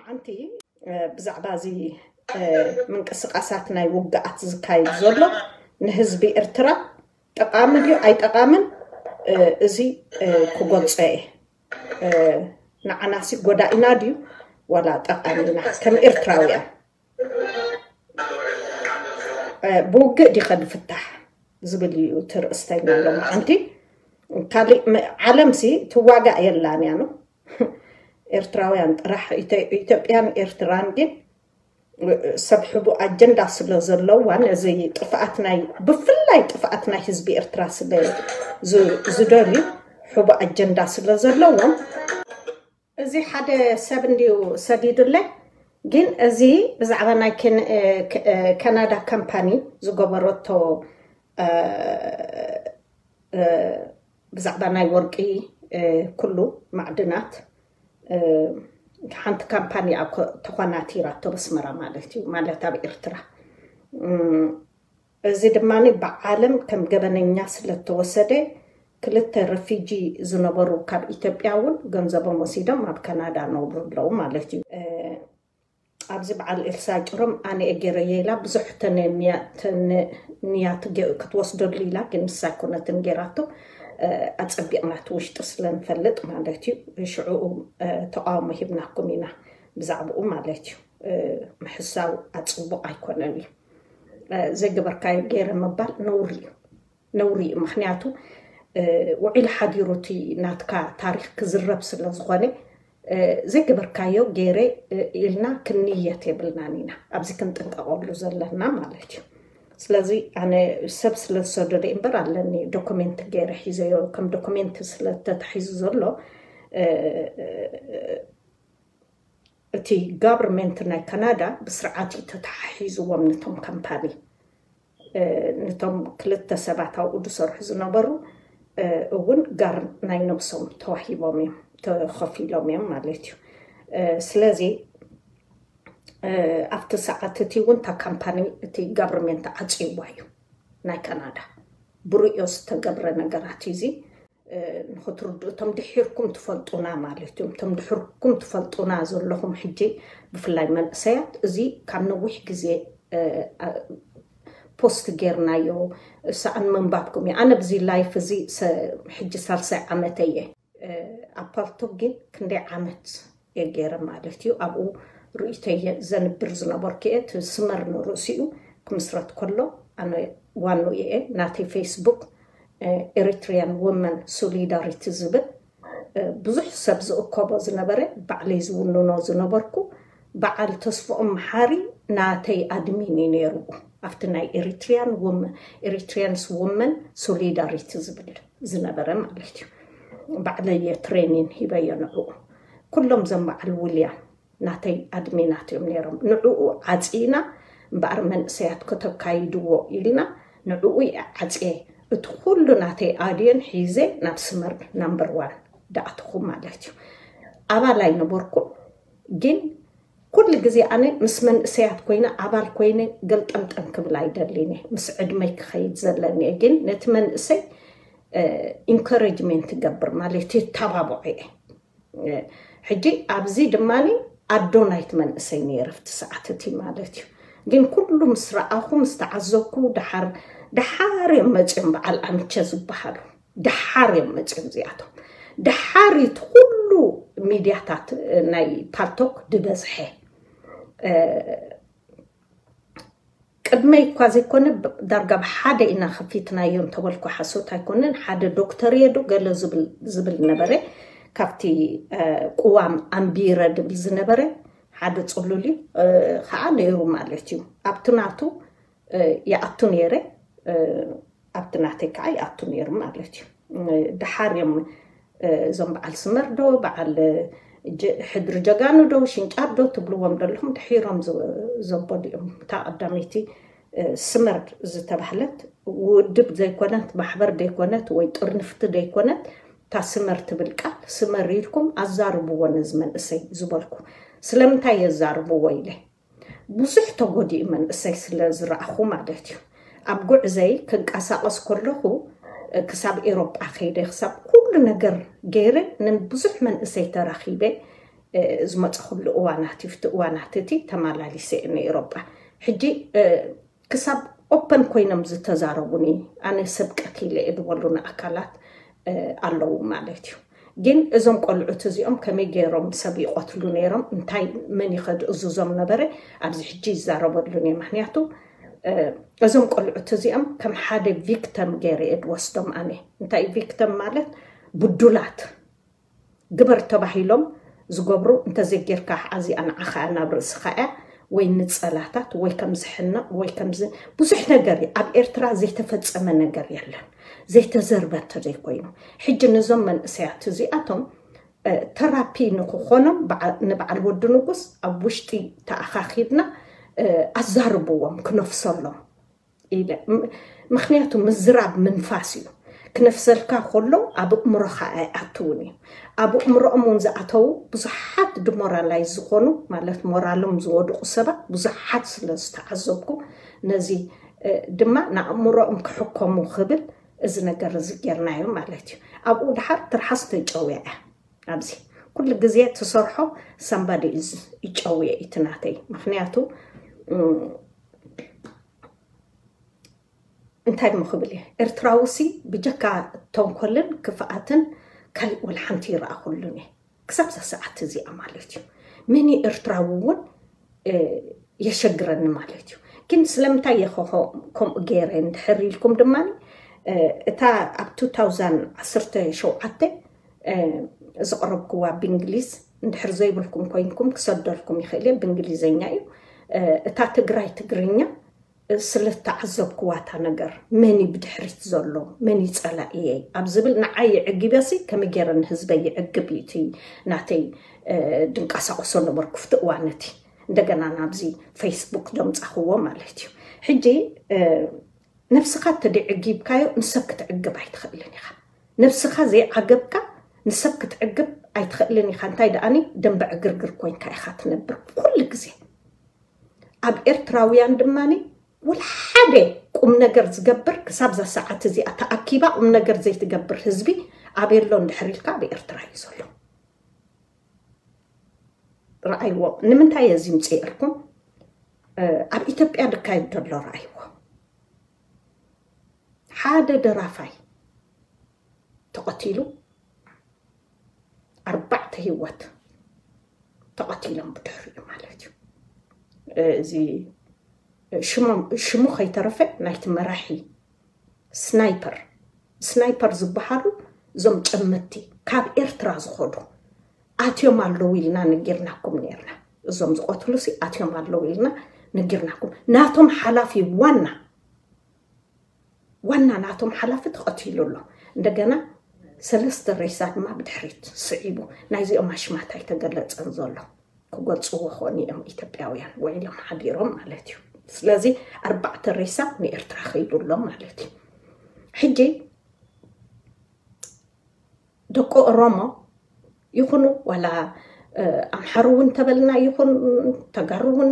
ሓንቲ ብዛዕባ እዚ ምንቅስቃሳት ናይ ውግኣት ዝካየድ ዘሎ ንህዝቢ ኤርትራ ጠቃሚ ድዩ ኣይጠቃምን፣ እዚ ክገልጾ እየ። ንዓናሲ ጎዳኢና ድዩ ዋላ ጠቃሚና ከም ኤርትራውያን? ብውግእ ዲኸ ንፍታሕ ዝብል እዩ እቲ ርእስተኛ ሎማዓንቲ። ካሊእ ዓለምሲ ትዋጋእ የላን እያ ነው። ኤርትራውያን ጥራሕ፣ ኢትዮጵያን ኤርትራን ግን ሰብ ሕቡእ ኣጀንዳ ስለ ዘለዋ፣ ነዚ ጥፍኣት ናይ፣ ብፍላይ ጥፍኣት ናይ ህዝቢ ኤርትራ ስለ ዝደልዩ፣ ሕቡእ ኣጀንዳ ስለ ዘለዎም፣ እዚ ሓደ ሰብ እንድዩ ሰዲዱለይ። ግን እዚ ብዛዕባ ናይ ካናዳ ካምፓኒ ዝገበረቶ፣ ብዛዕባ ናይ ወርቂ፣ ኩሉ ማዕድናት፣ ሓንቲ ካምፓኒ ተኾናቲራቶ በስመራ ማለት እዩ፣ ማለት ኣብ ኤርትራ። እዚ ድማ ብዓለም ከም ገበነኛ ስለተወሰደ፣ ክልተ ረፊጂ ዝነበሩ ካብ ኢትዮጵያ እውን ገንዘቦም ወሲዶም ኣብ ካናዳ ነብሩ ኣለዉ ማለት እዩ። ኣብዚ በዓል ኤልሳ ጭሮም ኣነ እየ ገይረየ ኢላ ብዙሕ ተንያ ክትወስደሉ ኢላ፣ ግን ንሳ ኣይኮነትን ገይራቶ። ኣጸቢቕና እቲ ውሽጢ ስለንፈልጥ ማለት እዩ። ሽዑ ተቃውሞ ሂብናኩም ኢና ብዛዕባኡ ማለት እዩ። ምሕሳው ኣጽቡቕ ኣይኮነን እዩ። ዘይገበርካዮ ገይረ ምባል ነውሪ እዩ፣ ነውሪ እዩ። ምክንያቱ ውዒል ሓዲሩ እቲ ናትካ ታሪክ ክዝረብ ስለ ዝኾነ፣ ዘይገበርካዮ ገይረ ኢልና ክንንየት የብልናን ኢና ኣብዚ ክንጥንቀቀሉ ዘለና ማለት እዩ። ስለዚ ኣነ ሰብ ስለ ዝሰደደ እምበር ኣለኒ፣ ዶኩሜንት ገይረ ሒዘዮ፣ ከም ዶኩሜንት ስለተታሒዙ ዘሎ እቲ ጋቨርንመንት ናይ ካናዳ ብስርዓት እዩ ተተሓሒዝዎም ነቶም ካምፓኒ። ነቶም ክልተ ሰባት ኣብኡ ዝሰርሑ ዝነበሩ እውን ጋር ናይ ነብሶም ተዋሂቦም እዮም፣ ተኸፊሎም እዮም ማለት እዩ። ስለዚ ኣብቲ ሰዓት እቲ እውን እታ ካምፓኒ እቲ ጋቨርንመንት ዓፅይዋ እዩ ናይ ካናዳ። ብርእዮ ዝተገብረ ነገራት እዩ እዚ። ንክትርድኡ፣ እቶም ድሒርኩም ትፈልጡና ማለት እዮም። እቶም ድሕርኩም ትፈልጡና ዘለኹም ሕጂ ብፍላይ መንእሰያት፣ እዚ ካብ ነዊሕ ግዜ ፖስት ጌርናዮ፣ ሰኣን ምንባብኩም እዩ። ኣነ ብዚ ላይፍ እዚ ሕጂ ሳልሳይ ዓመተ እየ። ኣብ ፓልቶክ ግን ክንደይ ዓመት እየ ገይረ ማለት እዩ። ኣብኡ ርእይቶየ ዘንብር ዝነበርኩ እየ። እቲ ስመር ንርእሲኡ ክምስረት ከሎ ኣነ ዋንኡ እየ። ናተይ ፌስቡክ ኤሪትሪያን ወመን ሶሊዳሪቲ ዝብል ብዙሕ ሰብ ዝእከቦ ዝነበረ፣ ባዕለይ ዝውንኖ ዝነበርኩ፣ በዓል ተስፍኦም መሓሪ ናተይ ኣድሚን እዩ ነይሩ። ኣብቲ ናይ ኤሪትሪያን ወመን፣ ኤሪትሪያንስ ወመን ሶሊዳሪቲ ዝብል ዝነበረ ማለት እዩ። ባዕለይ እየ ትሬኒን ሂበዮ ንዕኡ። ኩሎም ዘም በዓል ውልያም ናተይ ኣድሚናት እዮም ነይሮም። ንዕኡ ዓፂና እምበኣር መንእሰያት ከተካይድዎ ኢልና ንዕኡ እየ ዓፅየ። እቲ ኩሉ ናተይ ኣድዮን ሒዘ ናብ ስመር ናምበር ዋን ደኣትኹ ማለት እዩ። ኣባል ኣይነበርኩም፣ ግን ኩሉ ግዜ ኣነ ምስ መንእሰያት ኮይነ፣ ኣባል ኮይነ ገልጠምጠም ክብል ኣይደልን እየ። ምስ ዕድመይ ክኸይድ ዘለኒ እየ። ግን ነቲ መንእሰይ ኢንከሬጅመንት ይገብር ማለት እዩ፣ ተባብዖ እየ። ሕጂ ኣብዚ ድማ ኣዶ ናይቲ መንእሰይ ነይረ ኣብቲ ሰዓት እቲ ማለት እዩ። ግን ኩሉ ምስ ረኣኹ፣ ምስ ተዓዘብኩ፣ ደሓር፣ ደሓር እዮም መፅዮም በዓል ኣምቸ ዝበሃሉ። ደሓር እዮም መፅዮም እዚኣቶም። ደሓር እቲ ኩሉ ሚድያታት ናይ ፓልቶክ ድበዝሐ። ቅድመይ እኳ ዘይኮነ፣ ዳርጋ ብሓደ ኢና ከፊትናዮ እንተበልኩ ሓሶት ኣይኮነን። ሓደ ዶክተር እየ ዶ ገለ ዝብል፣ ዝብል ነበረ። ካብቲ ቅዋም ኣንቢረ ድብል ዝነበረ ሓደ ጽሉል እዩ፣ ከዓ ነይሩ ማለት እዩ። ኣብቲ ናቱ ይኣቱ ነይረ፣ ኣብቲ ናተይ ከዓ ይኣቱ ነይሩ ማለት እዩ። ደሓር እዮም እዞም በዓል ስመር ዶ፣ በዓል ሕድሪ ጀጋኑ ዶ፣ ሽንጫር ዶ ትብልዎም ዘለኹም፣ ድሒሮም ዘበሉ እዮም። እታ ቀዳመይቲ ስመር ዝተባህለት ውድብ ዘይኮነት፣ ማሕበር ዘይኮነት፣ ወይ ጥርንፍቲ ዘይኮነት፣ እታ ስመር ትብል ቃል፣ ስመር ኢልኩም ኣዛርብዎ ነዚ መንእሰይ ዝበልኩ። ስለምንታይ የዛርብዎ ኢለ፣ ብዙሕ ተጎዲኡ መንእሰይ ስለ ዝረኣኹ ማለት እዩ። ኣብ ጉዕዘይ ክንቀሳቐስ ከለኹ፣ ክሳብ ኤሮጳ ከይደ፣ ክሳብ ኩሉ ነገር ገይረ፣ ንብዙሕ መንእሰይ ተራኺበ፣ ዝመፀኹሉ እዋናት እዩ። እቲ እዋናት እቲ ተመላሊሰ እየ ንኤሮጳ። ሕጂ ክሳብ ኦፐን ኮይኖም ዝተዛረቡኒ፣ ኣነ ሰብ ቀቲለ እየ ዝበሉኒ ኣካላት ኣለዉ ማለት እዩ። ግን እዞም ቆልዑት እዚኦም ከመይ ገይሮም ሰብ ይቐትሉ ነይሮም፣ እንታይ መን ይኸድእዝዞም ነበረ፣ ኣብዚ ሕጂ ይዛረበሉን እየ። ምክንያቱ እዞም ቆልዑት እዚኦም ከም ሓደ ቪክተም ገይረ እየ ድወስዶም ኣነ። እንታይ ቪክተም ማለት? ብዱላት ግበር ተባሂሎም ዝገብሩ፣ እንተዘይጌርካ ኣዚኣ ንዓኻ እያ፣ ናብ ርእስኻ እያ፣ ወይ ንጸላታት ወይ ከም ዝሕነቕ ወይ ከምዚ ብዙሕ ነገር እዩ። ኣብ ኤርትራ ዘይተፈጸመ ነገር የለን፣ ዘይተዘርበ እንተዘይኮይኑ። ሕጂ ነዞም መንእሰያት እዚኣቶም ተራፒ ንክኾኖም ንበዓል ወዲ ንጉስ ኣብ ውሽጢ ተኣኻኺብና ኣዛርብዎም፣ ክነፍሰሎም ኢለ። ምክንያቱ ምዝራብ ምንፋስ እዩ። ክነፍሰልካ ከሎ ኣብ እእምሮኻ ኣይኣትውን እዩ። ኣብ እእምሮኦም እውን ዝኣተዉ ብዙሓት ድሞራላይዝ ዝኾኑ፣ ማለት ሞራሎም ዝወድቑ ሰባት ብዙሓት ስለ ዝተዓዘብኩ፣ ነዚ ድማ ንኣእምሮኦም ክሕከሙ ክብል እዚ ነገር እዚ ጌርናዮ ማለት እዩ። ኣብኡ ድሓር ትርሓስ ተጨውያ እያ። ኣብዚ ኩሉ ግዜ ትሰርሖ ሳምባዲ ይጨውየ እዩ እቲ ናተይ። ምክንያቱ እንታይ እሞ ክብል እየ፣ ኤርትራዊ ሲ ብጀካ ተንኮልን ክፍኣትን ካሊእ ወላ ሓንቲ ይረኣኹሉን እየ። ክሳብ እዛ ሰዓት እዚኣ ማለት እዩ። መን እዩ ኤርትራዊ እውን የሸግረኒ ማለት እዩ። ግን ስለምንታይ እየ ከምኡ ገይረ እንድሕር ኢልኩም ድማ፣ እታ ኣብ two thousand ዓሰርተ ሸውዓተ ዘቕረብክዋ ብእንግሊዝ፣ እንድሕር ዘይብልኩም ኮይንኩም ክሰደልኩም ይኽእል እየ፣ ብእንግሊዘኛ እዩ። እታ ትግራይ ትግርኛ ስለ ዝተዓዘብክዋ እታ ነገር፣ መን እዩ ብድሕሪት ዘሎ፣ መን እዩ ጸላኢየይ ኣብ ዝብል ንዓይ የዕጊበሲ፣ ከመይ ገይረ ንህዝበይ የዕግብ እዩ እቲ ናተይ ድንቀሳቐሶ ነበርኩ ኣብቲ እዋን እቲ። እንደገና ናብዚ ፌስቡክ ደምጻኽዎ ማለት እዩ። ሕጂ ነብስኻ እንተደይ ዕጊብካዮ ንሰብ ክትዕግብ ኣይትኽእልን ኢኻ። ነብስኻ ዘይዓገብካ ንሰብ ክትዕግብ ኣይትኽእልን ኢኻ። እንታይ ደኣኒ ደንበ ዕግርግር ኮይንካ ኢኻ ትነብር ኩሉ ግዜ። ኣብ ኤርትራውያን ድማ ወላ ሓደ ቁም ነገር ዝገብር ክሳብ እዛ ሰዓት እዚኣ ተኣኪባ ቁም ነገር ዘይትገብር ህዝቢ ኣበይ ኣሎ እንድሕር ኢልካ ኣብ ኤርትራ እዩ ዘሎ። ረኣይዎ። ንምንታይ እየ እዚ ምፅእርኩም? ኣብ ኢትዮጵያ ዝካየድ ዘሎ ረኣይዎ። ሓደ ደራፋይ ተቐቲሉ፣ ኣርባዕተ ህይወት ተቐቲሎም ብድሕሪኡ ማለት እዩ። እዚ ሽሞም ሽሙ ከይተረፈ ናይቲ መራሒ ስናይፐር ስናይፐር ዝበሃሉ እዞም ጨመትቲ ካብ ኤርትራ ዝኸዱ ኣትዮም ኣለዉ ኢልና ነጊርናኩም ነርና። እዞም ዝቐትሉ ሲ ኣትዮም ኣለዉ ኢልና ነጊርናኩም። ናቶም ሓላፊ ዋና ዋና ናቶም ሓላፊ ተቐቲሉ ኣሎ። እንደገና ሰለስተ ሬሳ ድማ ብድሕሪት ስዒቡ። ናይዚኦም ኣሽማት ኣይተገለጸን ዘሎ። ክገልጽዎ ኾን እዮም ኢትዮጵያውያን ውዒሎም ሓዲሮም ማለት እዩ። ስለዚ ኣርባዕተ ሬሳ ንኤርትራ ከይዱ ኣሎ ማለት እዩ። ሕጂ ደቂ ኦሮሞ ይኹኑ ዋላ ኣምሓሩ እውን እንተበልና ይኹን ተጋሩ እውን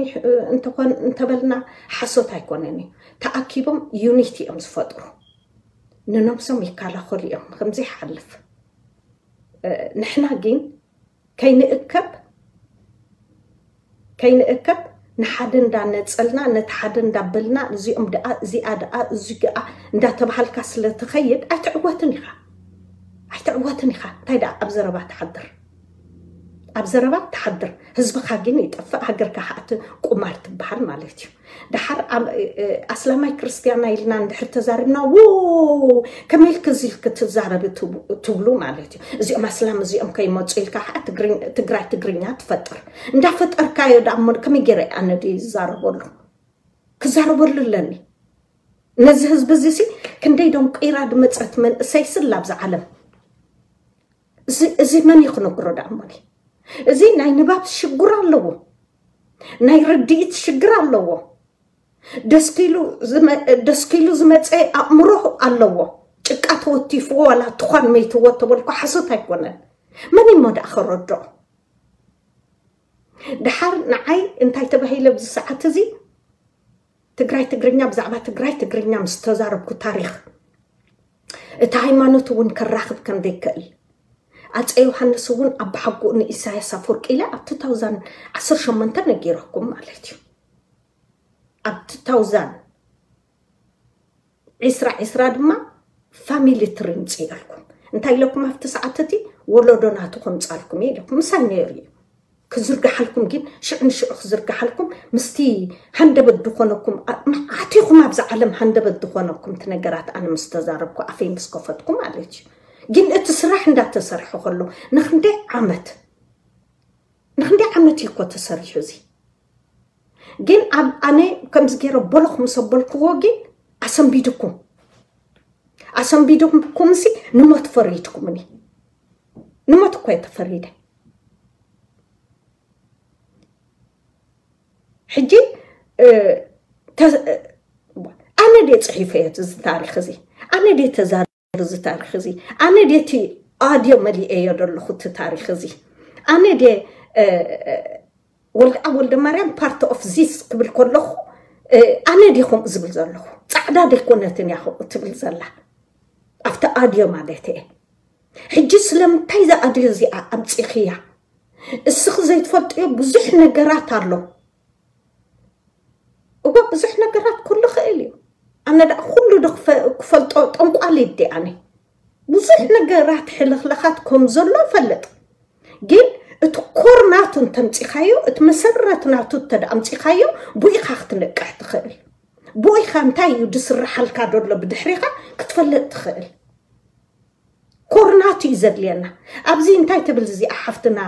እንተኾን እንተበልና ሓሶት ኣይኮነን እዩ። ተኣኪቦም ዩኒቲ እዮም ዝፈጥሩ። ንነብሶም ይከላኸሉ እዮም ከምዚ ይሓልፍ። ንሕና ግን ከይንእከብ ከይንእከብ ንሓደ እንዳነጸልና ነቲ ሓደ እንዳበልና እዚኦም ደኣ እዚኣ ደኣ እዚ ደኣ እንዳተባሃልካ ስለ ትኸይድ ኣይትዕወትን ኢኻ። ኣይትዕወትን ኢኻ። እንታይ ደኣ ኣብ ዘረባ ትሓድር። ኣብ ዘረባ ትሓድር። ህዝብኻ ግን ይጠፍእ፣ ሃገርካ ከኣ ቁማር ትበሃል ማለት እዩ። ደሓር ኣስላማይ ክርስትያና ኢልና እንድሕር ተዛሪብና ው ከመይ ኢልክ እዚ ኢልክ ትዛረቢ ትብሉ ማለት እዩ። እዚኦም ኣስላም እዚኦም ከይመፁ ኢልካ ከዓ ትግራይ ትግርኛ ትፈጥር እንዳፈጠርካዮ ደኣ እሞ ከመይ ገይረ ኣነ ድየ ዝዛረበሉ ክዛረበሉ ኣለኒ። ነዚ ህዝቢ እዚ ሲ ክንደይ ዶም ቀይራ ድመፀት መንእሰይ ስላ ኣብዛ ዓለም እዚ መን እዩ ክነግሮ ደኣ እሞኒ? እዚ ናይ ንባብ ሽግር ኣለዎ፣ ናይ ርድኢት ሽግር ኣለዎ። ደስኪሉ ዝመፀ ኣእምሮ ኣለዎ። ጭቃ ተወቲፍዎ ዋላ ትኳን መይትዎ ተበልኩ ሓሶት ኣይኮነን። መን እሞ ደኣ ከረድኦ? ደሓር ንዓይ እንታይ ተባሂለ ኣብዚ ሰዓት እዚ ትግራይ ትግርኛ ብዛዕባ ትግራይ ትግርኛ ምስ ተዛረብኩ ታሪኽ እቲ ሃይማኖት እውን ከራኽብ ከም ዘይክእል ኣፀ ዮሃንስ እውን ኣባሓጎኡ ንኢሳያስ ኣፈወርቂ ኢለ ኣብ two thousand ዓሰርተ ሸሞንተ ነጊረኩም ማለት እዩ። ኣብ two thousand ዕስራ ዕስራ ድማ ፋሚሊ ትሪ ምፅእልኩም እንታይ ኢለኩም ኣብቲ ሰዓት እቲ ወለዶ ናቱ ከምፃልኩም እየ ኢለኩም ምሳይ ነይሩ እዩ። ክዝርግሓልኩም ግን ሽዑ ንሽዑ ክዝርግሓልኩም ምስቲ ሃንደበት ዝኾነኩም ዓቲኹም ኣብዛ ዓለም ሃንደበት ዝኾነኩም እቲ ነገራት ኣነ ምስ ተዛረብኩ ኣፈይ ምስ ከፈትኩ ማለት እዩ። ግን እቲ ስራሕ እንዳተሰርሐ ከሎ ንክንደይ ዓመት ንክንደይ ዓመት እዩ እኮ ተሰሪሑ እዚ። ግን ኣብ ኣነ ከምዚ ገይረ ቦሎኽ ምስ ኣበልክዎ ግን ኣሰንቢድኩም ኣሰንቢድኩም ሲ ንሞት ፈሪድኩምኒ። ንሞት እኮ እየ ተፈሪደ። ሕጂ ኣነ ድየ ፅሒፈዮ እዚ ታሪክ እዚ? ኣነ ድየ ተዛር እዚ ታሪክ እዚ? ኣነ ድየ እቲ ኣድዮ መሊኤዮ ዘለኹ እቲ ታሪክ እዚ? ኣነ ድየ ወልደኣብ ወልደ ማርያም ፓርት ኦፍ ዚስ ክብል ከለኹ ኣነ ድየ ከምኡ ዝብል ዘለኹ? ፃዕዳ ደይኮነትን እያ ከምኡ ትብል ዘላ ኣብቲ ኣድዮ ማለት እየ። ሕጂ ስለምንታይ እዛ ኣድዮ እዚኣ ኣምፂኽያ? እስኺ ዘይትፈልጥዮ ብዙሕ ነገራት ኣሎ። እወ ብዙሕ ነገራት ኩሉ ክእል እዩ። ኣነ ደኣ ኩሉ ዶ ክፈ- ክፈልጦ ጠንቋሊት ዲ ኣነ? ብዙሕ ነገራት ሕልኽልኻት ከም ዘሎ እፈልጥ። ግን እቲ ኮር ናቱ እንተምፂኻዮ እቲ መሰረት ናቱ እንተደኣ ኣምፂኻዮ ብኡ ኢኻ ክትነቅሕ ትኽእል። ብኡ ኢኻ እንታይ እዩ ዝስርሓልካ ደሎ ብድሕሪኻ ክትፈልጥ ትኽእል። ኮር ናቱ እዩ ዘድልየና። ኣብዚ እንታይ ትብል እዚኣ ሓፍትና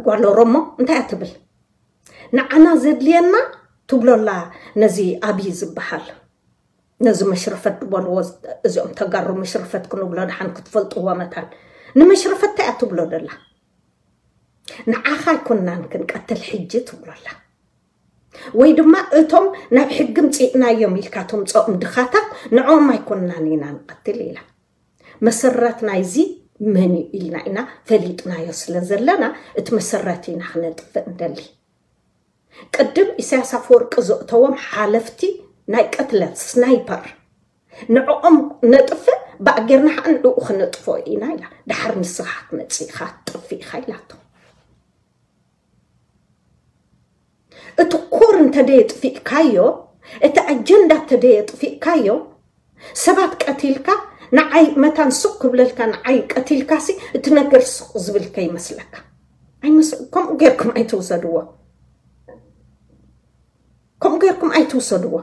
ጓል ኦሮሞ እንታይ እያ ትብል? ንዓና ዘድልየና ትብሎ ኣላ ነዚ ኣብይ ዝበሃል ነዚ መሽረፈት ዝበልዎ እዚኦም ተጋሩ መሽረፈት ክንብሎ ድሓን ክትፈልጥዎ መታን ንመሽረፈት እንታይ እያ ትብሎ ደላ? ንዓኻ ኣይኮንናን ክንቀትል ሕጂ ትብሎ ኣላ። ወይ ድማ እቶም ናብ ሕጊ ምፅእናዮም ኢልካ ተምፅኦም ድኻታት ንዕኦም ኣይኮንናን ኢና ንቐትል ኢላ። መሰረት ናይዚ መን እዩ ኢልና ኢና ፈሊጥናዮ ስለ ዘለና እቲ መሰረት ኢና ክነጥፍእ እንደሊ። ቅድም ኢሳያስ ኣፈወርቂ ዘእተዎም ሓለፍቲ ናይ ቅትለት ስናይፐር ንዕኦም ነጥፍእ ብኣጌርና ከዓ ንዕኡ ክነጥፍኦ ኢና ኢላ። ድሓር ንስኻ ክትመፅእ ኢኻ ትጠፍእ ኢኻ ኢላቶ። እቲ ኮር እንተደየጥፊእካዮ እቲ ኣጀንዳ እንተደየጥፊእካዮ ሰባት ቀቲልካ ንዓይ መታን ሱቕ ክብለልካ ንዓይ ቀቲልካሲ እቲ ነገር ሱቕ ዝብል ከይመስለካ። ኣይመስ- ከምኡ ጌርኩም ኣይትውሰድዎ። ከምኡ ጌርኩም ኣይትውሰድዎ።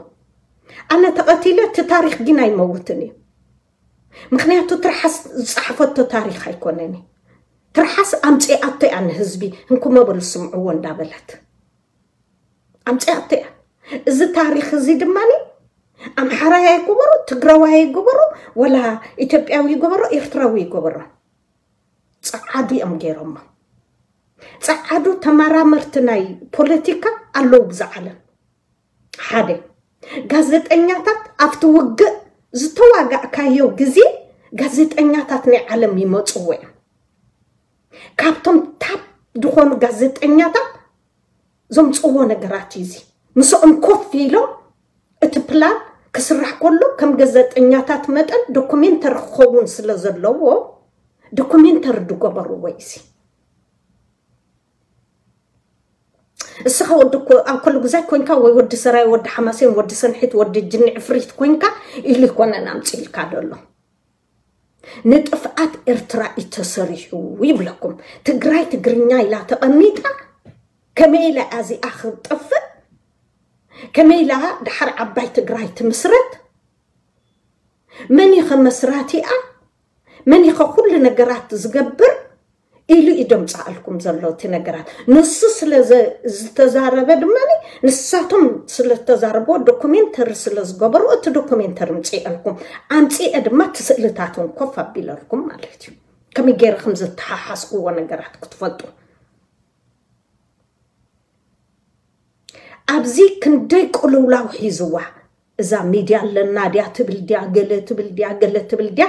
ኣነ ተቐቲለ እቲ ታሪኽ ግን ኣይመውትን እዩ። ምክንያቱ ትርሓስ ዝፀሓፈቶ ታሪኽ ኣይኮነን እዩ። ትርሓስ ኣምፂኣቶ እያ ንህዝቢ እንኩመ በሉ ስምዕዎ እንዳበለት ኣምፂኣቶ እያ። እዚ ታሪኽ እዚ ድማ ኣምሓራያ ይገበሮ ትግራዋይ ይገበሮ ወላ ኢትዮጵያዊ ይገበሮ ኤርትራዊ ይገበሮ ፀዓዱ እዮም ገይሮሞ። ፀዓዱ ተመራመርቲ ናይ ፖለቲካ ኣለዉ ብዛ ዓለም ሓደ ጋዜጠኛታት ኣብቲ ውግእ ዝተዋጋእካዮ ግዜ ጋዜጠኛታት ናይ ዓለም ይመፅዎ እዮም። ካብቶም ታፕ ዝኾኑ ጋዜጠኛታት ዘምፅዎ ነገራት እዩ እዚ። ምስኦም ኮፍ ኢሎም እቲ ፕላን ክስራሕ ከሎ ከም ጋዜጠኛታት መጠን ዶኩሜንተሪ ክኸውን ስለ ዘለዎ ዶኩሜንተሪ ዝገበርዎ እዩ እዚ። እስኻ ወዲ ኮ- ኣብ ኩሉ ግዛይ ኮንካ ወይ ወዲ ሰራይ ወዲ ሓማሴን ወዲ ሰንሒት ወዲ ጅኒ ዕፍሪት ኮንካ ኢሉ ይኮነን ኣምፅኢልካ ደሎ። ንጥፍኣት ኤርትራ እዩ ተሰሪሑ ይብለኩም። ትግራይ ትግርኛ ኢላ ተቐሚጣ ከመይ ኢላ እዚኣ ክትጠፍእ ከመይ ኢላ ድሓር ዓባይ ትግራይ ትምስረት መን ኢኸ መስራቲኣ መን ኢኸ ኩሉ ነገራት ዝገብር ኢሉ እዩ ደምፃኣልኩም ዘሎ እቲ ነገራት። ንሱ ስለ ዘ- ዝተዛረበ ድማ ንሳቶም ስለተዛረብዎ ዶኩሜንተሪ ስለ ዝገበሩ እቲ ዶኩሜንተሪ ምፅእልኩም ኣምፅኤ ድማ እቲ ስእልታትን ኮፍ ኣቢለልኩም ማለት እዩ። ከመይ ገይረ ከም ዝተሓሓዝክዎ ነገራት ክትፈልጡ ኣብዚ ክንደይ ቅልውላው ሒዝዋ እዛ ሚድያ ኣለና ድያ ትብል ድያ ገለ ትብል ድያ ገለ ትብል ድያ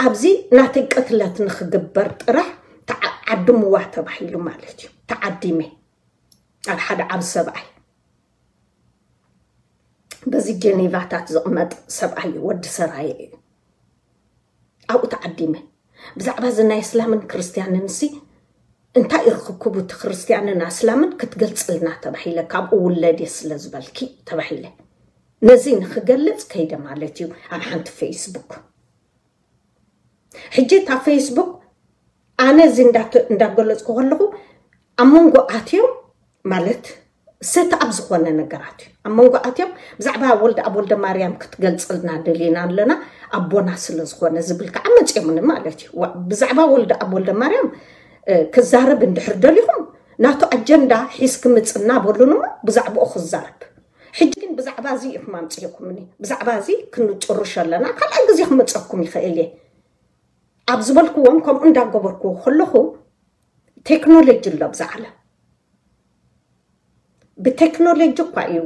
ኣብዚ ናተይ ቅትለት ንክግበር ጥራሕ ተዓድምዋ ተባሂሉ ማለት እዩ። ተዓዲመ ኣብ ሓደ ዓብ ሰብኣይ በዚ ጀኔቫታት ዝቕመጥ ሰብኣይ እዩ፣ ወዲ ሰራየ እዩ። ኣብኡ ኣቐዲመ። ብዛዕባ እዚ ናይ እስላምን ክርስትያንን ሲ እንታይ ርክክቡ እቲ ክርስትያንን ኣስላምን ክትገልጽልና ተባሂለ፣ ካብኡ ውለድ እየ ስለ ዝበልኪ ተባሂለ። ነዚ ንክገልጽ ከይደ ማለት እዩ ኣብ ሓንቲ ፌስቡክ። ሕጂ እታ ፌስቡክ ኣነ እዚ እንዳተ-፣ እንዳገለጽኩ ከለኹ ኣብ መንጎ ኣትዮም ማለት ሰት ኣብ ዝኾነ ነገራት እዩ። ኣብ መንጎ ኣትዮም ብዛዕባ ወልደ ኣብ ወልደ ማርያም ክትገልጽልና ደሊና ኣለና ኣቦና ስለ ዝኾነ ዝብል ከዓ መጽዮምኒ ማለት እዩ። ዋ-፣ ብዛዕባ ወልደ ኣብ ወልደ ማርያም እ፣ ክዛረብ እንድሕር ደሊኹም ናቱ ኣጀንዳ ሒዝ ክምጽ እናበሉን እሞ ብዛዕባኡ ክዛረብ። ሕጂ ግን ብዛዕባ እዚ ኢኹም ኣምጽእኩምኒ። ብዛዕባ እዚ ክንጭርሾ ኣለና። ካልኣይ ግዜ ክመጸኩም ይኽእል እየ ኣብ ዝበልክዎም ከምኡ እንዳገበርኩ ከለኹ ቴክኖሎጂ ኣሎ ብዛ ዓለም። ብቴክኖሎጂ እኳ እዩ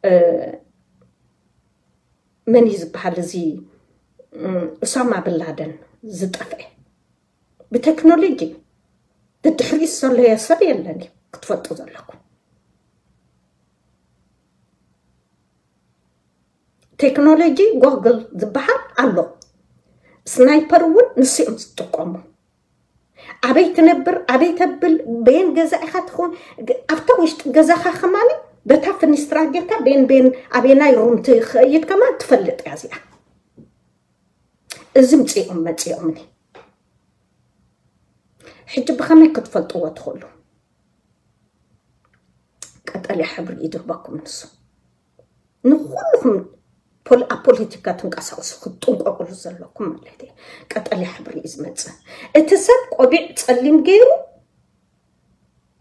እ፣ መን እዩ ዝበሃል እዚ እ፣ ኡሳማ ብላደን ዝጠፍአ። ብቴክኖሎጂ ድድሕሪት ዘለየ ሰብ የለን እዩ ክትፈልጡ ዘለኩም። ቴክኖሎጂ ጎግል ዝበሃል ኣሎ። ስናይፐር እውን ንሱ እዮም ዝጥቀሙ። ኣበይ ትነብር፣ ኣበይ ተብል፣ በየን ገዛ ኢኻ ትኸውን፣ ግ-፣ ኣብታ ውሽጢ ገዛኻ ከማን በታ ፍኒስትራ ጌርካ በየን በየን ኣበየናይ ሩም ትኸይድ ከማን ትፈልጥ እያ እዚኣ። እዚ ምጽኦም መጽኦምኒ። ሕጂ ብኸመይ ክትፈልጥዎ ትኽእሉ? ቀጠልያ ሕብሪ እዩ ዝህበኩም ንሱ። ንኹልኹም ፖል-፣ ኣብ ፖለቲካ ትንቀሳቐሱ ክትጥንቀቁሉ ዘለኩም ማለት እዩ። ቀጠልያ ሕብሪ እዩ ዝመጽእ። እቲ ሰብ ቆቢዕ ጸሊም ገይሩ፣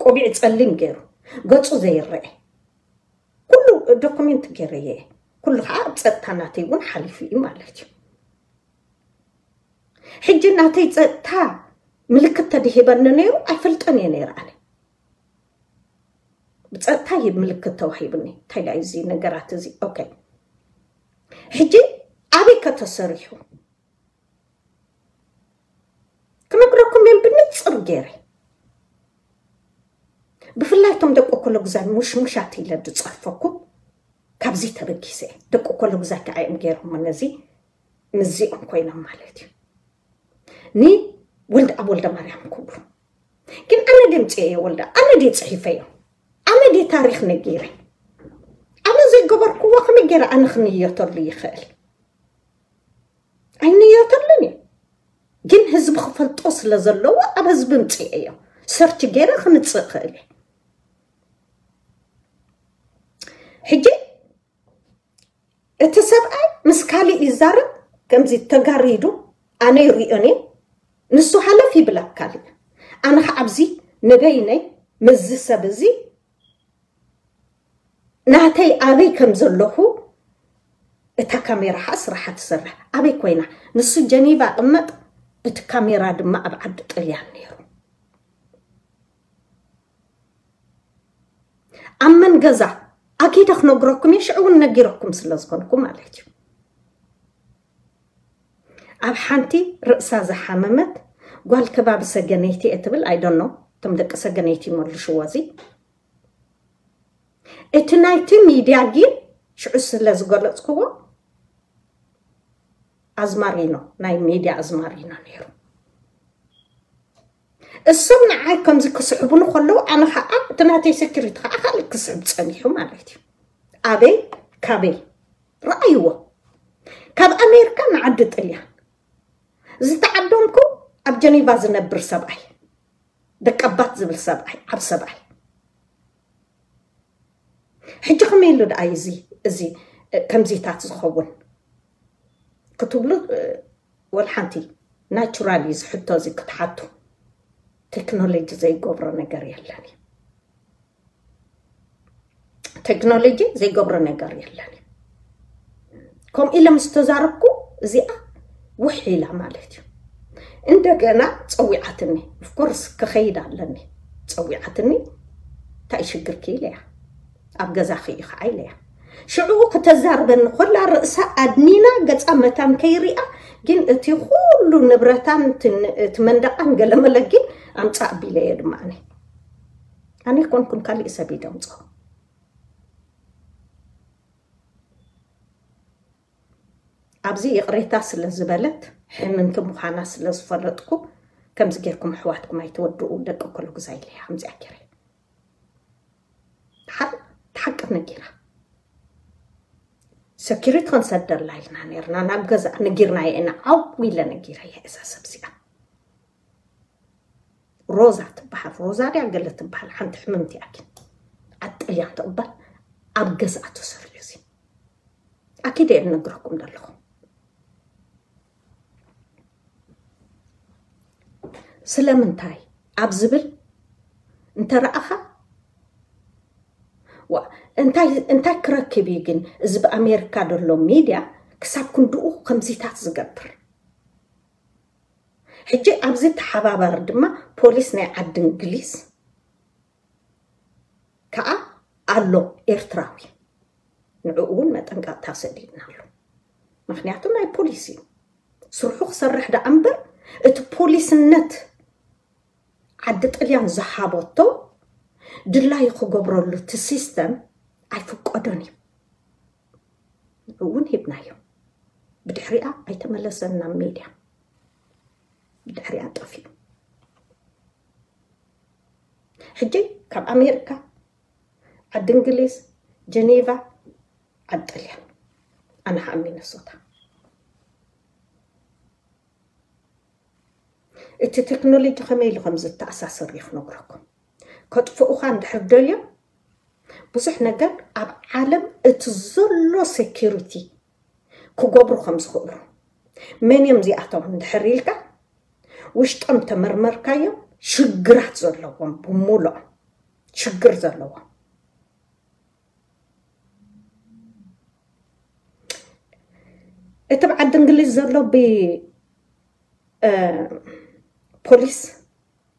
ቆቢዕ ጸሊም ገይሩ፣ ገጹ ዘይረአ። ኩሉ ዶኩሜንት ገይረየ። ኩሉ ከዓ ኣብ ጸጥታ ናተይ እውን ሓሊፉ እዩ ማለት እዩ። ሕጂ ናተይ ጸጥታ ምልክት ተድሂበኒ ነይሩ፣ ኣይፈልጠን እየ ነይረ ኣነ። ብጸጥታ እዩ ምልክት ተዋሂቡኒ። እንታይ ደኣ እዚ ነገራት እዚ? ኦኬ። ሕጂ ኣበይ ከተሰሪሑ? ክነግረኩም እየ ብንጽር ገይረ። ብፍላይ እቶም ደቂ ኮሎግዛይ ሙሽሙሻት ኢለ ዝጸርፈኩም ካብዚ ተበጊሰ እየ። ደቂ ኮሎግዛይ ከዓ እዮም ገይሮሞ ነዚ ምዚኦም ኮይኖም ማለት እዩ። ኒ ወልደ ኣብ ወልደ ማርያም ክብሉ። ግን ኣነ ድምፂ እየ ወልደ፣ ኣነ ድየ ፅሒፈዮ፣ ኣነ ድየ ታሪክ ነጊረ። ኣነ ዘይገበርክዎ ከመይ ገይረ ኣነ ክንየተሉ ይኽእል? ኣይንየተሉን እዩ። ግን ህዝቢ ክፈልጦ ስለ ዘለዎ ኣብ ህዝቢ ምፅእ እዮ። ሰርች ገይረ ክምፅእ እኽእል እየ። ሕጂ እቲ ሰብኣይ ምስ ካሊእ ይዛረብ፣ ከምዚ ተጋሪዱ ኣነ ይሪኦን እየ። ንሱ ሃለፍ ይብል ኣብ ካሊእ። ኣነ ከዓ ኣብዚ ንበይነይ ምስዚ ሰብ እዚ ናተይ ኣበይ ከም ዘለኹ እታ ካሜራ ከዓ ስራሓ ትሰርሕ። ኣበይ ኮይና? ንሱ ጀኒቫ ቅመጥ፣ እቲ ካሜራ ድማ ኣብ ዓዲ ጥልያን ነይሩ። ኣብ መን ገዛ ኣኪደ ክነግረኩም እየ፣ ሽዑ እውን ነጊረኩም ስለ ዝኾንኩ ማለት እዩ። ኣብ ሓንቲ ርእሳ ዝሓመመት ጓል ከባቢ ሰገነይቲ እየ ትብል፣ I don't know፣ እቶም ደቂ ሰገነይቲ ይመልሽዎ እዚ። እቲ ናይቲ ሚድያ ግን ሽዑ ስለ ዝገለጽክዎ ኣዝማሪኖ፣ ናይ ሚድያ ኣዝማሪኖ ነይሩ። እሶም ንዓይ ከምዚ ክስሕቡኒ ከለዉ ኣነ ከዓ እቲ ናተይ ሴኩሪቲ ከዓ ካልእ ክስሕብ ጸኒሑ ማለት እዩ። ኣበይ ካበይ ረኣይዎ። ካብ ኣሜሪካ ንዓዲ ጥልያን ዝተዓደምኩ ኣብ ጀኔቫ ዝነብር ሰብኣይ፣ ደቀባት ዝብል ሰብኣይ፣ ዓብ ሰብኣይ። ሕጂ ከመይ ኢሉ ደኣ እዩ እዚ፣ እዚ ከምዚታት ዝኸውን ክትብሉ፣ ወላ ሓንቲ ናቹራል እዩ ዝሕቶ እዚ ክትሓቱ። ቴክኖሎጂ ዘይገብሮ ነገር የለን እዩ። ቴክኖሎጂ ዘይገብሮ ነገር የለን እዩ። ከምኡ ኢለ ምስ ተዛረብኩ እዚኣ ውሕ ኢላ ማለት እዩ። እንደገና ጸዊዓትኒ። ኦፍኮርስ ክኸይድ ኣለኒ። ጸዊዓትኒ፣ እንታይ ሽግርኪ ኢለያ። ኣብ ገዛኺ እዩ ከዓ ኢለያ። ሽዑ ክተዛርበኒ ኮላ ርእሳ ኣድኒና ገጻ መታን ከይሪኣ፣ ግን እቲ ኩሉ ንብረታን እቲ ን-፣ እቲ መንደቃን ገለመለ ግን ኣምጻእ ኣቢለየ ድማ ኣነ። ኣነ ኮንኩን ካሊእ ሰብ እዩ ደምጾ። ኣብዚ ይቕሬታ ስለ ዝበለት ሕምምቲ ምዃና ስለ ዝፈለጥኩ፣ ከምዚ ጌርኩም ኣሕዋትኩም ኣይትወድኡ፣ ደቂ ኮሎ ግዛ ኢለ እያ ከምዚኣ ጌረ። ሓ-፣ ሓቂ ነጊራ። ሰኪሪቲ ክንሰደላ ኢልና ነርና፣ ናብ ገዛ ነጊርናዮ ኢና፣ ዓው ኢለ ነጊረ እያ እዛ ሰብ እዚኣ። ሮዛ ትበሃል፣ ሮዛ ድያ ገለ ትበሃል፣ ሓንቲ ሕምምቲ እያ ግን። ኣብ ጥልያን ትቕበል፣ ኣብ ገዝኣ ተሰሪዑ እዚ። ኣኪደ እየ ዝነግረኩም ዘለኹ። ስለምንታይ ኣብ ዝብል እንተረኣኻ፣ ዋ፣ እንታይ፣ እንታይ ክረክብ እዩ ግን እዚ ብኣሜሪካ ዘሎ ሚድያ ክሳብ ክንድኡ ከምዚታት ዝገብር? ሕጂ ኣብዚ ተሓባባሪ ድማ ፖሊስ ናይ ዓዲ እንግሊዝ ከኣ ኣሎ ኤርትራዊ። ንዕኡ እውን መጠንቀቕታ ሰዲድናሉ። ምኽንያቱ ናይ ፖሊስ እዩ። ስርሑ ክሰርሕ ደኣ እምበር እቲ ፖሊስነት ዓዲ ጥልያን ዝሃበቶ ድላዩ ክገብረሉ እቲ ሲስተም ኣይፍቀዶን እዩ። ንዕኡ እውን ሂብናዮ። ብድሕሪኣ ኣይተመለሰን ናብ ሜድያ። ብድሕሪኣ ጠፊኡ። ሕጂ ካብ ኣሜሪካ፣ ዓዲ እንግሊዝ፣ ጀኔቫ፣ ዓዲ ጥልያን፣ ኣነ ኸኣ ሚነሶታ። እቲ ቴክኖሎጂ ከመይ ኢሉ ከም ዝተኣሳሰር እዩ ክነግረኩም። ከጥፍኡኻ እንድሕር ደልዮም፣ ብዙሕ ነገር ኣብ ዓለም እቲ ዘሎ ሴኪሪቲ ክገብሩ ከም ዝኽእሉ። መን እዮም እዚኣቶም እንድሕር ኢልካ፣ ውሽጦም ተመርመርካዮም፣ ሽግራት ዘለዎም፣ ብምሉኦም ሽግር ዘለዎም። እቲ ኣብ ዓዲ እንግሊዝ ዘሎ ብ-፣ እ፣ ፖሊስ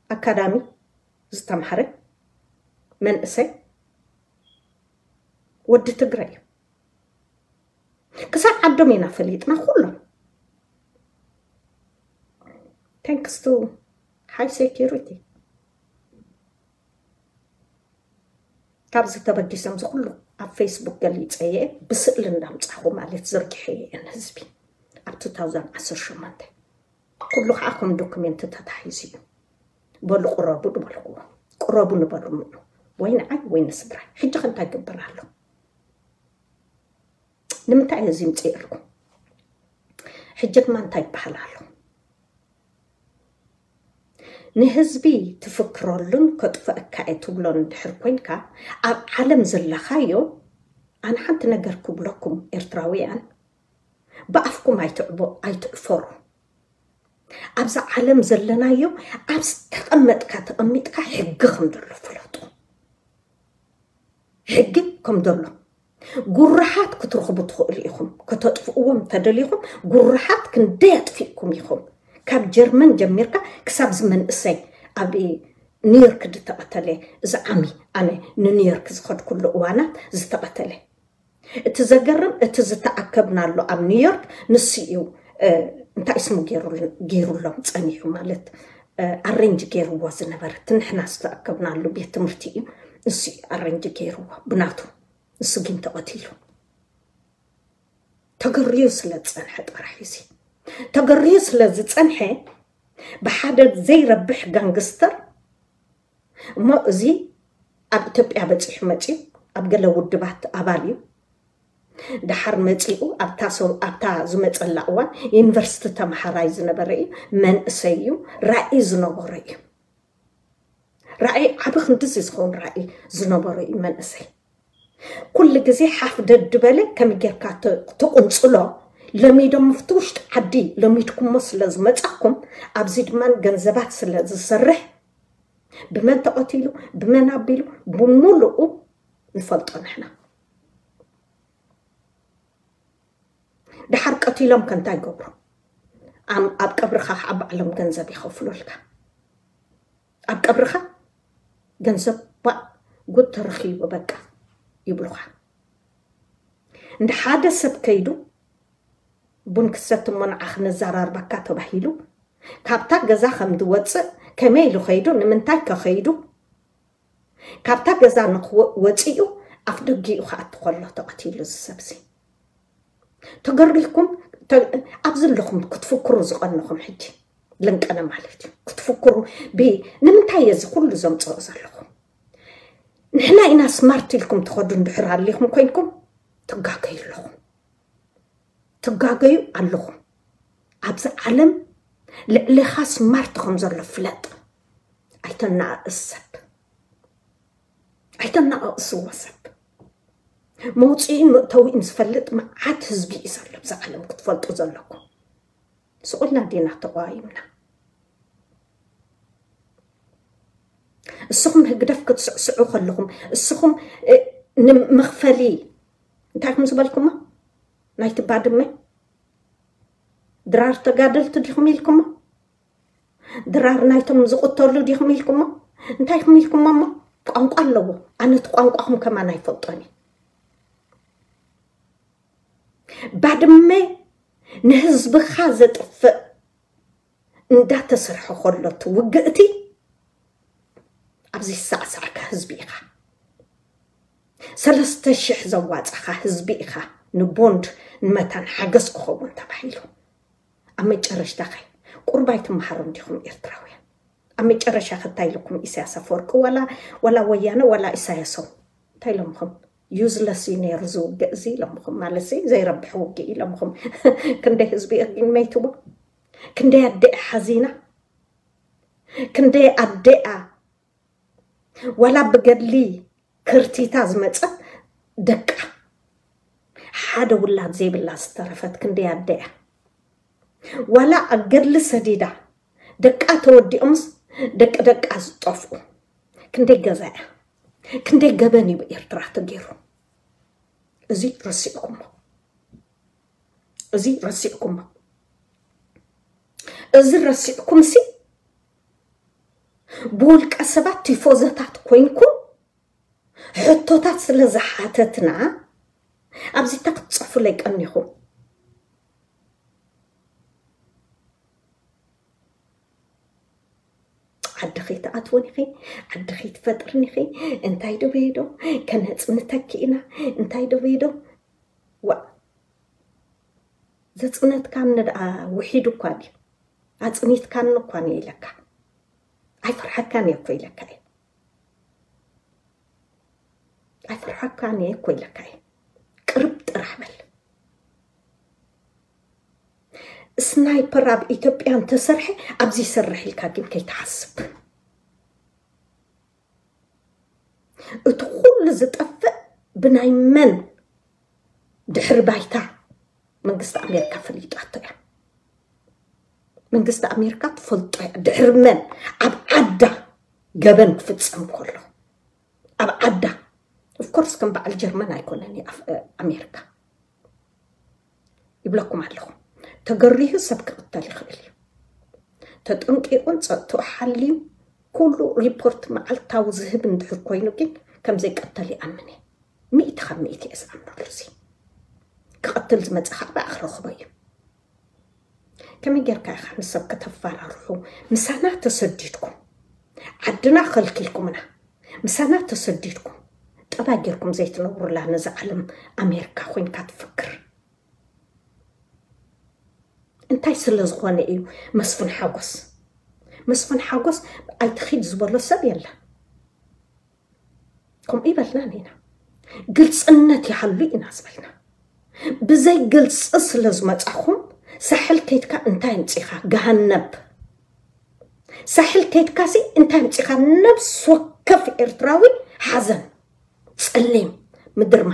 ኣካዳሚ ዝተምሃረ መንእሰይ ወዲ ትግራይ እዩ። ክሳብ ዓዶም ኢና ፈሊጥና ኩሎም። Thanks to high security። ካብዚ ተበጊሶም እዚ ኩሉ ኣብ ፌስቡክ ገሊፀ እየ፣ ብስእሊ እንዳምፃኹ ማለት ዘርጊሐ እየ ንህዝቢ ኣብ two thousand ዓሰርተ ሸሞንተ። ኩሉ ከዓ ከም ዶክሜንት ተታሒዙ እዩ። በሉ ቅረቡ ንበልክዎ፣ ቅረቡ ንበሉ ምኑ፣ ወይ ንዓይ ወይ ንስድራይ። ሕጂ ከ እንታይ ግበር ኣሎ? ንምንታይ እየ እዚ ምፅእልኩም? ሕጂ ድማ እንታይ ይበሃል ኣሎ? ንህዝቢ ትፍክረሉን ከጥፈእካ እየ ትብሎን እንድሕር ኮንካ፣ ኣብ ዓለም ዘለኻዮ፣ ኣነ ሓንቲ ነገር ክብለኩም ኤርትራውያን፣ ብኣፍኩም ኣይትዕቦ-፣ ኣይትዕፈሩ። ኣብዛ ዓለም ዘለናዮ፣ ኣብ ዝተቐመጥካ ተቐሚጥካ ሕጊ ከም ዘሎ ፍለጡ። ሕጊ ከም ዘሎ ጉርሓት ክትረኽቡ ትኽእሉ ኢኹም። ከተጥፍእዎም ተደሊኹም ጉርሓት ክንደይ ኣጥፊእኩም ኢኹም። ካብ ጀርመን ጀሚርካ ክሳብ እዚ መንእሰይ ኣብ ኒውዮርክ ዝተቐተለ፣ እዚ ዓሚ ኣነ ንኒውዮርክ ዝኸድኩሉ እዋናት ዝተቐተለ። እቲ ዘገርም፣ እቲ ዝተኣከብናሉ ኣብ ኒውዮርክ ንሱ እዩ፣ እ፣ እንታይ ስሙ ገይሩል-፣ ገይሩሎም ጸኒሑ ማለት፣ እ፣ ኣሬንጅ ገይርዎ ዝነበረ፣ እቲ ንሕና ዝተኣከብናሉ ቤት ትምህርቲ እዩ፣ ንሱ እዩ ኣሬንጅ ገይርዎ ብናቱ። ንሱ ግን ተቐቲሉ። ተገርዩ ስለ ዝጸንሐ ጥራሕ እዩ እዚ። ተገርዩ ስለ ዝጸንሐ ብሓደ ዘይረብሕ ጋንግስተር እሞ እዚ ኣብ ኢትዮጵያ በጺሑ መጺኡ ኣብ ገለ ውድባት ኣባል እዩ። ደሓር መጺኡ ኣብታ ሰው-፣ ኣብታ ዝመጸላ እዋን ዩኒቨርሲቲ ተመሃራይ ዝነበረ እዩ። መንእሰይ እዩ። ራእይ ዝነበሮ እዩ። ራእይ ዓቢ ክንድዚ ዝኸውን ራእይ ዝነበሮ እዩ መንእሰይ። ኩሉ ግዜ ሓፍ ደድበለ ከመይ ጌርካ ተ-፣ ትቕንጽሎ? ለሚዶም ኣብቲ ውሽጢ ዓዲ ለሚድኩሞ ስለ ዝመጻኩም፣ ኣብዚ ድማ ገንዘባት ስለ ዝሰርሕ፣ ብመን ተቐቲሉ፣ ብመን ኣቢሉ፣ ብምሉኡ ንፈልጦ ንሕና። ደሓር ቀቲሎም ከ እንታይ ይገብሩ? ኣም-፣ ኣብ ቀብርኻ ከዓ ባዕሎም ገንዘብ ይኸፍሉልካ። ኣብ ቀብርኻ ገንዘብ ባእ ጉድ ተረኺቡ በቃ ይብሉኻ። እንደ ሓደ ሰብ ከይዱ ቡን ክሰቲ እሞ ንዓኺ ነዘራርበካ ተባሂሉ ካብታ ገዛ ከም ዝወፅእ ከመይ ኢሉ ከይዱ፣ ንምንታይ ከ ከይዱ፣ ካብታ ገዛ ንክወ-፣ ወፂኡ ኣፍ ደጊኡ ክኣቱ ከሎ ተቐቲሉ እዚ ሰብዚ። ተገሪኩም ኣብዚ ኣለኹም ክትፍክሩ ዝቐንኹም ሕጂ ልንቀነ ማለት እዩ ክትፍክሩ። ንምንታይ እየ እዚ ኩሉ ዘምፅኦ ዘለኹ? ንሕና ኢና ስማርት ኢልኩም ትኸዱ እንድሕር ኣሊኹም ኮይንኩም ትጋገዩ ኣለኹም ትጋገዩ ኣለኹም። ኣብዚ ዓለም ልዕሌኻ ስማርት ከም ዘሎ ፍለጥ። ኣይተናእስ ሰብ ኣይተናእስዎ ሰብ። መውፅኢን መእተዊን ዝፈልጥ መዓት ህዝቢ እዩ ዘሎ ኣብዚ ዓለም ክትፈልጡ ዘለኩም። ስቑልና ዲና ተቋይምና? እስኹም ህግደፍ ክትስዕስዑ ከለኹም እስኹም ንምኽፈሊ እንታይ ኹም ዝበልኩሞ? ናይቲ ባድመ ድራር ተጋደልቲ ዲኹም ኢልኩሞ? ድራር ናይቶም ዝቕተሉ ዲኹም ኢልኩሞ? እንታይ ኹም ኢልኩሞ እሞ? ቋንቋ ኣለዎ። ኣነ እቲ ቋንቋኹም ከማን ኣይፈልጦን እየ። ባድመ ንህዝብኻ ዘጥፍእ እንዳተሰርሐ ከሎ እቲ ውግእቲ ኣብዚ ዝሳዕሳዕካ ህዝቢ ኢኻ። ሰለስተ ሽሕ ዘዋፃኻ ህዝቢ ኢኻ። ንቦንድ ንመታን ሓገዝ ክኸውን ተባሂሉ ኣብ መጨረሽታ ኸ ቁርባይ ትመሃሩ እንዲኹም ኤርትራውያን። ኣብ መጨረሻ ከ እንታይ ኢልኩም ኢሳያስ ኣፈወርቂ ዋላ ዋላ ወያነ ዋላ ኢሳያሶም እንታይ ኢሎምኹም? ዩዝለስ እዩ ነይሩ ዝውግእ እዚ ኢሎምኹም ማለት ሲ ዘይረብሕ ውግእ ኢሎምኹም። ክንደይ ህዝቢ እርጊን መይትዎ? ክንደይ ኣደኣ ሓዚና? ክንደይ ኣደኣ ዋላ ብገድሊ ክርቲታ ዝመጸት ደቃ ሓደ ውላድ ዘይብላ ዝተረፈት ክንደይ ኣደኣ ዋላ ኣብ ገድሊ ሰዲዳ ደቃ ተወዲኦምስ ደቂ ደቃ ዝጠፍኡ ክንደይ ገዛ እያ? ክንደይ ገበን እዩ ኤርትራ ተገይሩ? እዚ ረሲዕኩሞ እዚ ረሲዕኩሞ እዚ ረሲዕኩም ሲ ብውልቀ ሰባት ቲፎዘታት ኮይንኩም ሕቶታት ስለ ዝሓተትና ኣብዚ ተክትፅፉለይ ቀኒኹም። ዓዲ ከይትኣትውን ኢኺ፣ ዓዲ ከይትፈጥርን ኢኺ። እንታይ ዶ በይዶ ከነፅንተኪ ኢና እንታይ ዶ በይዶ ዋ ዘፅነትካኒ ደኣ ውሒዱ እኳ ድዩ ኣፅኒትካኒ እኳ ነ ኢለካ ኣይፈርሓካን እየ እኮ ኢለካ እየ ኣይፈርሓካን እየ እኮ ኢለካ እየ ቅርብ ጥራሕ በል ስናይፐር ኣብ ኢትዮጵያ እንተሰርሐ ኣብዚ ይሰርሕ ኢልካ ግን ከይትሓስብ እቲ ኩሉ ዝጠፍእ ብናይ መን ድሕሪ ባይታ መንግስቲ ኣሜሪካ ፈሊጣቶ እያ መንግስቲ ኣሜሪካ ትፈልጦ እያ ድሕሪ መን ኣብ ዓዳ ገበን ክፍፀም ከሎ ኣብ ዓዳ ኦፍኮርስ ከም በዓል ጀርመን ኣይኮነን ኣሜሪካ ይብለኩም ኣለኹ ተገሪሁ ሰብ ክቕተል ይኽእል እዩ ተጠንቂቑን ፀጥትኡ ሓልዩ ኩሉ ሪፖርት መዓልታዊ ዝህብ እንድሕር ኮይኑ ግን ከም ዘይቀተል ይኣምን እየ ሚእቲ ካብ ሚእቲ እየ ዝኣምነሉ እዚ ክቐትል ዝመፀ ከዓ ብኣ ክረኽቦ እዩ ከመይ ጌርካ ኢኻ ንሰብ ከተፈራርሑ ምሳና ተሰዲድኩም ዓድና ከልኪልኩምና ምሳና ተሰዲድኩም ጠባይ ጌርኩም ዘይትነብሩላ ነዛ ዓለም ኣሜሪካ ኮይንካ ትፍክር እንታይ ስለ ዝኾነ እዩ መስፍን ሓጎስ መስፍን ሓጎስ ኣይትኺድ ዝበሎ ሰብ የለን ከምኡ ይበልና ኢና ግልፅነት ይሃሉ ኢና ዝበልና ብዘይ ግልፂ ስለ ዝመፃኹም ሳሕል ከይድካ እንታይ ኣምፂኻ ገሃነብ ሳሕል ከይድካሲ እንታይ ኣምፂኻ ነብስ ወከፍ ኤርትራዊ ሓዘን ፀሊም ምድርማ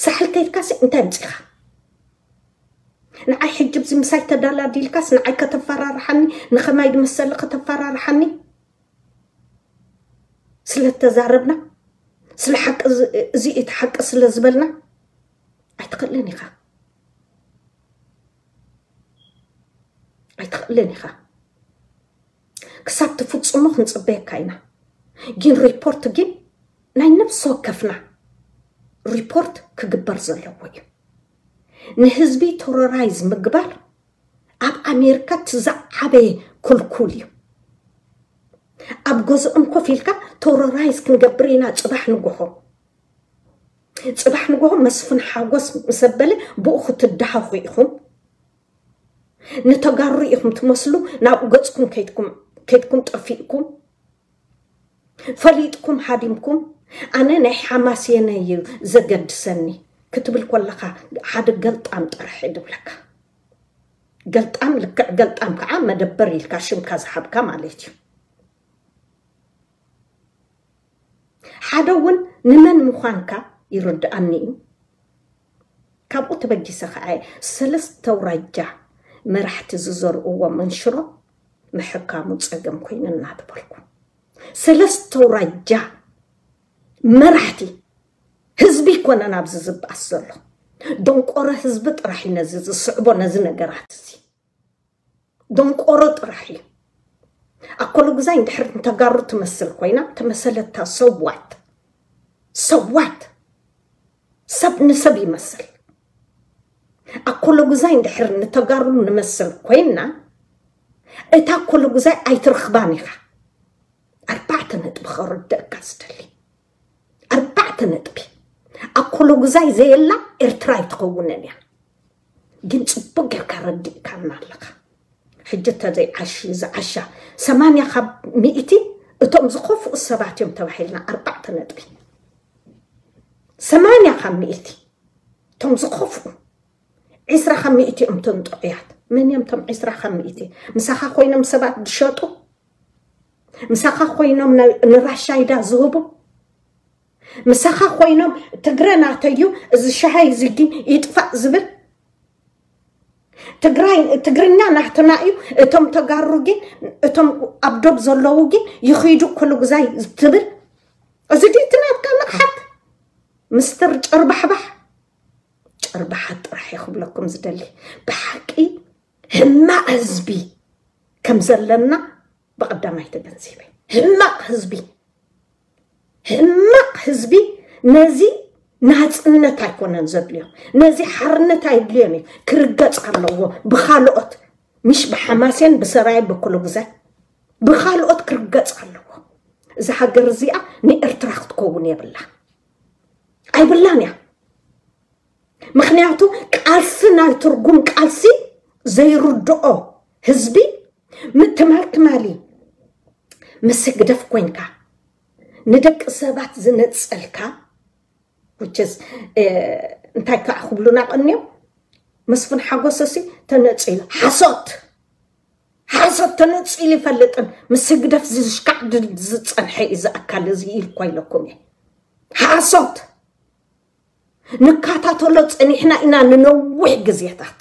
ሳሕል ከይድካሲ እንታይ ኣምፂኻ ንዓይ ሕጂ ብዚ ምሳይ ተዳላዲልካስ ንዓይ ከተፈራርሓኒ ንኸማይ ዝመሰለ ከተፈራርሓኒ ስለ ተዛረብና ስለ ሓቂ እዚ እቲ ሓቂ ስለ ዝበልና ኣይትኽእልን ኢኻ ኣይትኽእልን ኢኻ ክሳብ ትፍፅሞ ክንፅበየካ ኢና ግን ሪፖርት ግን ናይ ነብሲ ወከፍና ሪፖርት ክግበር ዘለዎ እዩ ንህዝቢ ቴሮራይዝ ምግባር ኣብ ኣሜሪካ እቲ ዝዓበየ ክልኩል እዩ ኣብ ገዝኦም ኮፍ ኢልካ ቴሮራይዝ ክንገብር ኢና ፅባሕ ንጎሆ ፅባሕ ንጎሆ መስፍን ሓጎስ ምስ ኣበለ ብኡ ክትደሃኹ ኢኹም ንተጋሩ ኢኹም ትመስሉ። ናብኡ ገጽኩም ከይድኩም ከይድኩም ጠፊእኩም፣ ፈሊጥኩም ሃዲምኩም። ኣነ ናይ ሓማሴነ እዩ ዘገድሰኒ ክትብል ኮለኻ፣ ሓደ ገልጣም ጥራሕ እዩ ዝብለካ። ገልጣም፣ ልክዕ ገልጣም ከዓ መደበር ኢልካ ሽምካ ዝሃብካ ማለት እዩ። ሓደ እውን ንመን ምዃንካ ይርድኣኒ እዩ። ካብኡ ተበጊሰ ከዓ ሰለስተ ኣውራጃ መራሕቲ ዝዘርእዎ መንሽሮ ምሕካሙ ጸገም ኮይኑ እናተበልኩ፣ ሰለስተ ኣውራጃ መራሕቲ ህዝቢ ይኮነን ኣብዚ ዝበኣስ ዘሎ። ደንቆሮ ህዝቢ ጥራሕ እዩ ነዚ ዝስዕቦ፣ ነዚ ነገራት እዚ። ደንቆሮ ጥራሕ እዩ። ኣኮሎጉዛይ እንድሕር ንተጋሩ ትመስል ኮይና ተመሰለታ፣ ሰዋት ሰዋት ሰብ ንሰብ ይመስል። ኣኮሎጉዛይ እንድሕር ንተጋሩ ንመስል ኮይና፣ እታ ኣኮሎጉዛይ ኣይትረኽባን ኢኻ። ኣርባዕተ ነጥቢ ከረድአካ ዝደሊ፣ ኣርባዕተ ነጥቢ። ኣኮሎጉዛይ ዘየላ ኤርትራ ኣይትኸውንን እያ። ግን ጽቡቅ ጌርካ ረዲእካና ኣለኻ። ሕጂ እንተዘይዓሽዩ ዝዓሻ ሰማንያ ካብ ሚእቲ እቶም ዝኸፍኡ ሰባት እዮም ተባሂልና፣ ኣርባዕተ ነጥቢ። ሰማንያ ካብ ሚእቲ እቶም ዝኸፍኡ፣ ዒስራ ካብ ሚእቲ እዮም እቶም ጥዑያት። መን እዮም እቶም ዒስራ ካብ ሚእቲ? ምሳኻ ኮይኖም ሰባት ዝሸጡ፣ ምሳኻ ኮይኖም ን- ንራሻይዳ ዝህቡ፣ ምሳኻ ኮይኖም ትግረ ናተዩ፣ እዚ ሻሃይ እዚ ግን ይጥፋእ ዝብል፣ ትግራይ ትግርኛ ናህትና እዩ፣ እቶም ተጋሩ ግን፣ እቶም ኣብ ዶብ ዘለዉ ግን ይኸይዱ ኮሎጉዛይ ትብል። እዚ ድዩ እቲ ናትካ ንቕሓት? ምስተር ጨርባሕባሕ፣ ጨርባሓት ጥራሕ እየ ክብለኩም ዝደሊ። ብሓቂ ሕማቕ ህዝቢ ከም ዘለና ብቐዳማይ ተገንዚበ። ሕማቕ ህዝቢ፣ ሕማቕ ህዝቢ ነዚ ናጽነት ኣይኮነን ዘድልዮ፣ ነዚ ሓርነት ኣይድልዮን እዩ። ክርገጽ ኣለዎ ብኻልኦት፣ ምሽ ብሓማሴን፣ ብሰራየ፣ ብኩሉ ግዜ ብኻልኦት ክርገጽ ኣለዎ። እዛ ሃገር እዚኣ ንኤርትራ ክትከውን የብላ፣ ኣይብላን እያ። ምኽንያቱ ቃልሲ፣ ናይ ትርጉም ቃልሲ ዘይርድኦ ህዝቢ፣ ም- ትማል ትማሊ ምስ ህግደፍ ኮይንካ ንደቂ ሰባት ዝነጸልካ፣ which is፣ እ፣ እንታይ ከዓ ክብሉና ቀንዮም? መስፍን ሓጎሰሲ ተነጺሉ፣ ሓሶት፣ ሓሶት፣ ተነጺሉ ይፈልጥን ምስ ህግደፍ ዝሽካዕ ድ- ዝጸንሐ እዩ እዚ ኣካል እዚ ኢልኳ ኢለኩም እየ። ሓሶት። ንከታተሎ ጸኒሕና ኢና ንነዊሕ ግዜታት።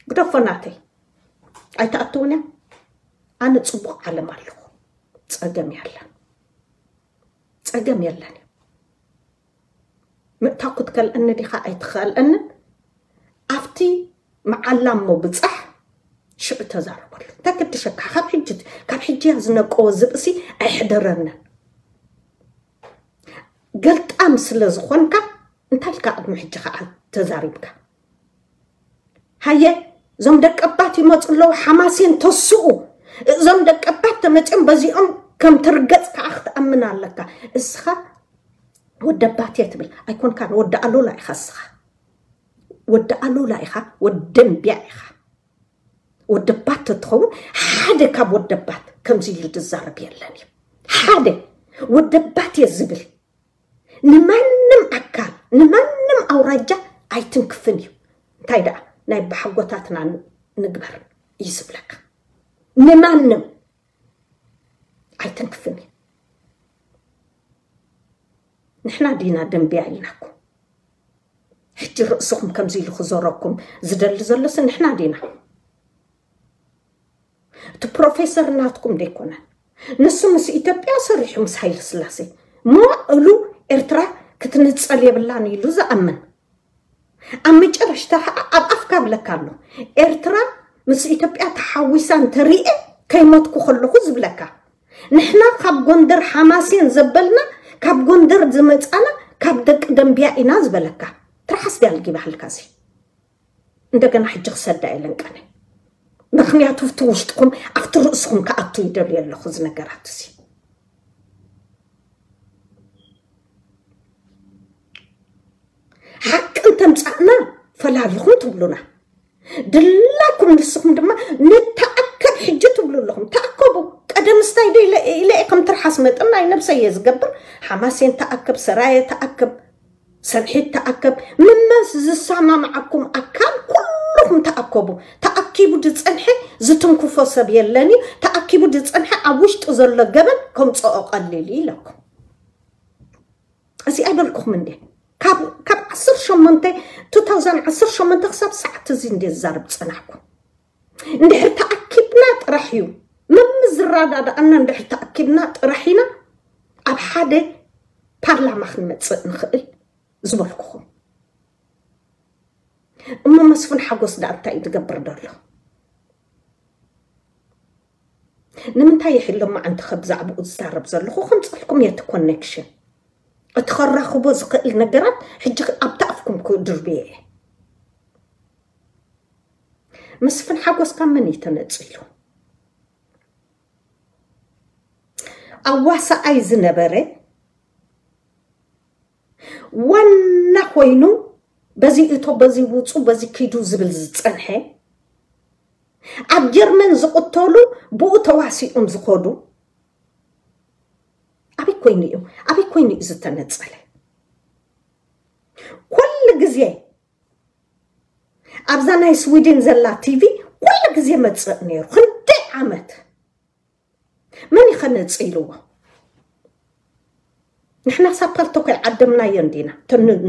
ግደፎ ናተይ፣ ኣይትኣትውን እያ። ኣነ ጽቡቕ ዓለም ኣለኹ። ጸገም የለን፣ ጸገም የለን። ምእታው ክትከልአኒ ዲኻ ኣይትኸልአንን? ኣብቲ መዓላ እሞ ብጻሕ፣ ሽዑ ተዛረበሉ። እንታይ ክድሸካ? ካብ ሕጂ፣ ካብ ሕጂ እያ ዝነቀወ ዝብእሲ ኣይሕደረንን። ገልጣም ስለ ዝኾንካ እንታይ ኢልካ ቅድሚ ሕጂ ከዓ ተዛሪብካ? ሃየ፣ እዞም ደቀባት ይመፁ ኣለዉ፣ ሓማሴን ተስኡ። እዞም ደቀባት ተመፅኦም በዚኦም ከም ትርገፅ ከዓ ክትኣምን ኣለካ። እስኻ ወደባት እየ ትብል ኣይኮንካን፣ ወዲ ኣሉላ ኢኻ እስኻ። ወዲ ኣሉላ ኢኻ፣ ወዲ ደንቢያ ኢኻ። ወደባት ተትኸውን ሓደ ካብ ወደባት ከምዚ ኢሉ ዝዛረብ የለን እዩ። ሓደ ወደባት እየ ዝብል ንማንም ኣካል፣ ንማንም ኣውራጃ ኣይትንክፍን እዩ። እንታይ ደኣ ናይ ብሓጎታትና ን- ንግበር እዩ ዝብለካ። ንማንም ኣይትንክፍን እዩ። ንሕና ዲና ደንቢያ ኢልናኩም? ሕጂ ርእስኹም ከምዚ ኢሉ ክዞረኩም ዝደሊ ዘሎስ ንሕና ዲና? እቲ ፕሮፌሰር ናትኩም ደይኮነን። ንሱ ምስ ኢትዮጵያ ሰሪሑ ምስ ሃይለ ስላሴ ሞ እሉ ኤርትራ ክትንጸል የብላን ኢሉ ዝኣምን። ኣብ መጨረሽታ ኸዓ ኣብ ኣፍካ ብለካ ኣሎ፣ ኤርትራ ምስ ኢትዮጵያ ተሓዊሳ እንተሪኤ ከይሞትኩ ከለኹ ዝብለካ። ንሕና ካብ ጎንደር ሓማሴን ዘበልና፣ ካብ ጎንደር ዝመጻና ካብ ደቂ ደንቢያ ኢና ዝበለካ። ትርሓስ ድያ ልጊባህልካ እዚ? እንደገና ሕጂ ክሰዳ የለን ቀነ። ምኽንያቱ ኣብቲ ውሽጥኹም ኣብቲ ርእስኹም ክኣቱ ይደልዮ ኣለኹ እዚ ነገራት እዚ። ሓቂ እንተምጻእና ፈላሊኹም ትብሉና። ድላኩም ንስኹም ድማ ንተኣከብ ሕጂ ትብሉ ኣለኹም። ተኣከቡ። ቀደም ስታይ ዶ ኢለ ኢለ ከም ትርሓስ መጠን ናይ ነብሰይ እየ ዝገብር። ሓማሴን ተኣከብ፣ ሰራየ ተኣከብ፣ ሰንሒት ተኣከብ። ምመስ ዝሰማምዓኩም ኣካል ኩልኹም ተኣከቡ። ተኣኪቡ ዝጸንሐ ዝትንክፎ ሰብ የለን እዩ። ተኣኪቡ ዝጸንሐ ኣብ ውሽጡ ዘሎ ገበን ከምጽኦ ቀሊል እዩ ኢለኩም። እዚ ኣይበልኩኹም እንዴ? ካብ ካብ ዓሰርተ ሸሞንተ፣ ቱ ታውዘንድ ዓሰርተ ሸሞንተ ክሳብ ሰዓት እዚ እንዴ ዝዛረብ ጸናሕኩ። እንድሕር ተኣኪብና ጥራሕ እዩ፣ መምስ ዝረዳድኣና እንድሕር ተኣኪብና ጥራሕ ኢና ኣብ ሓደ ፓርላማ ክንመጽእ ንኽእል ዝበልኩኹም። እሞ መስፍን ሓጎስ ደኣ እንታይ እዩ ዝገብር ዘሎ? ንምንታይ ይሕሎም መዓንቲ ከብዛዕባኡ ዝዛረብ ዘለኹ? ከምጽልኩም እየ እቲ ኮኔክሽን፣ እቲ ከራኽቦ ዝኽእል ነገራት ሕጂ ኣብቲ ኣፍኩም ክድርብየ እየ። መስፍን ሓጎስ ካብ መን እዩ ተነጺሉ? ኣዋሳኣይ ዝነበረ ዋና ኮይኑ በዚ እቶ በዚ ውፁ በዚ ኪዱ ዝብል ዝፀንሐ፣ ኣብ ጀርመን ዝቕተሉ ብኡ ተዋሲኦም ዝኸዱ ኣበይ ኮይኑ እዩ ኣበይ ኮይኑ እዩ ዝተነፀለ? ኩሉ ግዜ ኣብዛ ናይ ስዊድን ዘላ ቲቪ ኩሉ ግዜ መፅእ ነይሩ። ክንደይ ዓመት መን ይኸነፅልዎ? ንሕና ሳብ ፓልቶኮ ዓደምናዮ እንዲና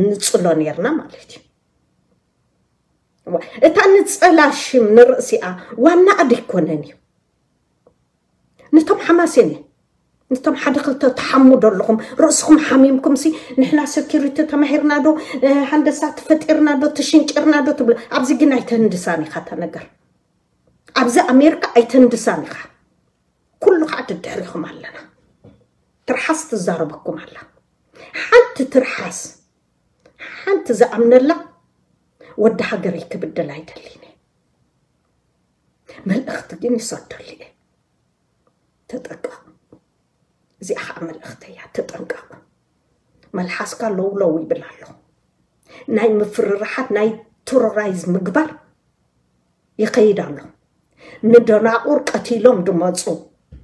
ንፅሎ ነርና ማለት እዩ። እታ ንፀላ ሽም ንርእሲኣ ዋና ኣደ ይኮነን እዩ። ነቶም ሓማሴን ነቶም ሓደ ክልተ ተሓሙ ዶ ኣለኹም? ርእስኹም ሓሚምኩም ሲ ንሕና ሴኪሪቲ ተማሂርና ዶ፣ ሃንደሳ ተፈጢርና ዶ፣ ተሽንጭርና ዶ ትብሉ? ኣብዚ ግን ኣይተህንድሳን ኢኻ እታ ነገር። ኣብዚ ኣሜሪካ ኣይተህንድሳን ኢኻ። ኩሉ ከዓ ድድሕሪኹም ኣለና። ትርሓስ ትዛረበኩም ኣላ። ሓንቲ ትርሓስ ሓንቲ ዝኣምነላ ወዲ ሃገረይ ክብደል ኣይደሊን። መልእኽቲ ግን ይሰደሉ እየ። ተጠንቀቕ። እዚኣ ከዓ መልእኽቲ እያ። ተጠንቀቕ። መልሓስካ ለው ለው ይብል ኣሎ። ናይ ምፍርርሓት ናይ ቴሮራይዝ ምግባር ይኸይድ ኣሎ። ንደናቑር ቀቲሎም ድመፁ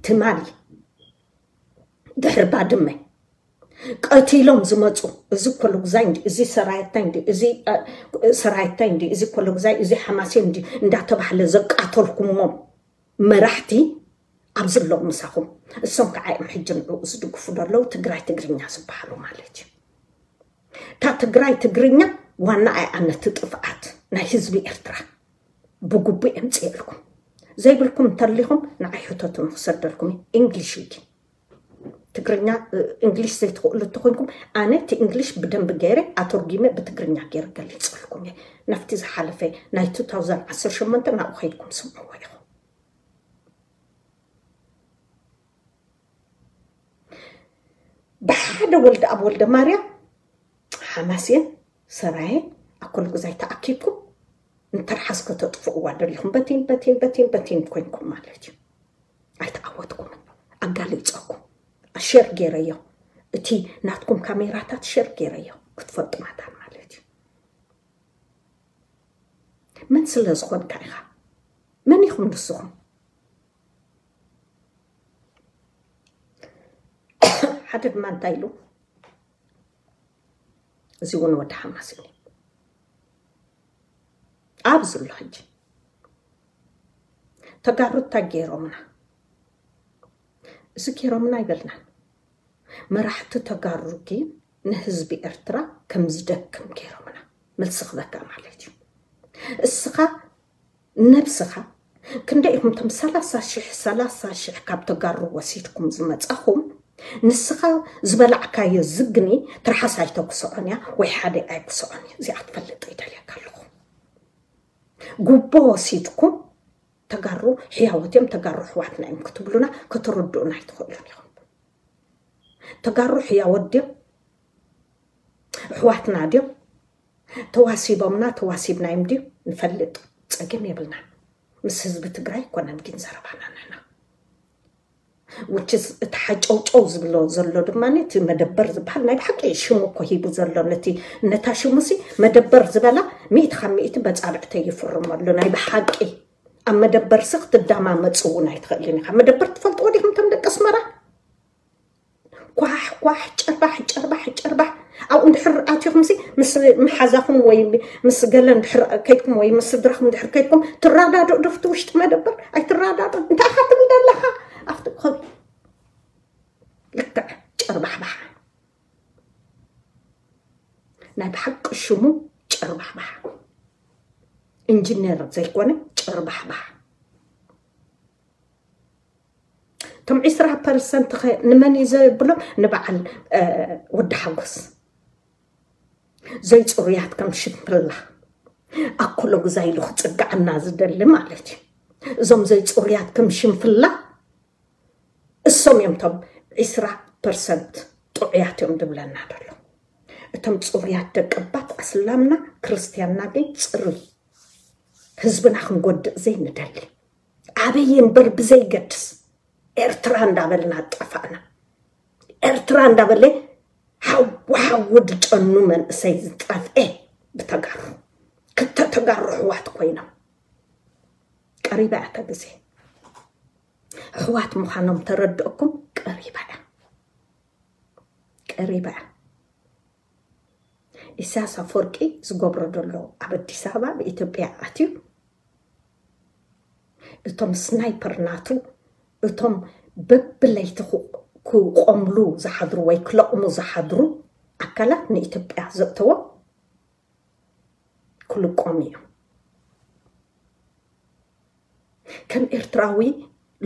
ትማሊ ድሕሪ ባድመ ቀቲሎም ዝመፁ እዚ ኮሎጉዛይ እንዲ እዚ ሰራየታይ እንዲ እዚ ሰራየታይ እንዲ እዚ ኮሎጉዛይ እዚ ሓማሴን እንዲ እንዳተባህለ ዘቃተልኩሞም መራሕቲ ኣብዚ ኣለዉ ምሳኹም። እሶም ከዓ እዮም ሕጂ ንዕኡ ዝድግፉ ዘለዉ ትግራይ ትግርኛ ዝበሃሉ ማለት እዩ። እታ ትግራይ ትግርኛ ዋና ኣያ ነቲ ጥፍኣት ናይ ህዝቢ ኤርትራ ብጉቡእ የምፅየልኩም። ዘይብልኩም እንተሊኹም ንዓይ ሕተቱ ንክሰደልኩም እዩ። እንግሊሽ እዩ። ትግርኛ እንግሊሽ ዘይትኽእሉ እንተኮይንኩም ኣነ እቲ እንግሊሽ ብደንብ ገይረ ኣተርጊመ ብትግርኛ ገይረ ገሊፅልኩም እየ። ናብቲ ዝሓለፈ ናይ ቱ ታውዘንድ ዓሰርተ ሸሞንተ ናብኡ ከይድኩም ስምዕዎ ኢኹም። ብሓደ ወልደ ኣብ ወልደ ማርያም ሓማሴን ሰራየ ኣኮልጉዛይ ተኣኪብኩም ንተርሓስ ከተጥፍእዋ ደሊኹም በቲን በቲን በቲን በቲን ኮይንኩም ማለት እዩ። ኣይተዓወትኩምን። ኣጋሊፀኩም። ሸር ገይረዮ። እቲ ናትኩም ካሜራታት ሸር ገይረዮ ክትፈልጡ መታን ማለት እዩ። መን ስለ ዝኾንካ ኢኻ? መን ኢኹም ንስኹም? ሓደ ድማ እንታይ ኢሉ? እዚ እውን ወዲ ሓማስ እዩ። ኣብ ዝሎ ሕጂ ተጋሩ እንታይ ገይሮምና? እዚ ገይሮምና ኣይበልናን። መራሕቲ ተጋሩ ግን ንህዝቢ ኤርትራ ከም ዝደክም ገይሮምና። መልሲ ክበካ ማለት እዩ። እስኻ ነብስኻ ክንደይ ኢኹም እቶም ሰላሳ ሽሕ ሰላሳ ሽሕ ካብ ተጋሩ ወሲድኩም ዝመጻኹም? ንስኻ ዝበላዕካዮ ዝግኒ ትርሓስ ኣይተኩስዖን እያ ወይ ሓደ ኣይኩስዖን እዩ። እዚኣ ክትፈልጥ ይደልየካ ኣለኹ። ጉቦ ወሲድኩም ተጋሩ ሕያወት እዮም፣ ተጋሩ ኣሕዋትና እዮም ክትብሉና ከተረድኡና ኣይትኽእሉን ኢኹም። ተጋሩ ሕያወት ድዮም? ኣሕዋትና ድዮም? ተዋሲቦምና ተዋሲብናዮም ድዩ ንፈልጥ? ጸገም የብልና። ምስ ህዝቢ ትግራይ ኣይኮነን ግን ዘረባና ንሕና። which is እቲ ሓጨውጨው ዝብሎ ዘሎ ድማ እቲ መደበር ዝበሃል ናይ ብሓቂ ሽሙ እኮ ሂቡ ዘሎ ነቲ ነታ ሽሙሲ መደበር ዝበላ ሚእቲ ካብ ሚእቲ በጻብዕተይ ይፍርመሉ ናይ ብሓቂ ኣብ መደበር ሲ ክትዳማመፅ እውን ኣይትኽእልን ኢኻ መደበር ትፈልጥዎ ዲኹም እቶም ደቂ ኣስመራ ኳሕ ኳሕ ጨርባሕ ጨርባሕ ጨርባሕ ኣብኡ እንድሕር ኣትኹም ሲ ምስ መሓዛኹም ወይ ምስ ገለ እንድሕር ከይድኩም ወይ ምስ ስድራኹም እንድሕር ከይድኩም ትረዳድኡ ዶ ኣብቲ ውሽጢ መደበር ኣይትረዳድኡ እንታይ ኢኻ ትብል ዘለኻ ኣብቲ ልክዕ ጨርባሕባሕ ናይ ብሓቂ ሽሙ ጨርባሕባሕ ኢንጂነር ዘይኮነ ጨርባሕባሕ እቶም ዒስራ ፐርሰንት ንመን እዩ ዘብሎም ንበዓል ወዲ ሓጎስ ዘይፅሩያት ከም ሽምፍላ ኣኮሎ ግዛ ኢሉ ክፅግዓና ዝደሊ ማለት እዩ እዞም ዘይፅሩያት ከም ሽምፍላ እሶም እዮም ቶም ዒስራ ፐርሰንት ጥዑያት እዮም ዝብለና ዘሎ እቶም ፅሩያት ደቅባት ኣስላምና ክርስትያንና ግን ፅሩይ ህዝብና ክንጎድእ ዘይንደሊ ኣበይ እምበር ብዘይገድስ ኤርትራ እንዳበልና ጠፋእና ኤርትራ እንዳበለ ሓዊ ሓዊ ድጨኑ መንእሰይ ዝጠፍኤ ብተጋሩ ክልተ ተጋሩ ኣሕዋት ኮይኖም ቀሪባ እያ እታ ግዜ ኣሕዋት ምዃኖም ተረድእኩም ቀሪባ እያ ቀሪባ እያ ኢሳያስ ኣፈወርቂ ዝገብሮ ዘሎ ኣብ ኣዲስ ኣበባ ብኢትዮጵያ ኣትዩ እቶም ስናይፐር ናቱ እቶም በብለይቲ ክቆምሉ ዝሓድሩ ወይ ክለቕሙ ዝሓድሩ ኣካላት ንኢትዮጵያ ዘእተዎ ክልቆም እዩ ከም ኤርትራዊ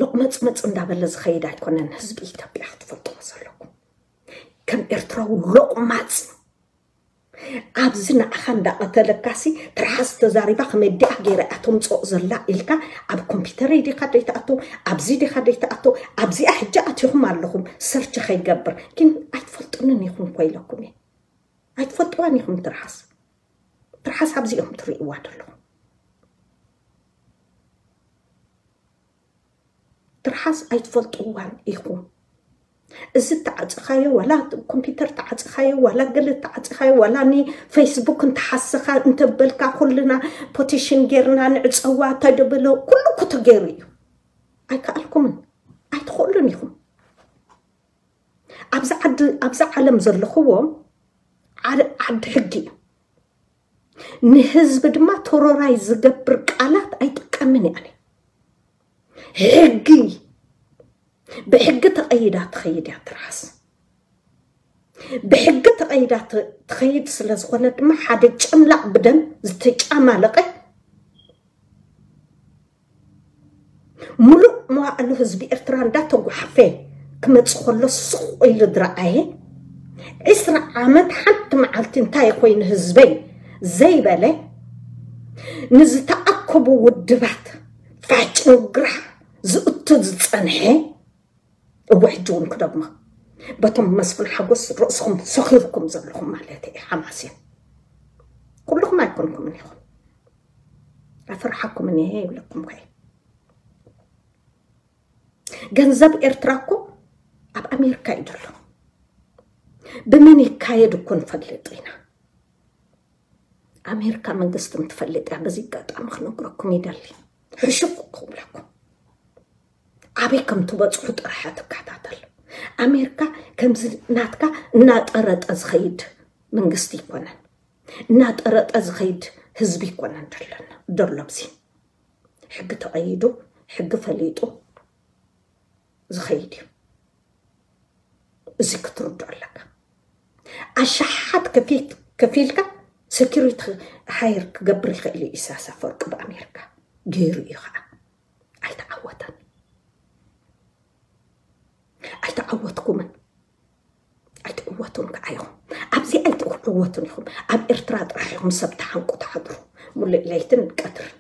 ሎቕመፅመፅ እንዳበለ ዝኸይድ ኣይኮነን ህዝቢ ኢትዮጵያ ክትፈልጥዎ ዘለኩም ከም ኤርትራዊ ሎቕማፅ ኣብዚ ንዓኻ እንዳቐተለካሲ ትርሓስ ተዛሪባ ከመዲኣ ገይረ እያ ተምፅኦ ዘላ ኢልካ ኣብ ኮምፒተረይ ዲኻ ደይትኣቱ ኣብዚ ዲኻ ደይትኣቱ ኣብዚኣ ሕጂ ኣቲኹም ኣለኹም ሰርች ከይገብር ግን ኣይትፈልጡንን ኢኹም ኮይለኩም እየ ኣይትፈልጥዋን ኢኹም ትርሓስ ትርሓስ ኣብዚኦም ትርእይዋ ዘለኹም ትርሓስ ኣይትፈልጥዋን ኢኹም እዚ ተዓፅኻዮ ዋላ ኮምፒተር ተዓፅኻዮ ዋላ ገለ ተዓፅኻዮ ዋላ ኒ ፌስቡክ እንተሓሰኻ እንተበልካ ኩልና ፖቲሽን ጌርና ንዕፀዋ ተደበሎ ኩሉ እኮ ተገይሩ እዩ ኣይከኣልኩምን ኣይትኽእሉን ኢኹም ኣብዚ ዓዲ ኣብዚ ዓለም ዘለኽዎ ዓዲ ሕጊ እዩ ንህዝቢ ድማ ተሮራይ ዝገብር ቃላት ኣይጥቀምን እየ ኣነ ሕጊ ብሕጊ ተቐይዳ ትኸይድ እያ ትርሓስ ብሕጊ ተቐይዳ ትኸይድ ስለ ዝኾነ ድማ ሓደ ጨምላቕ ብደም ዝተጫማለቐ ሙሉእ መዋእሉ ህዝቢ ኤርትራ እንዳተጓሓፈ ክመፅእ ከሎ ስቕ ኢሉ ዝረኣየ ዒስራ ዓመት ሓንቲ መዓልቲ እንታይ ኮይኑ ህዝበይ ዘይበለ ንዝተኣከቡ ውድባት ፋጭን ግራሕ ዝእቱ ዝፀንሐ እወ ሕጂ እውን ክደግሞ በቶም መስፍን ሓጎስ ርእስኹም ሰኺርኩም ዘለኹም ማለት እዩ ሓማሴን ኩልኹም ኣይኮንኩምን ኢኹም ኣፈርሓኩምን እየ ይብለኩም ከ ገንዘብ ኤርትራ እኮ ኣብ ኣሜሪካ እዩ ዘሎ ብመን ይካየድ እኮ ንፈልጥ ኢና ኣሜሪካ መንግስቲ እንትፈልጥ እያ በዚ ኣጋጣሚ ክነግረኩም ይደሊ ሕሹቅ ክብለኩም ኣበይ ከም ትበፅሑ ጥራሕ ትከታተል ኣሜሪካ ከምዚ ናትካ እናጠረጠ ዝኸይድ መንግስቲ ይኮነን እናጠረጠ ዝኸይድ ህዝቢ ይኮነን ደሎና ደሎብዚ ሕጊ ተቐይዱ ሕጊ ፈሊጡ ዝኸይድ እዩ እዚ ክትርዶ ኣለካ ኣሻሓት ከፊልካ security hire ክገብር ይኽእል እዩ ኢሳያስ ኣፈወርቂ ብኣሜሪካ ገይሩ እዩ ከዓ ኣይተዓወተን ኣይተዓወትኩምን ኣይትዕወቱን ከዓ ኢኹም ኣብዚ ኣይትዕወቱን ኢኹም ኣብ ኤርትራ ጥራሕ ኢኹም ሰብ ተሓንቁ ትሓድሩ ሙሉእ ለይትን ቀትርን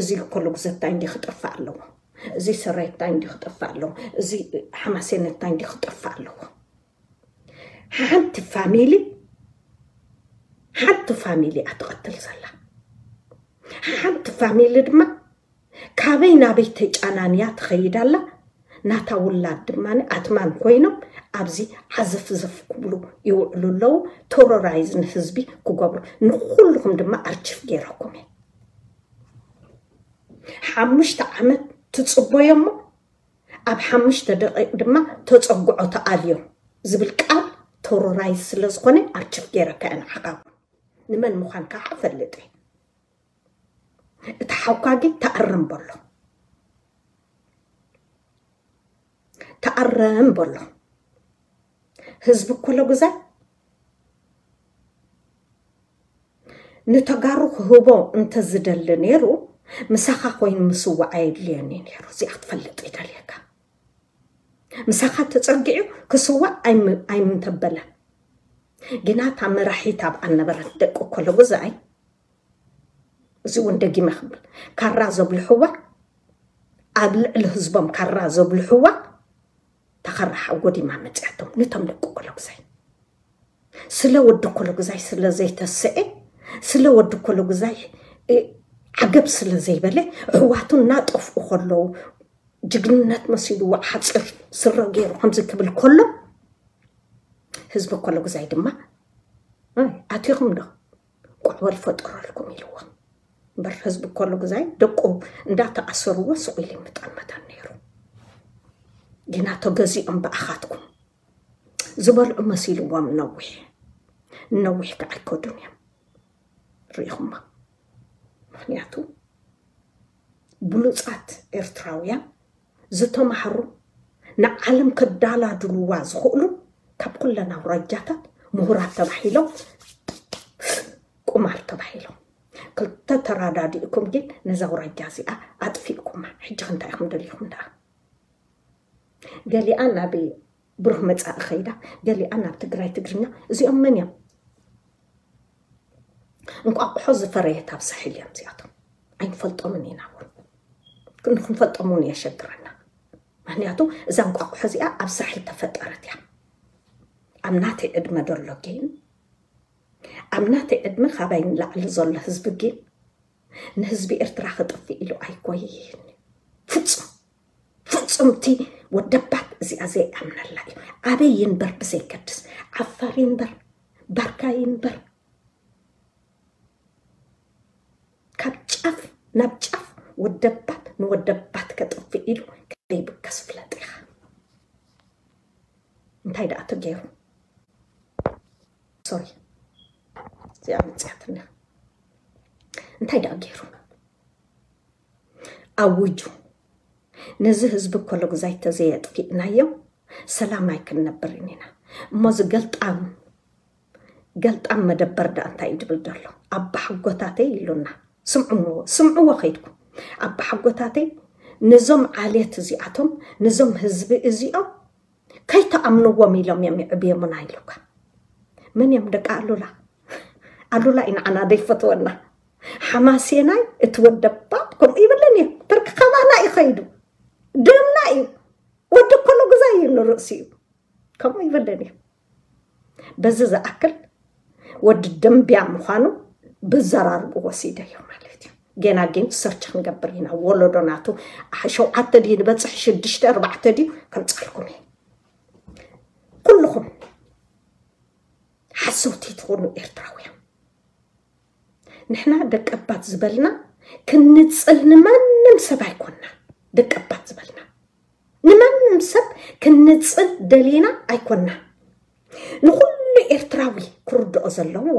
እዚ እኮ ልጉዘታይ እንዲ ክጠፍእ ኣለዎ እዚ ሰራይታይ እንዲ ክጠፍእ ኣለዎ እዚ ሓማሴነታይ እንዲ ክጠፍእ ኣለዎ ሓንቲ ፋሚሊ ሓንቲ ፋሚሊ እያ ትቐትል ዘላ ሓንቲ ፋሚሊ ድማ ካበይ ናበይ ተጫናንያ ትኸይድ ኣላ ናታ ውላድ ድማ ኣትማን ኮይኖም ኣብዚ ዓዘፍዘፍ ክብሉ ይውዕሉ ኣለዉ። ቴሮራይዝ ንህዝቢ ክገብሩ፣ ንኩልኹም ድማ ኣርችፍ ገይረኩም እየ። ሓሙሽተ ዓመት ትጽበዮ እሞ ኣብ ሓሙሽተ ደቂቕ ድማ ተጸግዖ ተኣልዮ ዝብል ቃል ቴሮራይዝ ስለ ዝኾነ ኣርችፍ ገይረካ እየ ንዓኻ። ንመን ምዃንካ ክፈልጥ እየ። እቲ ሓውካ ግን ተኣረም በሎ። ተኣረም በሎ። ህዝቢ ኮለጉዛይ ንተጋሩ ክህቦ እንተዝደሊ ነይሩ፣ ምሳኻ ኮይኑ ምስዋዕ ኣየድልዮን እዩ ነይሩ። እዚኣ ክትፈልጥ ይደልየካ። ምሳኻ ተጸጊዑ ክስዋእ ኣይም-፣ ኣይምተበለን። ግና እታ መራሒት ኣብኣ ነበረት፣ ደቂ ኮለጉዛይ። እዚ እውን ደጊመ ክብል፣ ካራ ዘብልሕዋ፣ ኣብ ልዕሊ ህዝቦም ካራ ዘብልሕዋ፣ ተኸራሓ ጎዲማ መጽያቶም፣ ንቶም ደቂ ኮለጉዛይ። ስለ ወዲ ኮለጉዛይ ስለ ዘይተስኤ፣ ስለ ወዲ ኮለጉዛይ፣ እ፣ ዓገብ ስለ ዘይበለ፣ ኣሕዋቱ እናጠፍኡ ከለዉ፣ ጅግንነት መሲልዎ ሓጺር ስረ ገይሩ ከምዚ ክብል ከሎ፣ ህዝቢ ኮለጉዛይ ድማ፣ "ኣይ፣ ኣቲኹም ዶ? ቋዕ በል ፈጠረልኩም" ኢልዎ። እምበር ህዝቢ ኮለጉዛይ ደቁ እንዳተኣሰርዎ ስቕ ኢሉ ይምጠልመተን ነይሩ። ግና ተገዚኦም ብኣኻትኩም ዝበልዑ መሲልዎም ነዊሕ፣ ነዊሕ ከዓ ኣይከዱን እዮም። ርኢኹማ? ምኽንያቱ ብሉጻት ኤርትራውያን ዝተማህሩ፣ ንዓለም ከዳላድልዋ ዝኽእሉ፣ ካብ ኩለን ኣውራጃታት ምሁራት ተባሂሎም፣ ቁማር ተባሂሎም። ክልተ ተራዳዲእኩም ግን ነዛ ኣውራጃ እዚኣ ኣጥፊእኩማ። ሕጂ እንታይ ኢኹም ደሊኹም ደኣ? ገሊኣ ናብ ብሩህ መጻኢ ኸይዳ፣ ገሊኣ ናብ ትግራይ ትግርኛ። እዚኦም መን እዮም? እንቋቑሖ ዝፈረየት ኣብ ሳሕል እዮም እዚኣቶም። ኣይንፈልጦምን ኢና እውን። ክንፈልጦም እውን የሸግረና። ምኽንያቱ እዛ እንቋቑሖ እዚኣ ኣብ ሳሕል ተፈጠረት እያ። ኣብ ናተይ ዕድመ ዘሎ ግን፣ ኣብ ናተይ ዕድመ ካባይ ንላዕሊ ዘሎ ህዝቢ ግን ንህዝቢ ኤርትራ ክጥፍእ ኢሉ ኣይኮይን። ፍጹም፣ ፍጹም እቲ ወደባት እዚኣ ዘይኣምነላ እዩ። ኣበይ ይንበር ብዘይገድስ፣ ዓፋር ይንበር፣ ባርካ ይንበር፣ ካብ ጫፍ ናብ ጫፍ ወደባት ንወደባት ከጥፍእ ኢሉ ከይብገስ ፍለጥ ኢኻ። እንታይ ደኣ ተገይሩ? ሶሪ፣ እዚኣ መጽያትና። እንታይ ደኣ ገይሩ? ኣውጁ፣ ነዚ ህዝቢ ኮለጉዛይ ተዘየጥፊእናዮ ሰላም ኣይክንነብርን ኢና። እሞ እዚ ገልጣም፣ ገልጣም መደበር ደኣ እንታይ እዩ ድብል ዘሎ? ኣባሓጎታተይ ኢሉና። ስምዕዎ፣ ስምዕዎ ከይድኩም። ኣባሓጎታተይ ነዞም ዓሌት እዚኣቶም፣ ነዞም ህዝቢ እዚኦም ከይተኣምንዎም ኢሎም እዮም ይዕብዮምና ኢሉካ። መን እዮም ደቂ ኣሉላ? ኣሉላ እዩ ንዓና ዘይፈትወና። ሓማሴናይ እቲ ወደባት ከምኡ ይብልን እዩ። ተርክ ካባና እዩ ከይዱ። ደምና እዩ። ወዲ ኮለጉዛይ እዩ ንርእሲኡ። ከምኡ ይብልን እዩ። በዚ ዝኣክል ወዲ ደምብያ ምዃኑ ብዘራርቡ ወሲደዮ ማለት እዩ። ገና ግን ሰርች ክንገብር ኢና። ወለዶ ናቱ ሸውዓተ ድዩ ንበጽሕ፣ ሽዱሽተ፣ ኣርባዕተ ድዩ ከምጻልኩም እየ። ኩልኹም ሓሰውቲ ትኾኑ ኤርትራውያን፣ ንሕና ደቀባት ዝበልና ክንጽል ንማንም ሰብ ኣይኮንና። ደቀባት ዝበልና ንማንም ሰብ ክንጽል ደሊና ኣይኮንና። ንኹሉ ኤርትራዊ ክርድኦ ዘለዎ፣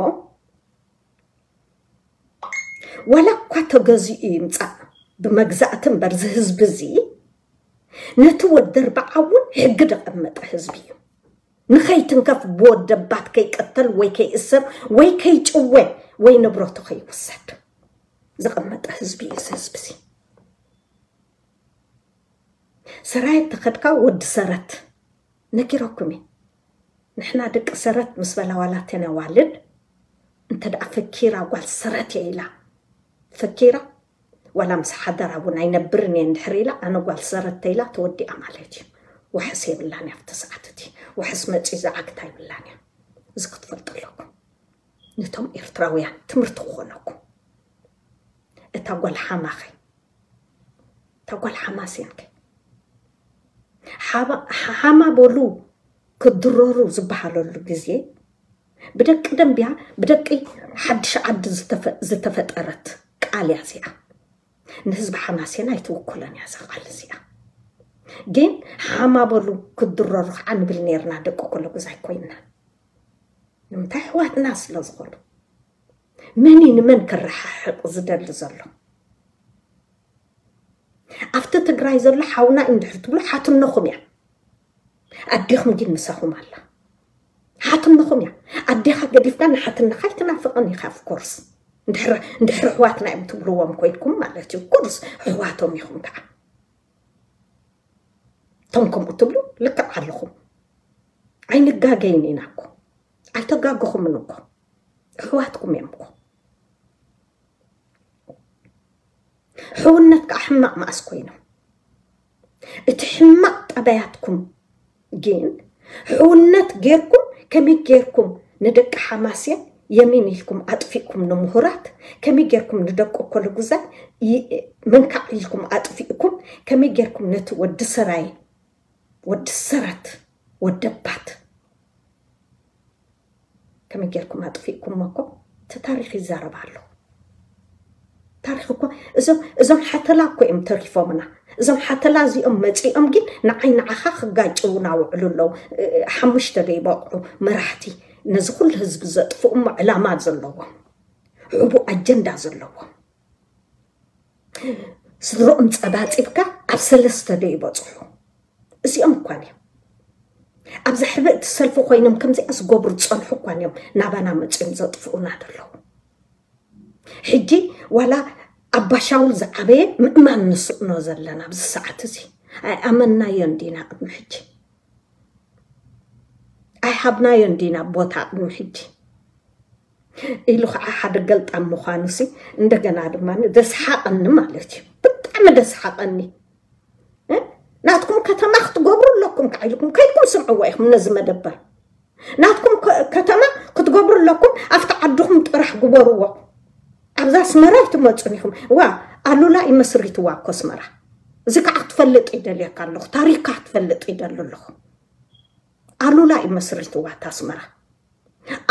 ዋላ እኳ ተገዚኡ ይምጻእ ብመግዛእቲ እምበር፣ እዚ ህዝቢ እዚ ነቲ ወዲ ኣርብዓ እውን ሕጊ ደቐመጠ ህዝቢ እዩ። ንኸይትንከፍ፣ ብወደባት ከይቀተል ወይ ከይእሰር ወይ ከይጭወ ወይ ንብረቱ ከይውሰድ ዝቐመጠ ህዝቢ እዩ እዚ ህዝቢ እዚ። ሰራየት ተኸድካ ወዲ ሰረት ነጊረኩም እየ። ንሕና ደቂ ሰረት ምስ በላ ዋላ ተን ኣዋልድ እንተ ደኣ ፈኪራ ጓል ሰረት እየ ኢላ ፈኪራ፣ ዋላ ምስ ሓደራ እውን ኣይነብርን እየ እንድሕር ኢላ፣ ኣነ ጓል ሰረት ተኢላ ተወዲኣ ማለት እዩ። ዋሕስ የብላን እያ ኣብቲ ሰዓት እቲ። ዋሕስ መጺኡ ዝዓግታ የብላን እያ። እዚ ክትፈልጡ ኣለኩም። ነቶም ኤርትራውያን ትምህርቲ ክኾነኩም። እታ ጓል ሓማኸ፣ እታ ጓል ሓማሴንከ፣ ሓማ በሉ ክድረሩ ዝበሃለሉ ግዜ ብደቂ ደንቢያ፣ ብደቂ ሓድሽ ዓዲ ዝተፈጠረት ቃል እያ እዚኣ። ንህዝቢ ሓማሴን ኣይትውክሎን እያ እዛ ቃል እዚኣ። ግን ሓማ በሉ ክድረሩ ከዓ ንብል ነርና፣ ደቂ ኮለጉዛይ ኮይንና። ንምንታይ? ኣሕዋትና ስለ ዝኾኑ። መን እዩ ንመን ክረሓሕቕ ዝደሊ ዘሎ? ኣብቲ ትግራይ ዘሎ ሓውና እዩ እንድሕር ትብሉ ሓትነኹም እያ። ኣዴኹም ግን ምሳኹም ኣላ። ሓትነኹም እያ። ኣዴኻ ገዲፍካ ንሓትነኻ ኣይትናፍቕን ኢኻ። Of course፣ እንድሕር ኣሕዋትና እዮም ትብልዎም ኮይንኩም ማለት እዩ። Of course፣ ኣሕዋቶም ኢኹም ከዓ። እቶም ከምኡ ትብሉ ልክዕ ኣለኹም። ኣይንጋገይን ኢና እኮ። ኣይተጋገኹምን እኮ። ኣሕዋትኩም እዮም እኮ። ሕውነት ከዓ ሕማቕ መኣስ ኮይኖም። እቲ ሕማቕ ጠባያትኩም ግን ሕውነት ጌርኩም ከመይ ጌርኩም ንደቂ ሓማሴን የሚን ኢልኩም ኣጥፊእኩም፣ ንምሁራት ከመይ ጌርኩም ንደቂ ኮለጉዛይ መንካዕ ኢልኩም ኣጥፊእኩም፣ ከመይ ጌርኩም ነቲ ወዲ ሰራይ፣ ወዲ ሰረት፣ ወደባት ከመይ ጌርኩም ኣጥፊእኩሞ እኮ እቲ ታሪኽ ይዛረብ ኣሎ። ታሪኽ እኮ እዞም ሓተላ እኮ እዮም ተሪፎምና። እዞም ሓተላ እዚኦም መፂኦም ግን ንዓይ ንዓኻ ክጋጭውና ውዕሉ ኣለዉ። ሓሙሽተ ደይበቕዑ መራሕቲ ነዚ ኩሉ ህዝቢ ዘጥፍኡ እሞ ዕላማ ዘለዎም፣ ሕቡእ ኣጀንዳ ዘለዎም። ስድሮኦም ፀባፂብካ ኣብ ሰለስተ ደይበፅሑ። እዚኦም እኳን እዮም ኣብዛ ሕብእቲ ሰልፊ ኮይኖም ከምዚኣ ዝገብሩ ዝፀንሑ እኳን እዮም ናባና መፅዮም ዘጥፍኡና ዘለዉ። ሕጂ ዋላ ኣባሻውል ዝዓበየ ምእማን ንስእኖ ዘለና ኣብዚ ሰዓት እዚ ኣይኣመናዮን ዲና ቅድሚ ሕጂ ኣይሃብናዮን ዲና ቦታ ቅድሚ ሕጂ ኢሉ ከዓ ሓደ ገልጣም ምዃኑ ሲ እንደገና ድማ ደስሓቐኒ ማለት እዩ። ብጣዕሚ ደስሓቐኒ። ናትኩም ከተማ ክትገብሩ ኣለኩም ከዓ ኢልኩም ከይድኩም ስምዕዎ ኢኹም ነዚ መደበር። ናትኩም ከተማ ክትገብሩ ኣለኩም፣ ኣብቲ ዓድኹም ጥራሕ ግበርዎ። ኣብዛ ኣስመራ ኣይትመፁን ኢኹም። ዋ ኣሉላ ይመስሪትዋ እኮ ኣስመራ። እዚ ከዓ ክትፈልጥ ይደልየካ ኣለኹ፣ ታሪካ ክትፈልጥ ይደሊ ኣለኹ። ኣሉላ ይመስሪትዋ እታ ኣስመራ።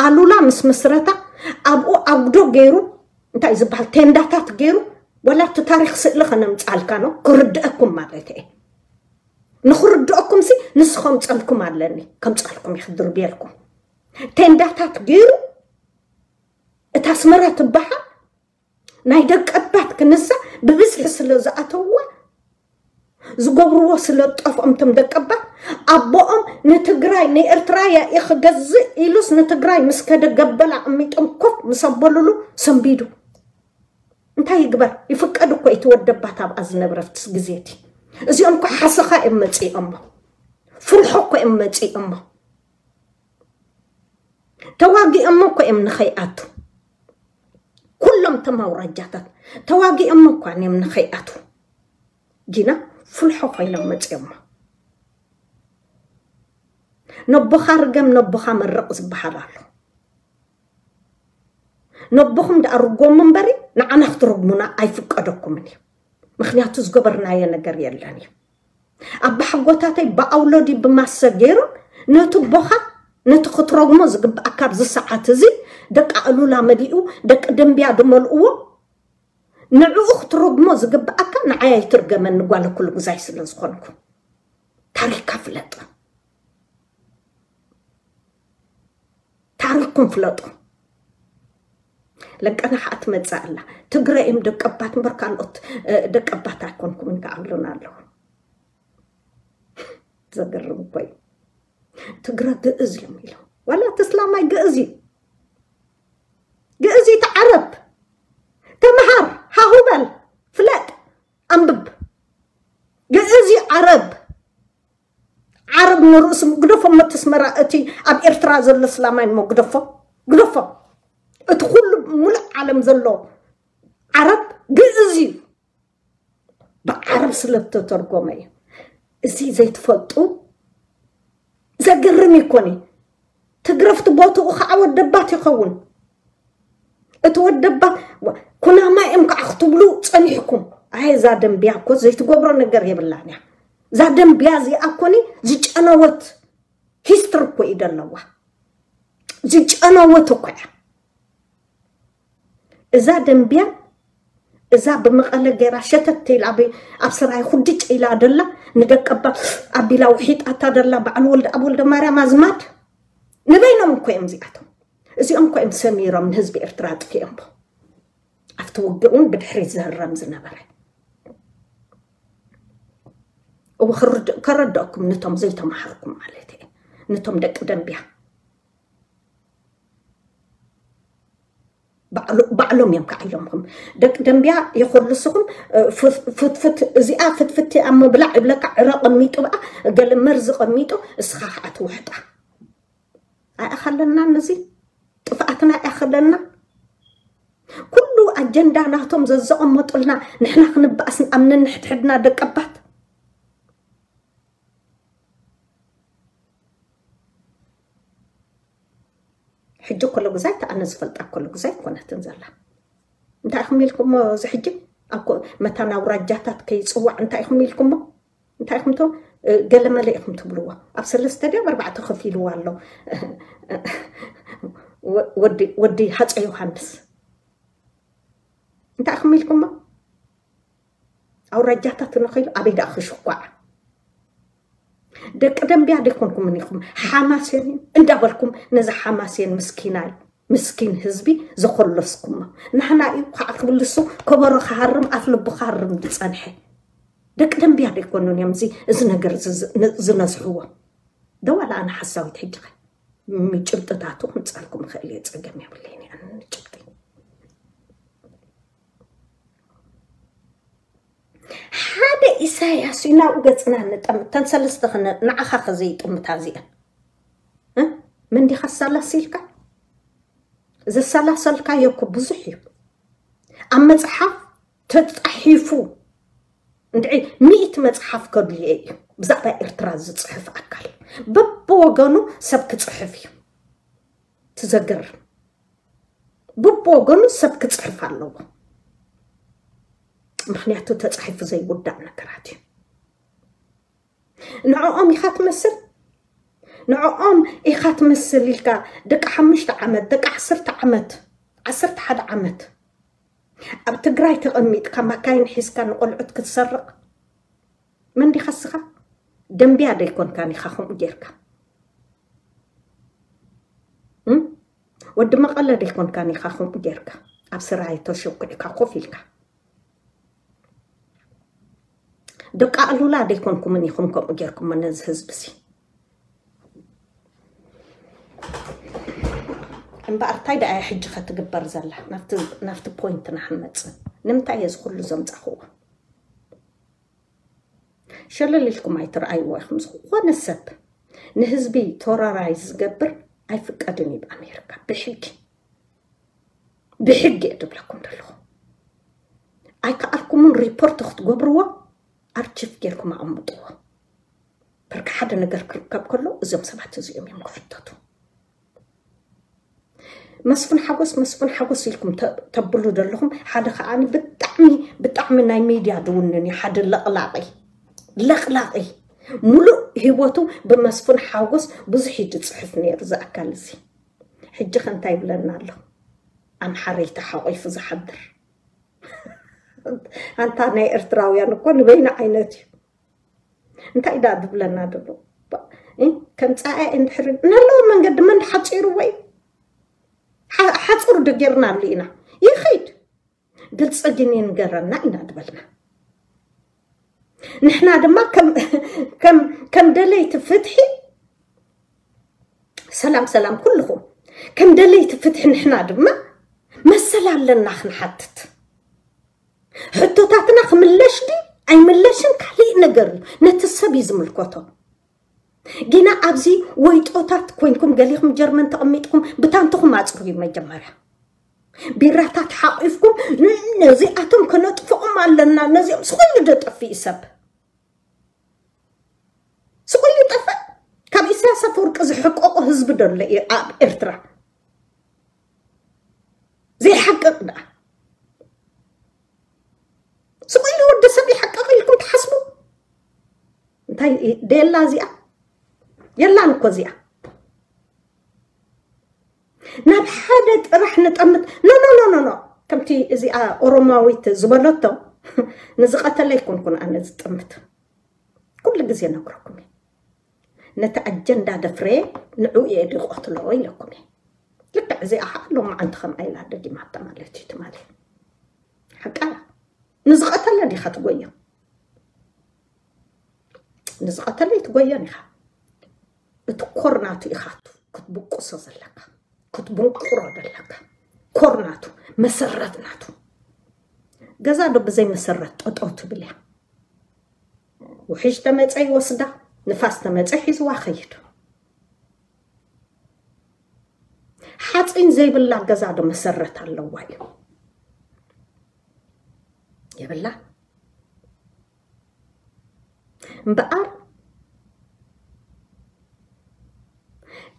ኣሉላ ምስ መስረታ ኣብኡ ኣጉዶ ገይሩ እንታይ ዝበሃል ቴንዳታት ገይሩ ወላ እቲ ታሪክ ስእሊ ከነምፃልካ ነው ክርድአኩም ማለት እየ። ንክርድአኩም ሲ ንስ ከምፀልኩም ኣለኒ ከምፀልኩም ይክድርብየልኩም ቴንዳታት ገይሩ እታ ኣስመራ ትበሃል ናይ ደቀባት ክንሳ ብብዝሒ ስለ ዝኣተውዋ ዝገብርዎ ስለ ዝጠፍኦም እቶም ደቀባት ኣቦኦም ንትግራይ ንኤርትራ እየ ክገዝእ ኢሉስ ንትግራይ ምስ ከደ ገበል ኣቐሚጦም ኮፍ ምስ ኣበሉሉ ሰንቢዱ እንታይ ይግበር ይፍቀድ እኮ እቲ ወደባት ኣብኣ ዝነብረትስ ግዜቲ እዚኦም እኮ ሓሰኻ እዮም መፂኦሞ ፍርሖ እኮ እዮም መፂኦሞ ተዋጊኦሞ እኮ እዮም ንኸይኣቱ ኩሎም እቶም ኣውራጃታት ተዋጊኦሞ እኳ እዮም ንኸይኣቱ ጊና ፍልሖ ኮይኖም መፅዮሞ ነቦኻ ርገም ነቦኻ መርቕ ዝበሃል ኣሎ ነቦኹም ደኣ ርጎሙ እምበሪ ንዓና ክትረግሙና ኣይፍቀደኩምን እዩ ምክንያቱ ዝገበርናዮ ነገር የለን እዩ ኣባሓጎታተይ ብኣውሎዲ ብማሰ ገይሩ ነቲ ቦኻ ነቲ ክትረግሞ ዝግብኣካ ኣብዚ ሰዓት እዚ ደቂ ኣሉላ መሊኡ ደቂ ደንብያ ድመልእዎ ንዕኡ ክትረግሞ ዝግብኣካ ንዓይ ኣይትርገመኒ ጓል ኩሉ ግዛይ ስለ ዝኾንኩ ታሪካ ፍለጥ ታሪኩም ፍለጡ ለቀና ከዓ ትመፅእ ኣላ ትግረ እዮም ደቀባት እምበር ካልኦት ደቀባት ኣይኮንኩምን ከዓ ብሉና ኣለዉ ዘገርም እኮ እዩ ትግረ ግእዝ እዮም ኢሎም ዋላ እቲ እስላማይ ግእዝ እዩ ግእዝ እዩ ተዓረብ ተምሃር ሃሁበል ፍለጥ ኣንብብ ግእዝ እዩ ዓረብ ዓረብ ንርእሱ ግደፎ መተስመራ እቲ ኣብ ኤርትራ ዘሎ እስላማይ እሞ ግደፎ ግደፎ እቲ ኩሉ ሙሉእ ዓለም ዘሎ ዓረብ ግእዝ እዩ ብዓረብ ስለ ዝተተርጎመ እዩ እዚ ዘይትፈልጡ ዘገርም ይኮኒ ትግረፍቲ ቦትኡ ከዓ ወደባት ይኸውን እቲ ወደባት ኩናማ እዮም ከዓ ክትብሉ ፀኒሕኩም ኣይ እዛ ደንብያ እኮ ዘይትገብሮ ነገር የብላን እያ እዛ ደንብያ እዚኣ እኮኒ ዝጨነወት ሂስትሪ እኮ እዩ ዘለዋ። ዝጨነወት እኮ እያ እዛ ደንብያ። እዛ ብመቐለ ገይራ ሸተት ኢላ ኣብ ኣብ ስራይ ኩድጭ ኢላ ደላ፣ ንደቀባ ኣቢላ ውሒጣታ ደላ። በዓል ወልደ ኣብ ወልደ ማርያም ኣዝማድ ንበይኖም እኮ እዮም እዚኣቶም። እዚኦም እኮ እዮም ሰሚሮም ንህዝቢ ኤርትራ ኣጥፊኦምቦ። ኣብቲ ውግእ እውን ብድሕሪት ዝህረም ዝነበረ። እወ፣ ክርድ- ከረድአኩም፣ ነቶም ዘይተማሃርኩም ማለት እየ፣ ነቶም ደቂ ደንብያ። ባዕሎ- ባዕሎም እዮም ከዓሎምኩም። ደቂ ደንብያ የኮልስኹም። እ፣ ፍት- ፍትፍት፣ እዚኣ ፍትፍት ኣብ ምብላዕ ይብለካ፣ ዕረ ቀሚጡ ብኣ፣ ገለ መርዚ ቀሚጡ፣ እስኻ ከዓ ትውሕጣ። ኣይኣኸለና፣ ነዚ ጥፍኣትና ኣይኣኸለና። ኩሉ ኣጀንዳ ናቶም ዘዘቐመጡልና፣ ንሕና ክንበኣስ ኣብ ነንሕድሕድና ደቀባት። ሕጂ ኮሎ ግዛይ ተኣነ ዝፈልጣ ኮሎ ግዛይ ኮነትን ዘላ። እንታይ ኢኹም ኢልኩሞ? እዚ ሕጂ ኣብ ኮ- መታን ኣውራጃታት ከይፅዋዕ እንታይ ኢኹም ኢልኩሞ? እንታይ ኢኹም ቶ- እ፣ ገለመለ ኢኹም ትብልዎ? ኣብ ሰለስተ ድዮ ኣብ ኣርባዕተ ከፊልዎ ኣሎ። ወ- ወዲ ወዲ ሃፀ ዮሃንስ እንታይ ኢኹም ኢልኩሞ? ኣውራጃታት ንኸይሉ ኣበይ ደኣ ክሽኳዕ? ደቂ ደንብያ ደይኮንኩምን ኢኹም ሓማሴን እንዳበልኩም ነዚ ሓማሴን ምስኪናይ ምስኪን ህዝቢ ዘኮለስኩሞ። ንሕና እዩ ከዓ ክብልሱ ከበሮ ክሃርም ኣፍ ልቡ ክሃርም ዝፀንሐ። ደቂ ደንብያ ደይኮኑን እዮም እዚ እዚ ነገር እዚ ዝ- ን- ዝነዝሕዎ። ደዋላ ኣነ ሓሳዊት ሕጂ ኸ ምጭብጥታቱ ክምፀልኩም ይኽእል እየ፣ ፀገም የብለይን እየ ኣነ ጭብጢ። ሓደ ኢሳያስ እዩ ናብኡ ገፅና ንጠምት። ተን ሰለስተ ክነ ንዓኻ ከዘይጥምታ እዚአን እ? መን ዲኻ ኣሰላሲልካ? ዘሰላሰልካዮ እኮ ብዙሕ እዩ። ኣብ መፅሓፍ ተፃሒፉ እንድዒ ሚእቲ መፅሓፍ ከድልዮ እዩ ብዛዕባ ኤርትራ ዝፅሕፍ ኣካል። በብወገኑ ሰብ ክፅሕፍ እዩ ትዘግር። በብወገኑ ሰብ ክፅሕፍ ኣለዎ። ምክንያቱ ተፃሒፉ ዘይውዳእ ነገራት እዩ። ንዕኦም ኢኻ ትመስል ንዕኦም ኢኻ ትመስል ኢልካ ደቂ ሓሙሽተ ዓመት ደቂ ዓሰርተ ዓመት ዓሰርተ ሓደ ዓመት ኣብ ትግራይ ተቐሚጥካ ማካይን ሒዝካ ንቆልዑት ክትሰርቕ መን ዲኻ እስኻ? ደንብያ ደይኮንካን ኢኻ ከምኡ ጌርካ እም? ወዲ መቐለ ደይኮንካን ኢኻ ከምኡ ጌርካ ኣብ ስራይ ተሸኩዕካ ኮፍ ኢልካ ደቂ ኣሉላ ደይኮንኩምን ኢኹም ከምኡ ጌርኩሞ ነዚ ህዝቢ ሲ እምበኣር እንታይ ደኣ ሕጂ ከትግበር ዘላ ናብቲ ናብቲ ፖይንትና ክንመጽእ ንምንታይ እየ ዝኩሉ ዘምጻኽዎ ሸለል ኢልኩም ኣይትረኣይዎ ኢኹም ዝኾነ ሰብ ንህዝቢ ቶራራይ ዝገብር ኣይፍቀድን እዩ ብኣሜሪካ ብሕጊ ብሕጊ እየ ዝብለኩም ዘለኹ ኣይከኣልኩምን ሪፖርት ክትገብርዎ ኣርቺፍ ጌርኩም ኣቐምጥዎ በርካ ሓደ ነገር ክርከብ ከሎ እዞም ሰባት እዚኦም እዮም ክሕተቱ መስፍን ሓጎስ መስፍን ሓጎስ ኢልኩም ተብሉ ዘለኹም ሓደ ከዓኒ ብጣዕሚ ብጣዕሚ ናይ ሚድያ ድውንን እዩ ሓደ ለቕላቒ ለቕላቒ ሙሉእ ህይወቱ ብመስፍን ሓጎስ ብዙሕ እዩ ዝፅሕፍ ነይሩ ዝኣካል እዚ ሕጂ ከ እንታይ ይብለና ኣሎ ኣምሓረይ ተሓቒፉ ዝሓድር ኣንታ ናይ ኤርትራውያን እኮ ንበይኑ ዓይነት እዩ እንታይ ዳ ዝብለና ዘሎ ከም ፀኣ እንድሕር ነለዎ መንገዲ መን ሓፂርዎ እዩ ሓፅሩ ደጌርናሉ ኢና ይኸይድ ግልፂ ግን ይንገረና ኢና ዝበልና ንሕና ድማ ከም ደለይቲ ፍትሒ ሰላም ሰላም ኩልኹም ከም ደለይቲ ፍትሒ ንሕና ድማ መሰል ኣለና ክንሓትት ሕቶታትና ክምለሽ ዲ ኣይምለሽን ካሊእ ነገር እዩ ነቲ ሰብ እዩ ዝምልከቶ ጊና ኣብዚ ወይጦታት ኮይንኩም ገሊኹም ጀርመን ተቐሚጥኩም ብታንትኹም ኣፅርዩ መጀመርያ ቢራታት ሓቂፍኩም ነዚኣቶም ከነጥፍኦም ኣለና ነዚኦም ስኮይሉ ደጠፍእ ሰብ ስቆይ ይጠፍእ ካብ ኢሳያስ ኣፈወርቂ ዝሕቀቆ ህዝቢ ደሎ እዩ ኣብ ኤርትራ ዘይሓቅቅ ደኣ ስቆይ ወዲ ሰብ ይሓቅቅ ኢልኩም ትሓስቡ እንታይ ደላ እዚኣ? የላን እኮ እዚኣ። ናብ ሓደ ጥራሕ ንጠምት። ኖ ኖ ኖ ኖ ኖ ከምቲ እዚኣ ኦሮማዊት ዝበለቶ ንዝቐተለ ይኮንኩን ኣነ ዝጥምት። ኩሉ ግዜ ነግረኩም እየ። ነቲ ኣጀንዳ ደፍረ ንዑ እየ ድቆትሎ ኢለኩም እየ። ልክዕ እዚኣ ከዓ ሎማዓንቲ ከምኣ ኢላ ደጊማታ ማለት እዩ ትማሊ። ሓቃ ንዝቐተለ ዲኻ ትጎዮ? ንዝቐተለ ይትጎዮን ኢኻ። እቲ ኮር ናቱ ኢኻ ክትብቁሶ ዘለካ፣ ክትብንቁሮ ዘለካ። ኮር ናቱ፣ መሰረት ናቱ። ገዛ ዶ ብዘይ መሰረት ጠጠው ትብል እያ? ውሕጅ ተመፀ ይወስዳ፣ ንፋስ ተመፀ ሒዝዋ ኸይድ። ሓፂን ዘይብላ ገዛ ዶ መሰረት ኣለዋ እዩ? የብላ። እምበኣር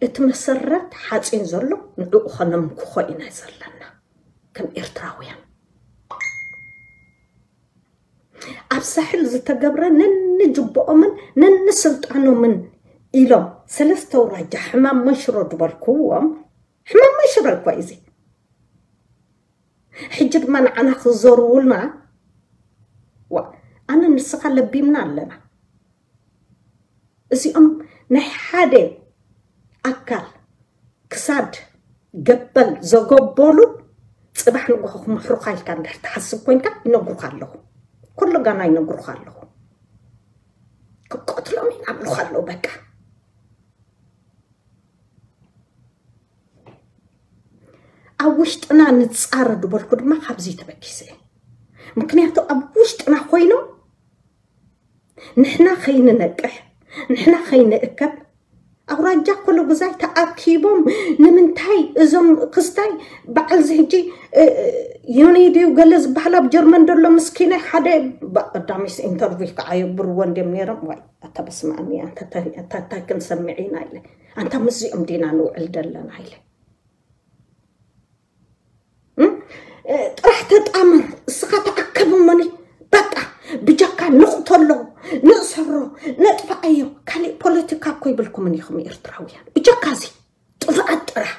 እቲ መሰረት ሓፂን ዘሎ ንዕኡ ኸነምክኾ ኢና ዘለና ከም ኤርትራውያን። ኣብ ሳሕል ዝተገብረ ነንጅቦኦምን ነንስልጣኖምን ኢሎም ሰለስተ ኣውራጃ ሕማም መንሽሮ ዝበልክዎም፣ ሕማም መንሽሮ እኳ እዩ እዚ። ሕጂ ድማ ንዓና ክዘርውልና፣ ዋ፣ ኣነ ንስኻ ለቢምና ኣለና። እዚኦም ናይ ሓደ ኣካል ክሳድ ገበል ዘገበሉ፣ ጽባሕ ንግሆ ክምሕሩኻ ኢልካ እንድሕር ትሓስብ ኮንካ ይነግሩኻ ኣለኹ። ኩሉ ጋና ይነግሩኻ ኣለኹ። ክቀትሎም ይናብሉኻ ኣለዉ በቃ። ኣብ ውሽጥና ንጻረ ዝበልኩ ድማ ካብዚ ተበጊሰ። ምክንያቱ ኣብ ውሽጥና ኮይኖም ንሕና ከይንነቅሕ፣ ንሕና ከይንእከብ፣ ኣውራጃ ኮሎ ግዛይ ተኣኪቦም ንምንታይ እዞም ክስታይ በዓል እዚ ሕጂ፣ እ፣ እ፣ ዮኒ ድዩ ገለ ዝበሃል ኣብ ጀርመን ዘሎ ምስኪናይ ሓደ ባ-፣ ቀዳሚስ ኢንተርቪው ከዓ የግብርዎ እንድዮም ነይሮም። ዋይ፣ ኣታ በስመ ኣብ፣ ኣንታ ታይ፣ ኣታ ታይ ክንሰምዕ ኢና ኢለ። ኣንታ ምስዚኦም ዲና ንውዕል ደለና ኢለ። እም? እ፣ ጥራሕ ተጣመር፣ እስኻ ተኣከብ እሞኒ፣ በቃ፣ ብጀካ ንቕተሎ፣ ንእሰሮ፣ ነጥፍኣዮ። ካሊእ ፖለቲካ እኮ ይብልኩምን ኢኹም ኤርትራውያን። ብጀካ እዚ ጥፍኣት ጥራሕ።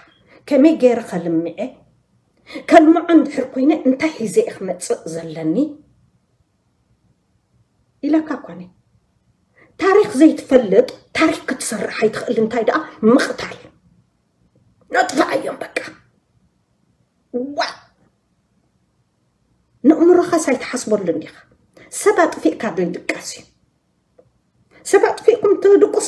ከመይ ገይረ ከልምዐ? ከልምዖ እንድሕር ኮይነ እንታይ ሒዘ እየ ክመጽእ ዘለኒ? ኢለካ እኳ እኔ። ታሪኽ ዘይትፈልጥ ታሪኽ ክትሰርሕ ኣይትኽእል። እንታይ ደኣ ምቕታል። ነጥፍኣዮም በቃ። ዋ! ንእምሮኻስ ኣይትሓስበሉን ኢኻ። ሰብ ኣጥፊእካ ዶ ይድቀስ እዩ? ሰብ ኣጥፊእኩም ትድቅሱ?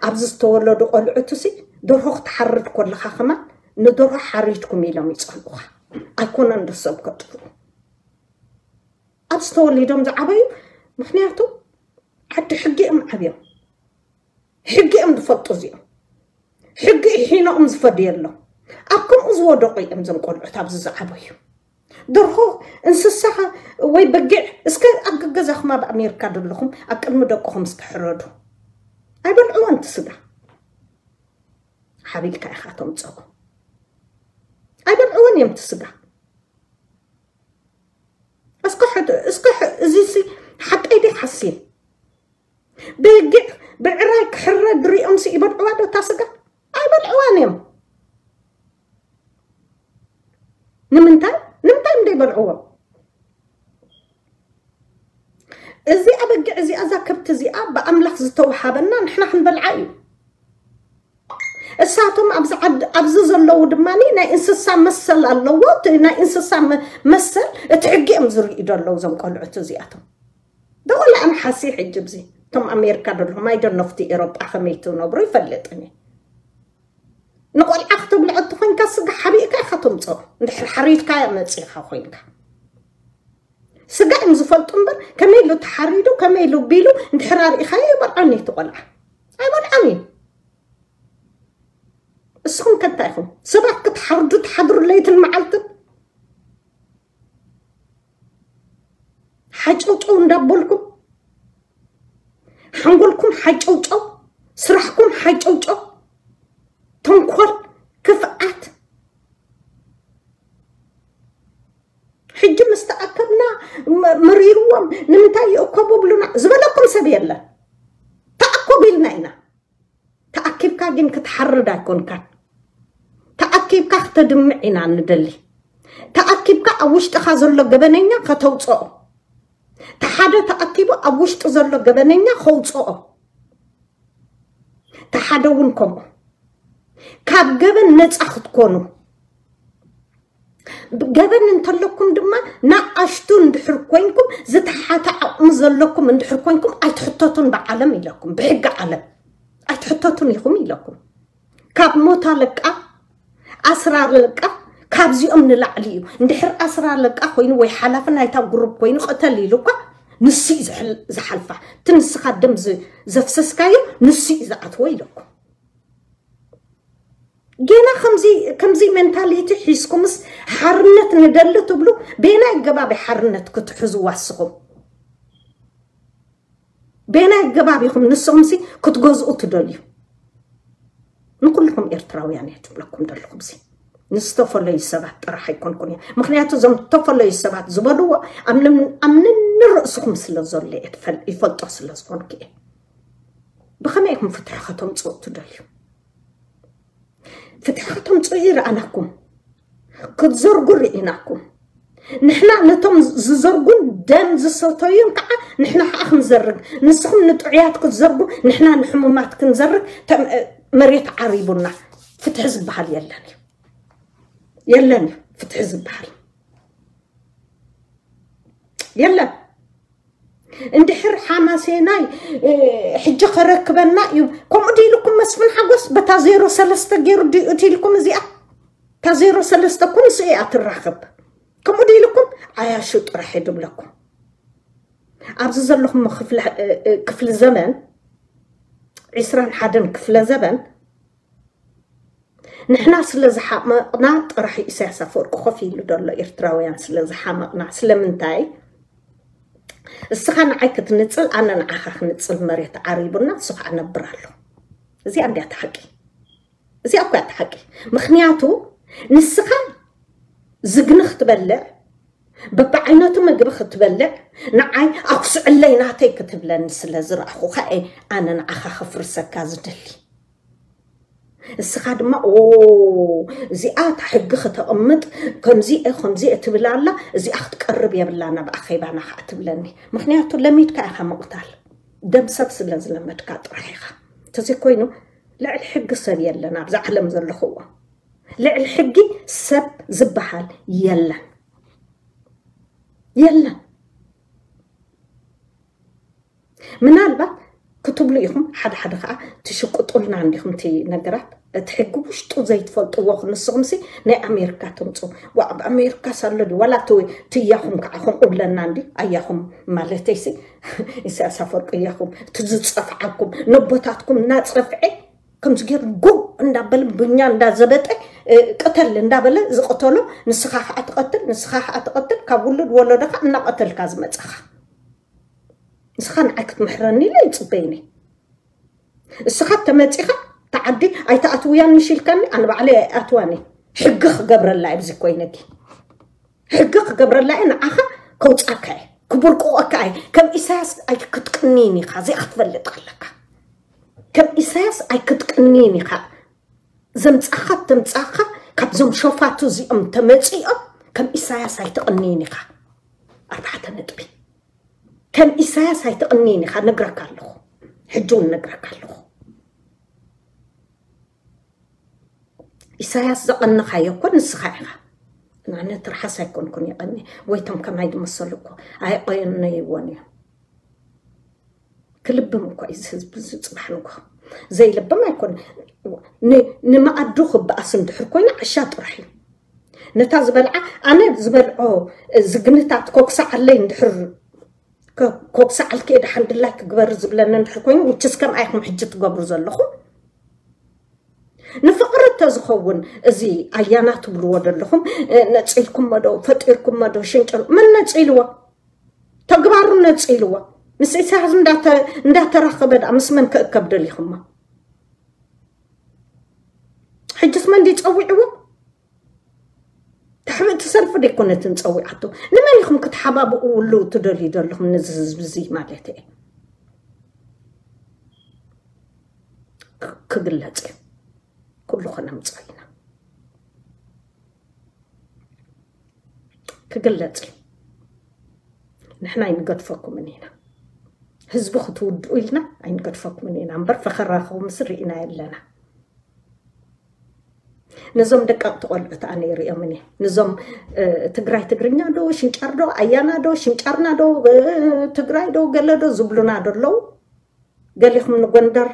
ኣብዚ ዝተወለዱ ቆልዑትሲ ደርሆ ክትሓርድ ከለኻ ከማን ንደርሆ ሓሪድኩም ኢሎም ይጸልኡኻ። ኣይኮነን ዶ ሰብ ከጥፍኡ? ኣብዚ ተወሊዶም ዝዓበዩ፣ ምኽንያቱ ዓዲ ሕጊ እዮም ዓብዮም። ሕጊ እዮም ዝፈልጡ እዚኦም። ሕጊ ሒኖኦም ዝፈድየሎም። ኣብ ከምኡ ዝወደቑ እዮም እዞም ቆልዑት ኣብዚ ዝዓበዩ። ደርሆ፣ እንስሳ ወይ በጊዕ፣ እስከ ኣብ ገገዛኹም ኣብ ኣሜሪካ ዘለኹም ኣብ ቅድሚ ደቅኹም እስከ ሕረዱ። ኣይበልዕዎን እቲ ስጋ። ሓቢልካ ኢኻ ተምጽኦ። ኣይበልዕዎን እዮም እቲ ስጋ። እስከ ሕድ-፣ እስከ ሕ-፣ እዚሲ ሓቀይ ድዩ ሓሲን? በጊዕ ብዕራይ ክሕረድ ሪኦምሲ ይበልዕዋ ዶ እታ ስጋ? ኣይበልዕዋን እዮም። ንምንታይ? ንምንታይ እዮም ዘይበልዕዎም? እዚኣ በጊዕ እዚኣ፣ እዛ ከብቲ እዚኣ ብኣምላኽ ዝተውሃበና ንሕና ክንበልዓ እዩ። እሳቶም ኣብዚ ዓድ-፣ ኣብዚ ዘለዉ ድማ ናይ እንስሳ መሰል ኣለዎ። እቲ ናይ እንስሳ መ-፣ መሰል እቲ ሕጊ እዮም ዝርእዩ ዘለዉ እዞም ቆልዑት እዚኣቶም። ዶ ወላ ኣነ ሓሲ ሕጂ ኣብዚ እቶም ኣሜሪካ ዘለኹም፣ ኣይደኖ ኣብቲ ኤሮጳ ከመይ ትነብሩ ይፈልጥን እየ። ንቆልዓ ክትብልዖ እንተኾይንካ ስጋ ሓቢእካ ኢኻ ተምጽኦ። እንድሕር ሓሪድካያ መጺኻ ኮይንካ። ስጋ እዮም ዝፈልጡ እምበር ከመይ ኢሉ ተሓሪዱ፣ ከመይ ኢሉ ቢሉ እንድሕር ኣርኢኻዮ ይበልዖን እዩ እቲ ቆልዓ። ኣይበልዖን እዩ። እስኹም ከ እንታይ ኢኹም? ሰባት ክትሓርዱ ትሓድሩ ለይትን መዓልትን? ሓጨውጨው እንዳበልኩም፣ ሓንጎልኩም ሓጨውጨው፣ ስራሕኩም ሓጨውጨው፣ ተንኮል፣ ክፍኣት። ሕጂ ምስ ተኣከብና መ-፣ መሪርዎም፣ ንምንታይ ይእከቡ ብሉና ዝበለኩም ሰብ የለን። ግን ክትሓርድ ኣይኮንካን። ተኣኪብካ ክተድምዕ ኢና ንደሊ። ተኣኪብካ ኣብ ውሽጥኻ ዘሎ ገበነኛ ከተውፅኦ። ተሓደ ተኣኪቡ ኣብ ውሽጡ ዘሎ ገበነኛ ከውፅኦ። ተሓደ እውን ከምኡ። ካብ ገበን ነፃ ክትኮኑ። ገበን እንተለኩም ድማ ንኣሽቱ እንድሕር ኮይንኩም ዝተሓተ ዓቕሚ ዘለኩም እንድሕር ኮይንኩም ኣይትሕተቱን ብዓለም ኢለኩም፣ ብሕጊ ዓለም ኣይትሕተቱን ኢኹም ኢለኩም። ካብ ሞት ኣለቃ ኣስራር ኣለቃ ካብዚኦም ንላዕሊ እዩ። እንድሕር ኣስራር ኣለቃ ኮይኑ ወይ ሓላፊ ናይታ ግሩፕ ኮይኑ ቅተል ኢሉ እኳ ንሱ እዩ ዝሕል- ዝሓልፋ። እቲ ንስኻ ደም ዝ- ዘፍሰስካዮ ንሱ እዩ ዝኣትዎ ኢለኩም። ጌና ከምዚ ከምዚ ሜንታሊቲ ሒዝኩምስ ሓርነት ንደሊ ትብሉ፣ ቤናይ ገባቢ ሓርነት ክትሕዙ ዋስኹም? ቤናይ ገባብ ኢኹም ንስኹምሲ ክትገዝኡ ትደልዩ? ንኩልኹም ኤርትራውያን እየ ትብለኩም ዘለኹ። ብዚ ንዝተፈለዩ ሰባት ጥራሕ ኣይኮንኩን እየ። ምክንያቱ እዞም ዝተፈለዩ ሰባት ዝበልዎ ኣብ ንን- ኣብ ንንርእስኹም ስለ ዘሎ እየ ትፈል- ይፈልጦ ስለ ዝኾንኩ እየ። ብኸመይ ኢኹም ፍትሒ ከተምፅኡ ትደልዩ? ፍትሒ ከተምፅኡ ይረኣናኩም፣ ክትዘርጉ ርኢናኩም። ንሕና ነቶም ዝዘርጉን ደም ዝሰተዩን ከዓ ንሕና ከዓ ክንዘርግ፣ ንስኹም ንጥዑያት ክትዘርጉ ንሕና ንሕሙማት ክንዘርግ። ተም- መሬት ዓሪቡና። ፍትሒ ዝበሃል የለን እዩ፣ የለን እዩ ፍትሒ ዝበሃል የለን። እንድሕር ሓማሴናይ ሕጂ ከረክበና እዩ ከምኡ ድኢልኩም መስፍን ሓጎስ በታ ዜሮ ሰለስተ ገይሩ ድእቲ ኢልኩም እዚኣ እታ ዜሮ ሰለስተ እኮ ንሱ እያ ትራኸብ። ከምኡ ድኢልኩም ዓያሹ ጥራሕ እየ ድብለኩም። ኣብዚ ዘለኹም ክፍለ- ክፍሊ ዘበን ዕስራን ሓደን ክፍለ ዘበን ንሕና ስለ ዝሓመቕና ጥራሕ ኢሳያስ ኣፈወርቂ ኮፍ ኢሉ ዘሎ ኤርትራውያን ስለ ዝሓመቕና። ስለምንታይ? እስኻ ንዓይ ክትንጽል ኣነ ንዓኻ ክንጽል መሬት ዓሪቡና እሱ ከዓ ነብር ኣሎ። እዚኣ እንዲያ እቲ ሓቂ። እዚኣ እኮ እያ እቲ ሓቂ። ምክንያቱ ንስኻ ዝግኒ ክትበልዕ በብዓይነቱ ምግቢ ክትበልዕ ንዓይ ኣኩስዕለይ ናተይ ክትብለኒ ስለ ዝረኣኹኻ እየ ኣነ ንዓኻ ከፍርሰካ ዝደሊ። እስኻ ድማ ኦ እዚኣ እታ ሕጊ ከተቕምጥ ከምዚ እየ ከምዚ እየ ትብል ኣላ እዚኣ ክትቀርብ የብላ ናብ ኣኼባና ከዓ ትብለኒ። ምክንያቱ ለሚድካ ኢኻ ምቕታል ደም ሰብ ስለ ዝለመድካ ጥራሕ ኢኻ። እንተዘይኮይኑ ልዕሊ ሕጊ ሰብ የለን ኣብዚ ዓለም ዘለኽዎ ልዕሊ ሕጊ ሰብ ዝበሃል የለን የለን። ምናልባት ክትብሉ ኢኹም ሓደ ሓደ ከዓ ትሽቅጡልና እንዲኹም እቲ ነገራት እቲ ሕጊ ውሽጡ ዘይትፈልጥዎ ንስኹምሲ ናይ ኣሜሪካ ትምፁ። ዋ ኣብ ኣሜሪካ ሳሎ ድዩ ዋላ እቲ እቲ እያኹም ከዓ ከምኡ ብለና እንዲ ኣያኹም ማለተይሲ ኢሳያስ ኣፈወርቂ እያኹም እቲ ዝፀፍዓኩም ነቦታትኩም እናፀፍዐ ከምዚ ገይሩ ጉ እንዳበለ ብኛ እንዳዘበጠ ቅተል እንዳበለ ዝቅተሎ ንስኻ ከዓ ትቀትል ንስኻ ከዓ ትቀትል ካብ ውሉድ ወለዶካ እናቀተልካ ዝመፀኻ ንስኻ ንዓይ ክትምሕረኒ ኢለ ይፅበይኒ እስኻ ተመፂኻ ተዓዲ ኣይተኣትውያን ምሽ ኢልካኒ ኣነ ባዕለይ ኣይኣትዋኒ ሕጊ ክገብረላ ኣብዚ ኮይነጊ ሕጊ ክገብረላ እየ ንዓኻ ከውፃካ እየ ክብርቅቆካ እየ ከም ኢሳያስ ኣይክትቅንይን ኢኻ እዚኣ ክትፈልጥ ኣለካ ከም ኢሳያስ ኣይክትቅንይን ኢኻ ዘምፃኻ ተምፃኻ ካብዞም ሸፋቱ እዚኦም ተመፂኦም ከም ኢሳያስ ኣይትቅንይን ኢኻ ኣርባዕተ ነጥቢ ከም ኢሳያስ ኣይትቅንይን ኢኻ ነግረካ ኣለኹ ሕጂ እውን ነግረካ ኣለኹ ኢሳያስ ዘቐነኻዮ እኮ ንስኻ ኢኻ ኣነ ትርሓስ ኣይኮንኩን ይቐኒ ወይቶም ከማይ ዝመሰሉ እኮ ኣይቆየነይዎን እዮም ክልብም እኮ እዩ ህዝቢ ዝፅባሕ ንጎ ዘይልብም ኣይኮን ንመኣዱ ክበኣስ እንድሕር ኮይኑ ዓሻ ጥራሕ እዩ ነታ ዝበልዓ ኣነ ዝበልዖ ዝግንታት ኮክሳዓለይ እንድሕር ኮክሳዓልኪ ድሓን ድላይ ክግበር ዝብለኒ እንድሕር ኮይኑ ውችስ ከም ኣይኹም ሕጂ ትገብሩ ዘለኹም ንፍቕሪ እንተዝኸውን እዚ ኣያና ትብልዎ ዘለኹም ነፂልኩሞ ዶ ፈጢርኩሞ ዶ ሽንጨሎ መን ነፂልዎ ተግባሩ ነፂልዎ ምስ ኢሳያስ እንዳተራኸበ ዳ ምስ መን ክእከብ ደሊኹሞ ሕጅስ መን ዲጸዊዕዎ ታሕብእቲ ሰልፊ ደይኮነትን ጸዊዓቶ ንመን ኢኹም ክትሓባብእውሉ ትደልዩ ዘለኹም ነዚ ህዝቢ እዚ ማለት እየ ክ- ክግለጽ እዩ ኩሉ ከነምፅኦ ኢና። ክግለፅ እዩ። ንሕና ኣይንገድፈኩምን ኢና። ህዝቢ ክትውድኡ ኢልና ኣይንገድፈኩምን ኢና እምበር ፈኸራኹምስ ርኢና የለና። ነዞም ደቀቕቲ ቆልዑት ኣነ ይሪኦምን እየ። ነዞም ትግራይ ትግርኛ ዶ ሽንጫር ዶ ኣያና ዶ ሽንጫርና ዶ ትግራይ ዶ ገለ ዶ ዝብሉና ዶ ኣለዉ። ገሊኹም ንጎንደር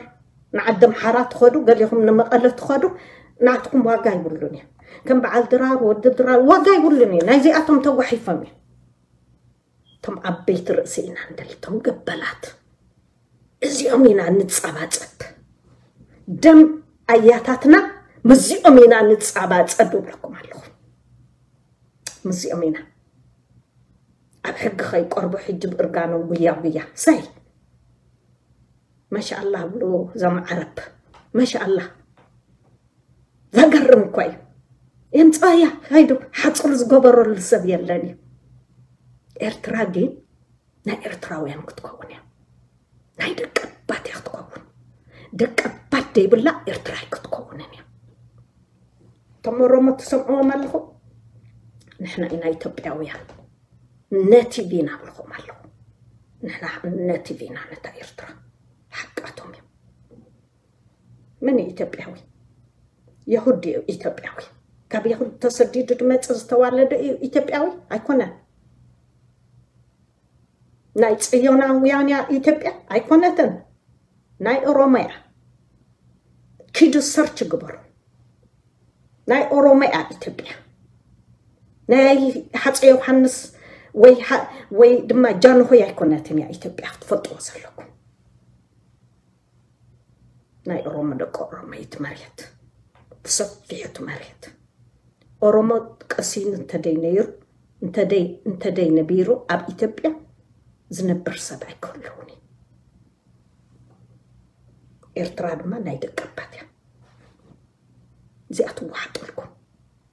ንዓዲ ኣምሓራ ትኸዱ፣ ገሊኹም ንመቐለ ትኸዱ። ናትኩም ዋጋ ይብሉን እዩ። ከም በዓል ድራር ወዲ ድራር ዋጋ ይብሉን እዩ። ናይዚኣቶም ተጓሒፎም እዩ። እቶም ዓበይቲ ርእሲ ኢና ንደሊ፣ እቶም ገበላት። እዚኦም ኢና ንጻባጸብ። ደም ኣያታትና ምስዚኦም ኢና ንጻባጸብ እብለኩም ኣለኹ። ምስዚኦም ኢና ኣብ ሕጊ ከይቀርቡ ሕጂ ብእርጋኖም ጉያ ጉያ ሰይ መሻኣላ ብሉ። ዘም ዓረብ መሻኣላ። ዘገርም እኮ እዩ። የምፅኣያ ሃይዱ ሓፅሩ ዝገበረሉ ሰብ የለን እዩ። ኤርትራ ግን ናይ ኤርትራውያን ክትከውን እያ። ናይ ደቀባት እያ ክትከውን። ደቀባት ደይብላ ኤርትራ ኣይክትከውንን እያ። እቶም ኦሮሞ ትሰምዕዎም ኣለኹም? ንሕና ኢና ኢትዮጵያውያን። ነቲቭ ኢና ብልኹም ኣለኹ። ንሕና ነቲቭ ኢና ነታ ኤርትራ። ሓቃቶም እዮም። መን እዩ ኢትዮጵያዊ? የሁድ እዩ ኢትዮጵያዊ። ካብ የሁድ ተሰዲዱ ድመጽእ ዝተዋለደ እዩ ኢትዮጵያዊ ኣይኮነን። ናይ ጽዮናውያን እያ ኢትዮጵያ ኣይኮነትን። ናይ ኦሮሞ እያ። ኪዱ ሰርች ግበሩ። ናይ ኦሮሞ እያ ኢትዮጵያ። ናይ ሃፀይ ዮሃንስ ወይ ሃ- ወይ ድማ ጃንሆይ ኣይኮነትን እያ ኢትዮጵያ ክትፈልጥዎ ዘለኩም። ናይ ኦሮሞ ደቂ ኦሮሞ እዩ እቲ መሬት ብሰፊሑ እቲ መሬት ኦሮሞ ቀሲኑ እንተደይ ነይሩ እንተደይ እንተደይ ነቢሩ ኣብ ኢትዮጵያ ዝነብር ሰብ ኣይክህልውን እዩ። ኤርትራ ድማ ናይ ደቀባት እያ። እዚኣ ትወሓጠልኩም።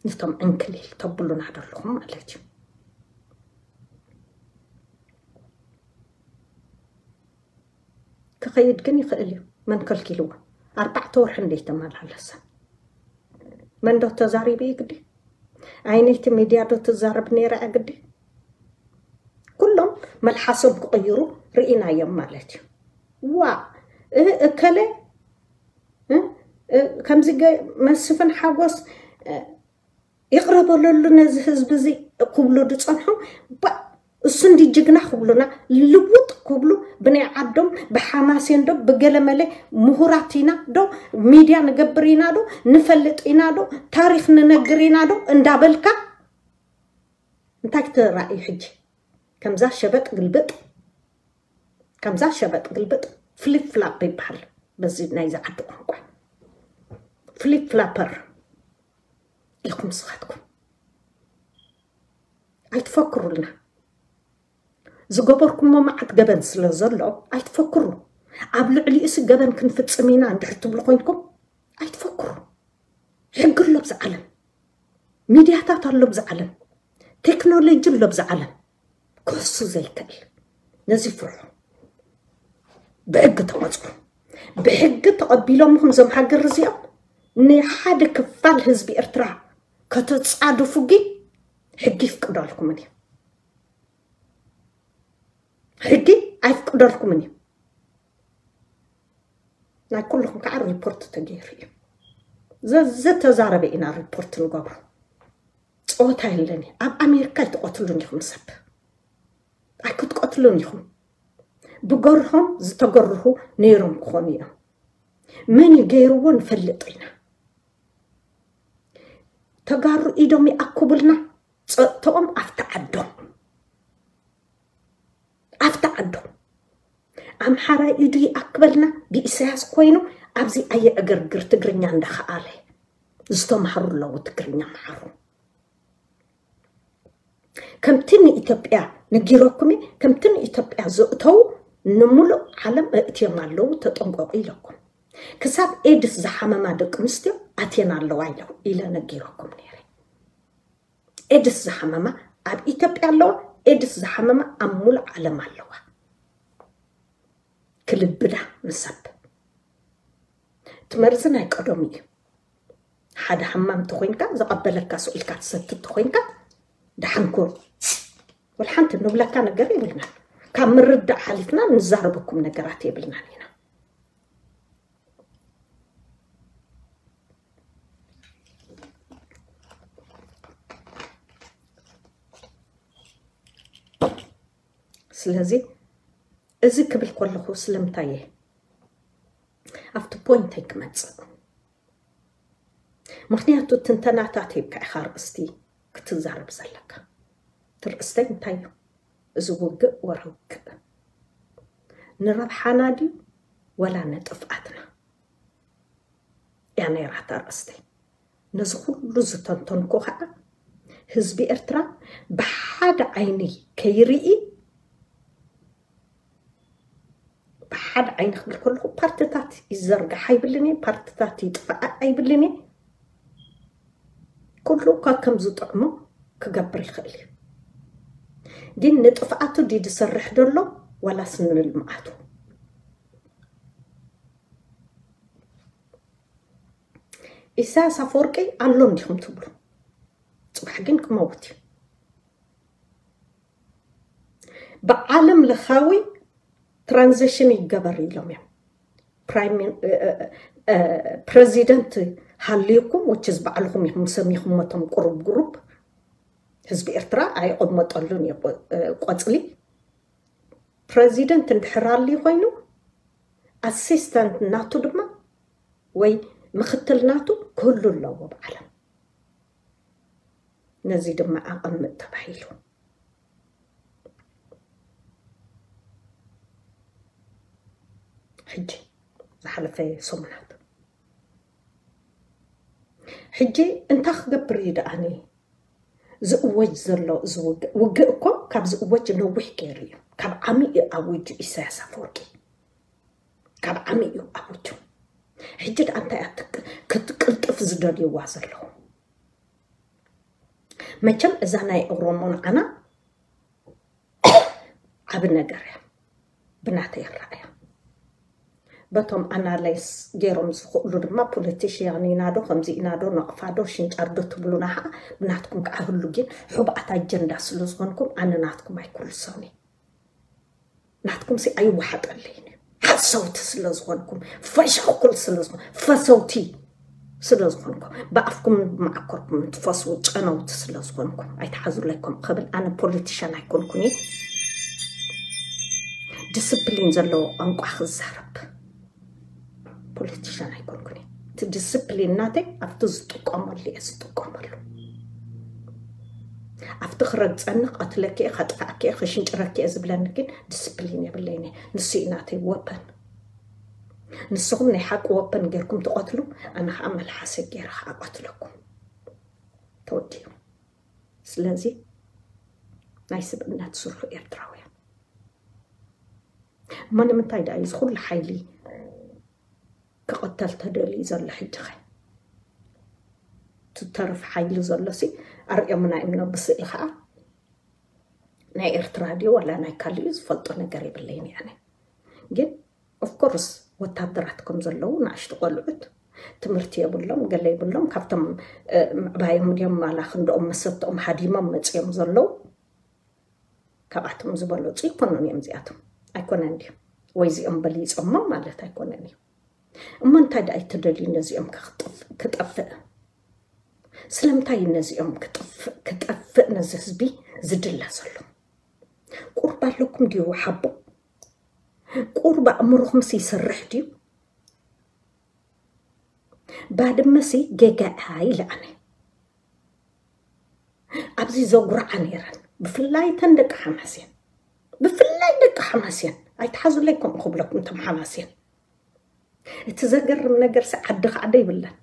ነቶም ዕንክሊል ተብሉና ደለኹም ማለት እዩ። ክኸይድ ግን ይኽእል እዩ። መን ከልኪልዎ? ኣርባዕተ ወርሒ እንደ ይተመላለሰ መን ዶ ተዛሪቡ እዩ ግዲ? ዓይነይቲ ሚድያ ዶ ትዛረብ ነይራ እያ ግዲ? ኩሎም መልሓሶም ክቕይሩ ርኢናዮም ማለት እዩ። ዋ እ- እከለ እ- እ- ከምዚ ገ- መስፍን ሓጎስ እ- ይቕረ በለሉ ነዚ ህዝቢ እዚ ክብሉ ዝፀንሑ ባ- እሱ እንዲ ጅግና ክብሉና ልውጥ ክብሉ ብናይ ዓዶም ብሓማሴን ዶ ብገለመለ ምሁራት ኢና ዶ ሚድያ ንገብር ኢና ዶ ንፈልጥ ኢና ዶ ታሪክ ንነግር ኢና ዶ እንዳበልካ እንታይ ክትራእዩ ሕጂ ከምዛ ሸበጥ ግልብጥ ከምዛ ሸበጥ ግልብጥ ፍሊፕ ፍላፕ ይበሃል በዚ ናይዚ ዓዲ ቋንቋ ፍሊፕ ፍላፐር ኢኹም ስኻትኩም ኣይትፈክሩልና ዝገበርኩሞ መዓት ገበን ስለ ዘሎ ኣይትፈክሩ ኣብ ልዕሊኡሲ ገበን ክንፍፅም ኢና እንድሕር ትብሉ ኮይንኩም ኣይትፈክሩ ሕጊ ኣሎ ብዚ ዓለም ሚድያታት ኣሎ ብዚ ዓለም ቴክኖሎጂ ኣሎ ብዚ ዓለም ክሱ ዘይክእል ነዚ ፍርሑ ብሕጊ ተቐፅሩ ብሕጊ ተቐቢሎምኹም ዞም ሃገር እዚኦም ንሓደ ክፋል ህዝቢ ኤርትራ ከተፃድፉ ግን ሕጊ ይፍቅደልኩምን እዩ ሕጊ ኣይፍቅደልኩምን እዩ ናይ ኩልኹም ከዓ ሪፖርት ተገይሩ እዩ ዘዘተዛረበ ኢና ሪፖርት ንገብሮ ፀወታ የለን ኣብ ኣሜሪካ ኣይትቐትሉን ኢኹም ሰብ ኣይክትቀትሉን ኢኹም ብገርሆም ዝተገርሁ ነይሮም ክኾኑ እዮም መን እዩ ገይርዎ ንፈልጥ ኢና ተጋሩ ኢዶም ይኣክቡልና ፀጥተኦም ኣብቲ ዓዶም ኣብቲ ዓዶም ኣምሓራይ ኢዱ ይኣክበልና ብኢሳያስ ኮይኑ ኣብዚ ኣየዕገርግር ትግርኛ እንዳኸኣለ ዝተምሃሩ ኣለዉ ትግርኛ መሃሩ ከምቲ ንኢትዮጵያ ነጊረኩም ከምቲ ንኢትዮጵያ ዘእተው ንምሉእ ዓለም እእትዮም ኣለዉ ተጠንቀቁ ኢለኩም ክሳብ ኤድስ ዝሓመማ ደቂ ኣንስትዮ ኣትየን ኣለዋ ኢለ ነጊረኩም ነይረ ኤድስ ዝሓመማ ኣብ ኢትዮጵያ ኣለዋ ኤድስ ዝሓመማ ኣብ ሙሉእ ዓለም ኣለዋ ክልብዳ ንሰብ እቲ መርዚ ናይ ቀደሙ እዩ ሓደ ሓማም ተኾይንካ፣ ዝቐበለካ ስቕ ኢልካ ትሰቲ ተኾይንካ፣ ደሓንኩ። ወላ ሓንቲ ንብለካ ነገር የብልናን። ካብ ምርዳእ ሓሊፍና ንዛረበኩም ነገራት የብልናን ኢና። ስለዚ እዚ ክብል ከለኹ ስለምንታይ እየ ኣብቲ ፖይንተይ ክመጽእ? ምኽንያቱ ትንተናታት ሂብካ ኢኻ ርእስቲ ክትዛረብ ዘለካ። እቲ ርእስተይ እንታይ እዩ? እዚ ውግእ ወረ ውግእ ንረብሓና ድዩ ወላ ንጥፍኣትና? እያ ነይራታ ርእስተይ። ነዚ ኩሉ ዝተንተንኩ ከዓ ህዝቢ ኤርትራ ብሓደ ዓይኒ ከይርኢ፣ ብሓደ ዓይኒ ክብል ከለኹ ፓርትታት ይዘርጋሕ ኣይብልን እየ፣ ፓርትታት ይጥፋኣ ኣይብልን እየ። ኩሉ እኳ ከም ዝጥዕሞ ክገብር ይኽእል እዩ። ግን ንጥፍኣቱ ድዩ ዝሰርሕ ዘሎ ዋላስ ንልምዓቱ? ኢሳያስ ኣፈወርቂ ኣሎ እንዲኹም ትብሉ፣ ጽባሕ ግን ክመውት እዩ። ብዓለም ለኻዊ ትራንዚሽን ይገበር ኢሎም እዮም። ፕራይም ሚን-፣ እ፣ እ፣ እ፣ ፕረዚደንት ሃልዩኩም፣ which is ባዕልኹም ኢኹም ሰሚኹም፣ መቶም ቁሩብ ግሩፕ ህዝቢ ኤርትራ ኣይቕመጠሉን እዩ ቆ-፣ እ፣ ቆጽሊ። ፕረዚደንት እንድሕር ኣልዩ ኮይኑ፣ ኣሲስታንት ናቱ ድማ ወይ ምኽትል ናቱ ክህሉ ኣለዎ ብዓለም። ነዚ ድማ ኣቐምጥ ተባሂሉ። ሕጂ ዝሓለፈ ሰሙናት፣ ሕጂ እንታይ ክገብር እዩ ደኣኒ ዝእወጅ ዘሎ? እዚ ውግእ፣ ውግእ እኮ ካብ ዝእወጅ ነዊሕ ገይሩ እዩ። ካብ ዓሚ እዩ ኣዊጁ ኢሳያስ ኣፈወርቂ። ካብ ዓሚ እዩ ኣዊጁ። ሕጂ ደኣ እንታይ እያ ትክ-፣ ክትቅልጥፍ ዝደልይዋ ዘለዉ? መቸም እዛ ናይ ኦሮሞ ንዓና ዓቢ ነገር እያ፣ ብናተይ ኣረኣእያ። በቶም ኣናላይስ ገይሮም ዝኽእሉ ድማ ፖለቲሽያን ኢና ዶ፣ ከምዚ ኢና ዶ፣ ነቕፋ ዶ፣ ሽንጫር ዶ ትብሉና ኸዓ ብናትኩም ከዓ ህሉ። ግን ሕቡኣት ኣጀንዳ ስለ ዝኾንኩም ኣነ ናትኩም ኣይኩልሶን እየ። ናትኩም ሲ ኣይወሓጠለይን እዩ። ሓሰውቲ ስለ ዝኾንኩም፣ ፈሻኩል ስለ ዝኾን-፣ ፈሰውቲ ስለ ዝኾንኩም፣ ብኣፍኩም መዓኮርኩም ትፈስዉ ጨነውቲ ስለ ዝኾንኩም፣ ኣይትሓዙለይ ከምኡ ክብል ኣነ ፖለቲሽያን ኣይኮንኩን እየ። ዲስፕሊን ዘለዎ ቋንቋ ክዛረብ ፖለቲሽያን ኣይኮንኩን እየ። እቲ ዲስፕሊን ናተይ ኣብቲ ዝጥቀመሉ እየ ዝጥቀመሉ። ኣብቲ ክረግጸኒ፣ ክቐትለኪ እየ፣ ከጥፍኣኪ እየ፣ ክሽንጭረኪ እየ ዝብለኒ ግን ዲስፕሊን የብለይን እየ። ንሱ እዩ ናተይ ወፐን። ንስኹም ናይ ሓቂ ወፐን ጌርኩም ትቐትሉ፣ ኣነ ኸዓ መልሓሰይ ጌረ ኸዓ እቐትለኩም። ተወዲኡ። ስለዚ ናይ ስብእነት ስርሑ ኤርትራውያን። እሞ ንምንታይ ደኣ እዩ እዚ ኩሉ ሓይሊ ክቕተል ተደልዩ ዘሎ ሕጂ ኸ? ትተርፍ ሓይሊ ዘሎሲ ኣርእዮምና እዮም። ብስእሊ ኸዓ ናይ ኤርትራ ድዩ ዋላ ናይ ካልእ እዩ ዝፈልጦ ነገር የብለይን እየ ኣነ። ግን ኦፍኮርስ ወታደራት ከም ዘለዉ ንኣሽቱ ቆልዑት ትምህርቲ የብሎም፣ ገለ የብሎም። ካብቶም፣ እ፣ ምዕባዮም ድዮም ዋላ ክንድኦም መሰተኦም ሃዲሞም መጽዮም ዘለዉ? ካብኣቶም ዝበለጹ ኣይኮኑን እዮም እዚኣቶም። ኣይኮነን ድዩ? ወይ እዚኦም በሊጾሞም ማለት ኣይኮነን እዩ። እሞ እንታይ ደኣ እዩ ተደልዩ ነዚኦም ክጥፍ-፣ ክጠፍእ? ስለምንታይ እዩ ነዚኦም ክጥፍ-፣ ክጠፍእ ነዚ ህዝቢ ዝድለ ዘሎ? ቁርብ ኣለኩም ድዩ ሓቦ? ቁርብ ኣእምሮኹምስ ይሰርሕ ድዩ? ባድመሲ ጌጋ እያ ኢለ ኣነ። ኣብዚ ዘጉርዓ ነይረን፣ ብፍላይ እተን ደቂ ሓማሴን፣ ብፍላይ ደቂ ሓማሴን፣ ኣይትሓዙለይ ከምኡ ክብለኩም እቶም ሓማሴን። እቲ ዘገርም ነገርሲ ዓዲ ከዓደ ይብለን።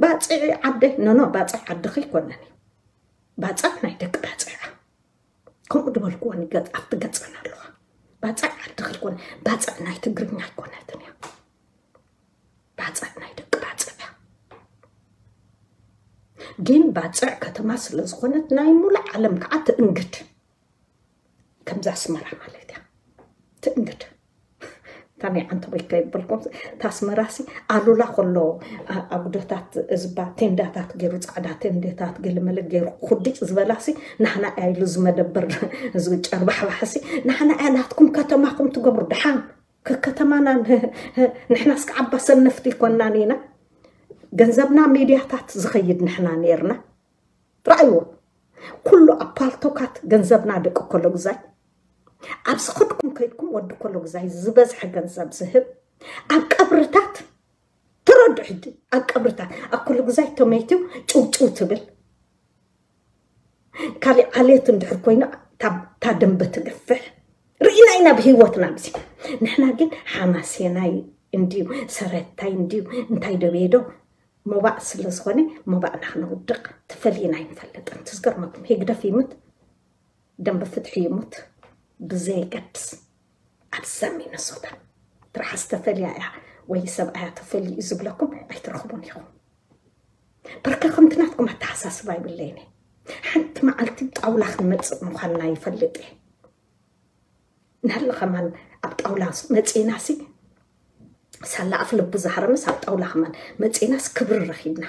ባጽዒ ዓደ፣ ኖ፣ ኖ፣ ባጽዕ ዓድኺ ኣይኮነን እዩ። ባጽዕ ናይ ደቂ ባጽዕ እያ። ከምኡ ዝበልክዎ ንገጽ-፣ ኣብቲ ገጸን ኣለዋ። ባጽዕ ዓድኺ ኣይኮነ፣ ባጽዕ ናይ ትግርኛ ኣይኮነትን እያ። ባጽዕ ናይ ደቂ ባጽዕ እያ። ግን ባጽዕ ከተማ ስለ ዝኾነት ናይ ሙሉእ ዓለም ከዓ ትእንግድ። ከምዛ ኣስመራ ማለት እያ። ትእንግድ። ታመይ ዓንተቦይ ከይበልኩም፣ ታስመራሲ ኣሉላ ከሎ ኣጉዶታት እዝባ ቴንዳታት ገይሩ፣ ፃዕዳ ቴንዳታት ገለመለ ገይሩ ኩዲጭ ዝበላሲ፣ ናህና ኢሉ ዝመደበር ዝጨርባሕባሕሲ፣ ናህና እያ ናትኩም ከተማኹም ትገብሩ። ደሓን ከከተማና ንሕናስ ከዓባ ሰነፍቲ ይኮናን ኢና። ገንዘብና ሚድያታት ዝኸይድ ንሕና ነርና። ራእይዎ፣ ኩሉ ኣብ ፓልቶካት ገንዘብና ደቂ ኮሎ ግዛይ፣ ኣብ ዝኸድኩም ከይድኩም ወዲ ኮሎ ግዛይ ዝበዝሐ ገንዘብ ዝህብ፣ ኣብ ቀብርታት፣ ተረዱ ሕጂ፣ ኣብ ቀብርታት ኣብ ኮሎ ግዛይ ተመይትው ጭውጭው ትብል። ካሊእ ዓሌት እንድሕር ኮይና፣ እታ ደንበ ትገፍሕ ርኢና ኢና ብህይወትና። ብዚ ንሕና ግን ሓማሴናይ እንድዩ፣ ሰረታይ እንድዩ፣ እንታይ ደበየዶ ሞባእ ስለ ዝኾነ፣ ሞባእና ክነውድቕ ተፈሊና ኣይንፈልጥን። ትዝገርመኩም፣ ህግደፍ ይሙት፣ ደንበ ፍትሒ ይሙት፣ ብዘየገድስ ኣብዛ ሚነሶታ ትርሓስ ተፈልያ እያ ወይ ሰብኣያ ተፈልዩ እዩ ዝብለኩም ኣይትረኽቡን ኢኹም። በርከ ከምቲ ናትኩም ኣተሓሳስባ ይብለይኒ። ሓንቲ መዓልቲ ጣውላ ክንመፅእ ምዃንና ይፈልጥ እየ። ናለ ከማን ኣብ ጣውላ መፂእናሲ ሳላ ኣፍ ልቡ ዝሃረመስ ኣብ ጣውላ ከማን መፂእናስ ክብሪ ረኺብና።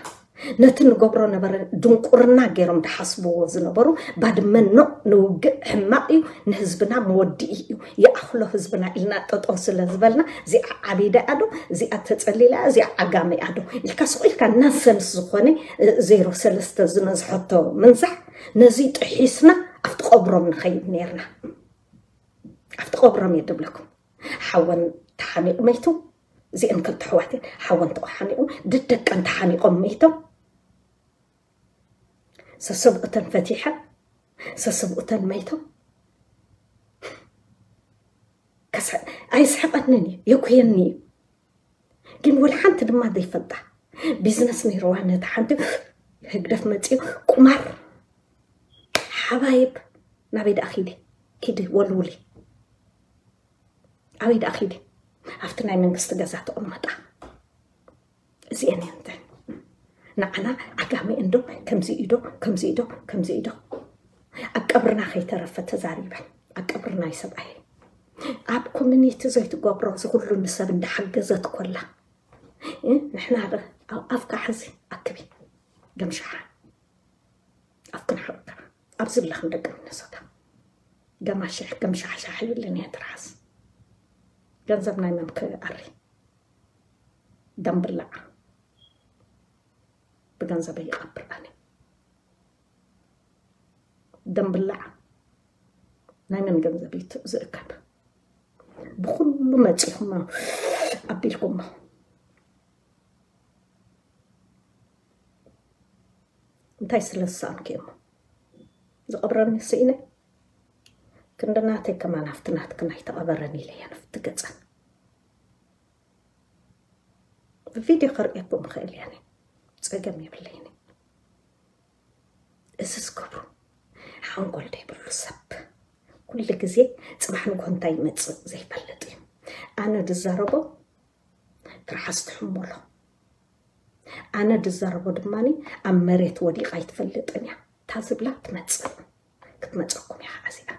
ነቲ ንገብሮ ነበረ ድንቁርና ገይሮም ድሓስብዎ ዝነበሩ፣ ባድመ ኖ ንውግእ ሕማቕ እዩ፣ ንህዝብና መወድኢ እዩ፣ ይኣኽሎ ህዝብና ኢልና ጠጠው ስለ ዝበልና፣ እዚኣ ዓቢዳ እያ ዶ፣ እዚኣ ተጸሊላ እያ፣ እዚኣ ዓጋመ እያ ዶ ኢልካ ስቕ ኢልካ ናንሰንስ ዝኾነ ዜሮ ሰለስተ ዝነዝሐቶ ምንዛሕ፣ ነዚ ጥሒስና ኣብቲ ቀብሮም ንኸይድ ነርና። ኣብቲ ቀብሮም እየ ድብለኩም። ሓወን ተሓኒቑ መይቱ። እዚአን ክልተ ኣሕዋት እየን። ሓወን ተሓኒቑ፣ ደደቀን ተሓኒቖም መይቶም። ሰሰብኡተን ፈቲሐን፣ ሰሰብኡተን መይቶም። ከስሐ-፣ ኣይስሕቐንን እዩ፣ የኩየኒ እዩ። ግን ወላ ሓንቲ ድማ ዘይፈልጣ ቢዝነስ ነይርዋ። ነታ ሓንቲ ህግደፍ መፂኡ ቁማር ሓባይብ ናበይ ደኣ ኪዲ፣ ኪዲ ወልውሊ፣ ኣበይ ደኣ ኪዲ፣ ኣብቲ ናይ መንግስቲ ገዛ ተቐመጣ። እዚአን እየን እተን ንዓና ዓጋመ እንዶ ከምዚ ኢዶ፣ ከምዚ ኢዶ፣ ከምዚ ኢዶ። ኣብ ቀብርና ከይተረፈ ተዛሪበን፣ ኣብ ቀብርና ይሰብኣየ። ኣብ ኮሚኒቲ ዘይትገብሮ እዚ ኩሉ ንሰብ እንዳሓገዘት ኮላ፣ እ፣ ንሕና ኸ ኣብ ኣፍካ ሕዚ ኣክቢ፣ ገምሻሓ። ኣብ ክንሕርካ ኣብዚ ኣለኽን ደቂ ሚነሶታ፣ ገማሽሕ ገምሻሕሻሕ ይብልን እየ ትርሓስ። ገንዘብ ናይ መን ክኣሪ? ደምብላዕ ብገንዘበይ ይቐብር ኣነ። ደምብላዕ ናይ መን ገንዘብ እዩ ዝእከብ? ብኹሉ መፂኹሞ ኣቢልኩሞ። እንታይ ስለ ዝሰኣንኩ እሞ ዝቐብረኒ ስኢነ? ክንዲ ናተይ ከማን ኣብቲ ናትክን ኣይተቐበረን ኢለ እየ ንፍቲ ገፀን። ብቪድዮ ከርእየኩም እኽእል እየ፣ ፀገም የብለይን። እዚ ዝገብሩ ሓንጎል ዘይብሉ ሰብ ኩሉ ግዜ ፅባሕ ንግሆ እንታይ ይመፅእ ዘይፈልጥ እዩ። ኣነ ድዛረቦ ትርሓስ ትሕመሎ። ኣነ ድዛረቦ ድማ ኣብ መሬት ወዲቓ ኣይትፈልጥን እያ። እታ ዝብላ ትመፅእ፣ ክትመፀኩም እያ ከዓ እዚኣ።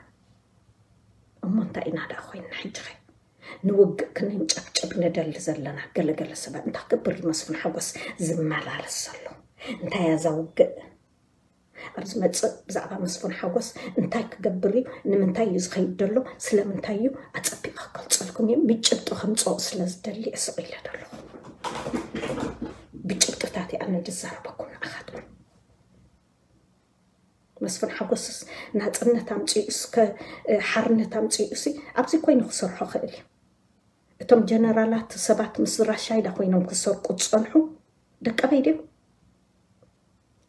እሞ እንታይ ኢና ደኣ ኮይንና ሕጂ ኸ? ንውግእ ክንጨብጨብ ንደሊ ዘለና ገለገለ ሰባት እንታይ ክገብር እዩ መስፍን ሓጎስ ዝመላለስ ዘሎ? እንታይ እያ እዛ ውግእ? ኣብ ዝመፅእ ብዛዕባ መስፍን ሓጎስ እንታይ ክገብር እዩ? ንምንታይ እዩ ዝኸይድ ዘሎ? ስለምንታይ እዩ? ኣፀቢቐ ክገልፀልኩም እዩ። ብጭብጢ ከምፅኦ ስለ ዝደሊ እየ ስቕ ኢለ ዘለኹ። ብጭብጥታት እየ ኣነ ዝዛረበኩም ንኣኻትኩም። መስፍን ሓጎስስ ናፅነት ኣምፅኡ እስከ፣ እ፣ ሓርነት ኣምፅኡ ሲ ኣብዚ ኮይኑ ክሰርሖ ክእል እዩ። እቶም ጀነራላት ሰባት ምስ ራሻይዳ ኮይኖም ክሰርቁ ዝፀንሑ ደቀበይ ድዮም?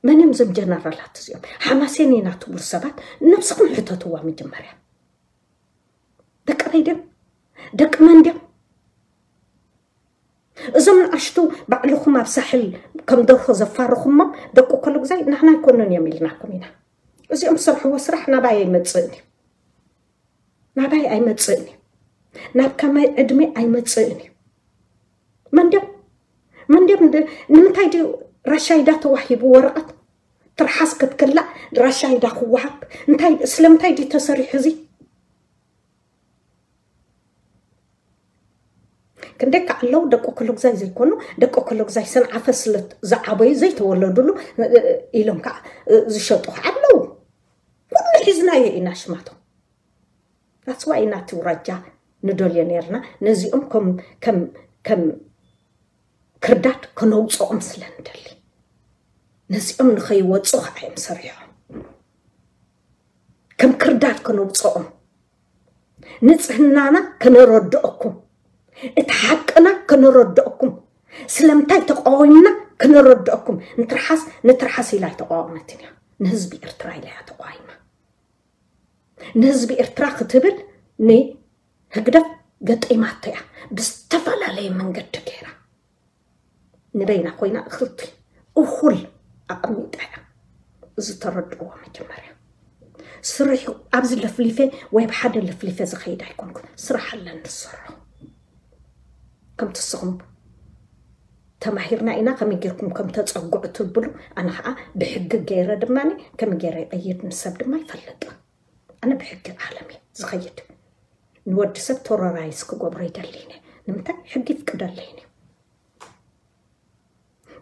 መን እዮም እዞም ጀነራላት እዚኦም? ሓማሴን ኢና ትብሉ ሰባት ነብስኹም ሕተትዋ መጀመርያ። ደቀበይ ድዮም? ደቂ መን ድዮም? እዞም ንኣሽቱ ባዕልኹም ኣብ ሳሕል ከም ደርሆ ዘፋርኹሞም ደቂ ኮሎ ግዛይ ናህና ኣይኮኑን እዮም ኢልናኩም ኢና። እዚኦም ዝሰርሕዎ ስራሕ ናባይ ኣይመፅእን እዩ። ናባይ ኣይመፅእን እዩ። ናብ ከማይ ዕድመ ኣይመፅእን እዩ። መንድዮም መንድዮም ድ-፣ ንምንታይ ድዩ ራሻይዳ ተዋሂቡ ወረቐት? ትርሓስ ክትክላእ ራሻይዳ ክወሃብ? እንታይ፣ ስለምንታይ ድዩ ተሰሪሑ እዚ? ክንደይ ከዓ ኣለዉ ደቂ ኮሎግዛይ ዘይኮኑ፣ ደቂ ኮሎግዛይ ሰንዓፈ ስለ ዝዓበዩ ዘይተወለዱሉ ኢሎም ከዓ ዝሸጡ ከዓ ኣለዉ። ኩሉ ሒዝናዮ ኢና ሽማቶም። That's why ናቲ ውራጃ ንደልዮ ነርና። ነዚኦም ከም ከም ከም ክርዳድ ከነውፅኦም ስለ ንደሊ፣ ነዚኦም ንኸይወፁ ከዓ እዮም ሰሪሖም። ከም ክርዳድ ከነውፅኦም፣ ንፅህናና ከነረድኦኩም፣ እቲ ሓቅና ከነረድኦኩም፣ ስለምንታይ ተቃዊምና ከነረድኦኩም። ንትርሓስ ንትርሓስ ኢላ ኣይተቃወመትን እያ፣ ንህዝቢ ኤርትራ ኢላ እያ ተቃዊማ። ንህዝቢ ኤርትራ ክትብል ንህግደፍ ገጢማቶ እያ፣ ብዝተፈላለየ መንገዲ ገይራ። ንበይና ኮይና እኽልቲ እኹል ኣቐሚጣ እያ። እዚ ተረድእዎ መጀመርያ። ስርሑ ኣብዚ ለፍሊፈ ወይ ብሓደ ለፍሊፈ ዝኸይድ ኣይኮንኩን። ስራሕ ኣለኒ ዝሰርሖ። ከምቲ ንስኹም ተማሂርና ኢና ከመይ ጌርኩም ከም ተጸግዑ ትብሉ፣ ኣነ ኸዓ ብሕጊ ገይረ ድማ ከመይ ገይረ ይቐይድ ንሰብ ድማ ይፈልጥ። ኣነ ብሕጊ ዓለም እየ ዝኸይድ። ንወዲ ሰብ ቶረራይዝ ክገብሮ ይደልይኒ። ንምንታይ? ሕጊ ይፍቅደለይኒ።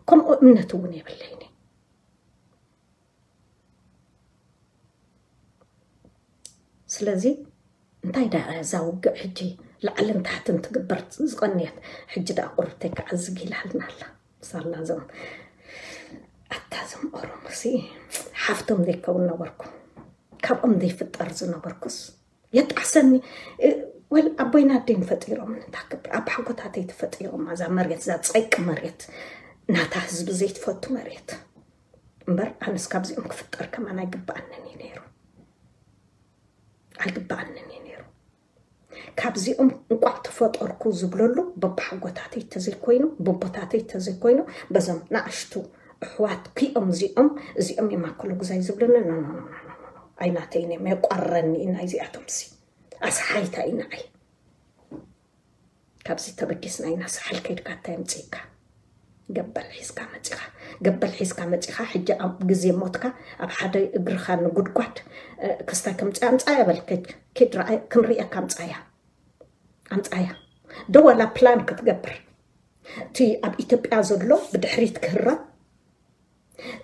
ከምኡ እምነት እውን የብለይኒ። ስለዚ እንታይ ደኣ እዛ ውግእ ሕጂ ላዕልን ታሕትን ትግበር ዝቐንየት? ሕጂ ደኣ ቁርብተይ ከዓ ዝጊላልና ኣላ። ሳላ ዞም ኣታ ዞም ኦሮሞሲ ሓፍቶም ዘይከውን ነበርኩ፣ ካብኦም ዘይፍጠር ዝነበርኩስ የጣዕሰኒ። እ፣ ወል ኣቦይና ኣደይን ፈጢሮም እንታክብር ኣብ ሓጎታተይ ተፈጢሮም ኣዛ መሬት እዛ ጸይቂ መሬት ናታ ህዝቢ ዘይትፈቱ መሬት እምበር ኣነስ ካብዚኦም ክፍጠር ከማን ኣይግብኣንን እዩ ነይሩ፣ ኣይግብኣንን እዩ ነይሩ። ካብዚኦም እንቋዕ ተፈጠርኩ ዝብለሉ በብሓጎታተይ ተዘይኮይኑ፣ በቦታተይ ተዘይኮይኑ፣ በዞም ንኣሽቱ ኣሕዋት ክኦም እዚኦም እዚኦም እዮም ኣክሎ ግዛይ ዝብለኒ። ኖ ኖ ኖ ኖ ኖ ኖ። ኣይናተይን እዮም፣ የቋረኒ እዩ ናይዚኣቶምሲ። ኣስሓይታ እዩ ንዓይ። ካብዚ ተበጊስና ኢና ሳሕል ከይድካ እንታይ ኣምጺእካ? ገበል ሒዝካ መጺኻ፣ ገበል ሒዝካ መጺኻ። ሕጂ ኣብ ግዜ ሞትካ ኣብ ሓደ እግርኻ ንጉድጓድ፣ እ፣ ክስታይ ከምጽእ ኣምጻያ በል፣ ከይድ፣ ከይድ ረኣይ፣ ክንርእየካ ኣምጻያ፣ ኣምጻያ። ዶ ዋላ ፕላን ክትገብር፣ እቲ ኣብ ኢትዮጵያ ዘሎ ብድሕሪት ክህረም፣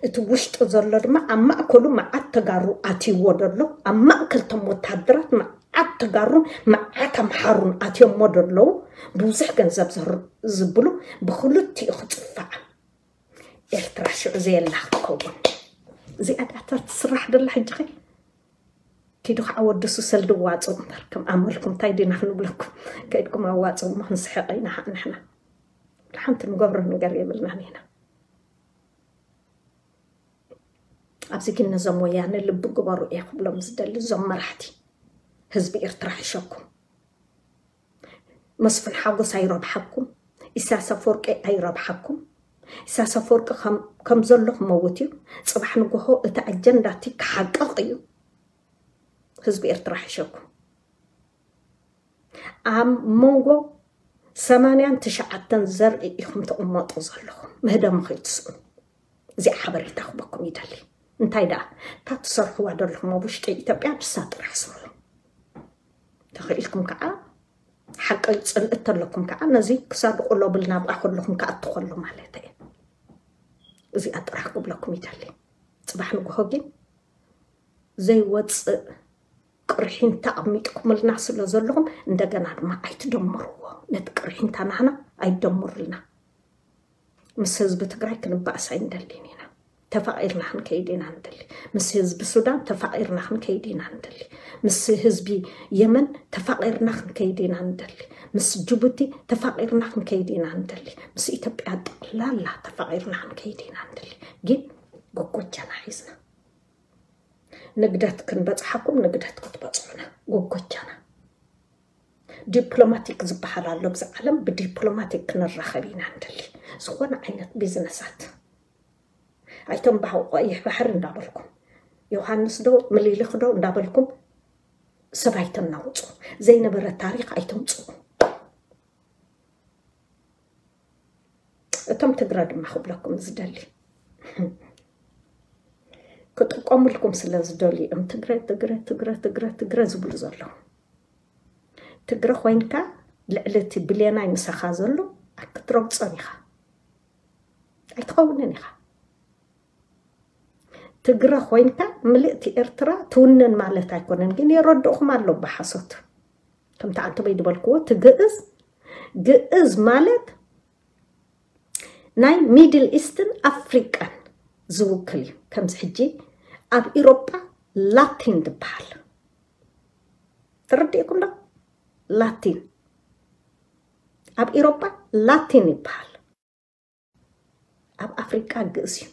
እቲ ውሽጢ ዘሎ ድማ ኣብ ማእከሉ መዓት ተጋሩ ኣትይዎ ደሎ፣ ኣብ ማእከል ቶም ወታደራት መዓት ተጋሩን መዓት ኣምሓሩን ኣትዮሞ ደለዉ፣ ብዙሕ ገንዘብ ዘር-፣ ዝብሉ ብክልቲኡ ክጽፋዕ። ኤርትራ ሽዑ ዘየላ ክትከውን። እዚኣ ደኣ እታ ትስራሕ ደላ ሕጂ ኸ? ኪዱ ከዓ ወድሱ ሰልዲ ዋጹ እምበር፣ ከም ኣመልኩም እንታይ ዲና ክንብለኩም? ከይድኩም ኣዋጹ እሞ ክንስሕቕ ኢና ንሕና። ሓንቲ ንገብሮ ነገር የብልናን ኢና። ኣብዚ ግን ነዞም ወያነ ልቢ ግበሩ እየ ክብሎም ዝደሊ፣ እዞም መራሕቲ ህዝቢ ኤርትራ ሕሸኩም። መስፍን ሓጎስ ኣይረብሓኩም፣ ኢሳያስ ኣፈወርቂ ኣይረብሓኩም። ኢሳያስ ኣፈወርቂ ከም፣ ከም ዘሎ ክመውት እዩ። ጽባሕ ንግሆ እቲ ኣጀንዳ እቲ ክሓቅቕ እዩ። ህዝቢ ኤርትራ ሕሸኩም። ኣብ መንጎ ሰማንያን ትሽዓተን ዘርኢ ኢኹም ትቕመጡ ዘለኹም፣ ምህደሙ ከይትስእኑ። እዚኣ ሓበሬታ ክበኩም ይደሊ። እንታይ ደኣ፣ እታ ትሰርሕዋ ዘለኹም ኣብ ውሽጢ ኢትዮጵያ ንሳ ጥራሕ ስርሑ። ተኽኢልኩም ከዓ፣ ሓቂ ጽልኢ ተለኩም ከዓ፣ ነዚ ክሳድ ቁሎ ብል ናብኣ ከለኹም ክኣቱ ከሎ ማለት እየ። እዚኣ ጥራሕ ክብለኩም ይደሊ። ጽባሕ ንግሆ ግን ዘይወጽእ ቅርሒንታ ኣቕሚጥኩምልና ስለ ዘለኹም፣ እንደገና ድማ ኣይትደምርዎ። ነቲ ቅርሒንታ ናህና ኣይትደምሩልና። ምስ ህዝቢ ትግራይ ክንባእስ ኣይንደልን ኢና። ተፋቒርና ክንከይድ ኢና ንደሊ። ምስ ህዝቢ ሱዳን ተፋቒርና ክንከይድ ኢና ንደሊ። ምስ ህዝቢ የመን ተፋቒርና ክንከይድ ኢና ንደሊ። ምስ ጅቡቲ ተፋቒርና ክንከይድ ኢና ንደሊ። ምስ ኢትዮጵያ ጠቕላላ ተፋቒርና ክንከይድ ኢና ንደሊ። ግን ጎጎጃና ሒዝና ንግደት ክንበጽሓኩም፣ ንግደት ክትበጽሑና፣ ጎጎጃና። ዲፕሎማቲክ ዝበሃል ኣሎ፣ ብዛ ዓለም ብዲፕሎማቲክ ክንራኸብ ኢና ንደሊ። ዝኾነ ዓይነት ቢዝነሳት። ኣይቶም ባህ-፣ ቀይሕ ባሕሪ እንዳበልኩም፣ ዮሃንስ ዶ፣ ምኒልክ ዶ እንዳበልኩም ሰብ ኣይተናውጹ። ዘይነበረ ታሪኽ ኣይተምጽኡ። እቶም ትግረ ድማ ክብለኩም ዝደሊ፣ ክጥቀሙልኩም ስለ ዝደልዩ እዮም ትግረ፣ ትግረ፣ ትግረ፣ ትግረ፣ ትግረ ዝብሉ ዘለዉ። ትግረ ኮይንካ ልዕሊ እቲ ብሌናይ ምሳኻ ዘሎ ኣይክትረግጾን ኢኻ። ኣይትኸውንን ኢኻ። ትግረ ኮይንካ ምልእቲ ኤርትራ ትውንን ማለት ኣይኮነን። ግን የረድእኹም ኣሎ ብሓሶት። ከምቲ ኣንተበይ ዝበልክዎ፣ እቲ ግእዝ፣ ግእዝ ማለት ናይ ሚድል ኢስትን ኣፍሪቃን ዝውክል እዩ። ከምዚ ሕጂ ኣብ ኢሮጳ ላቲን ዝበሃል ተረዲእኩም ዶ? ላቲን ኣብ ኢሮጳ ላቲን ይበሃል። ኣብ ኣፍሪቃ ግእዝ እዩ።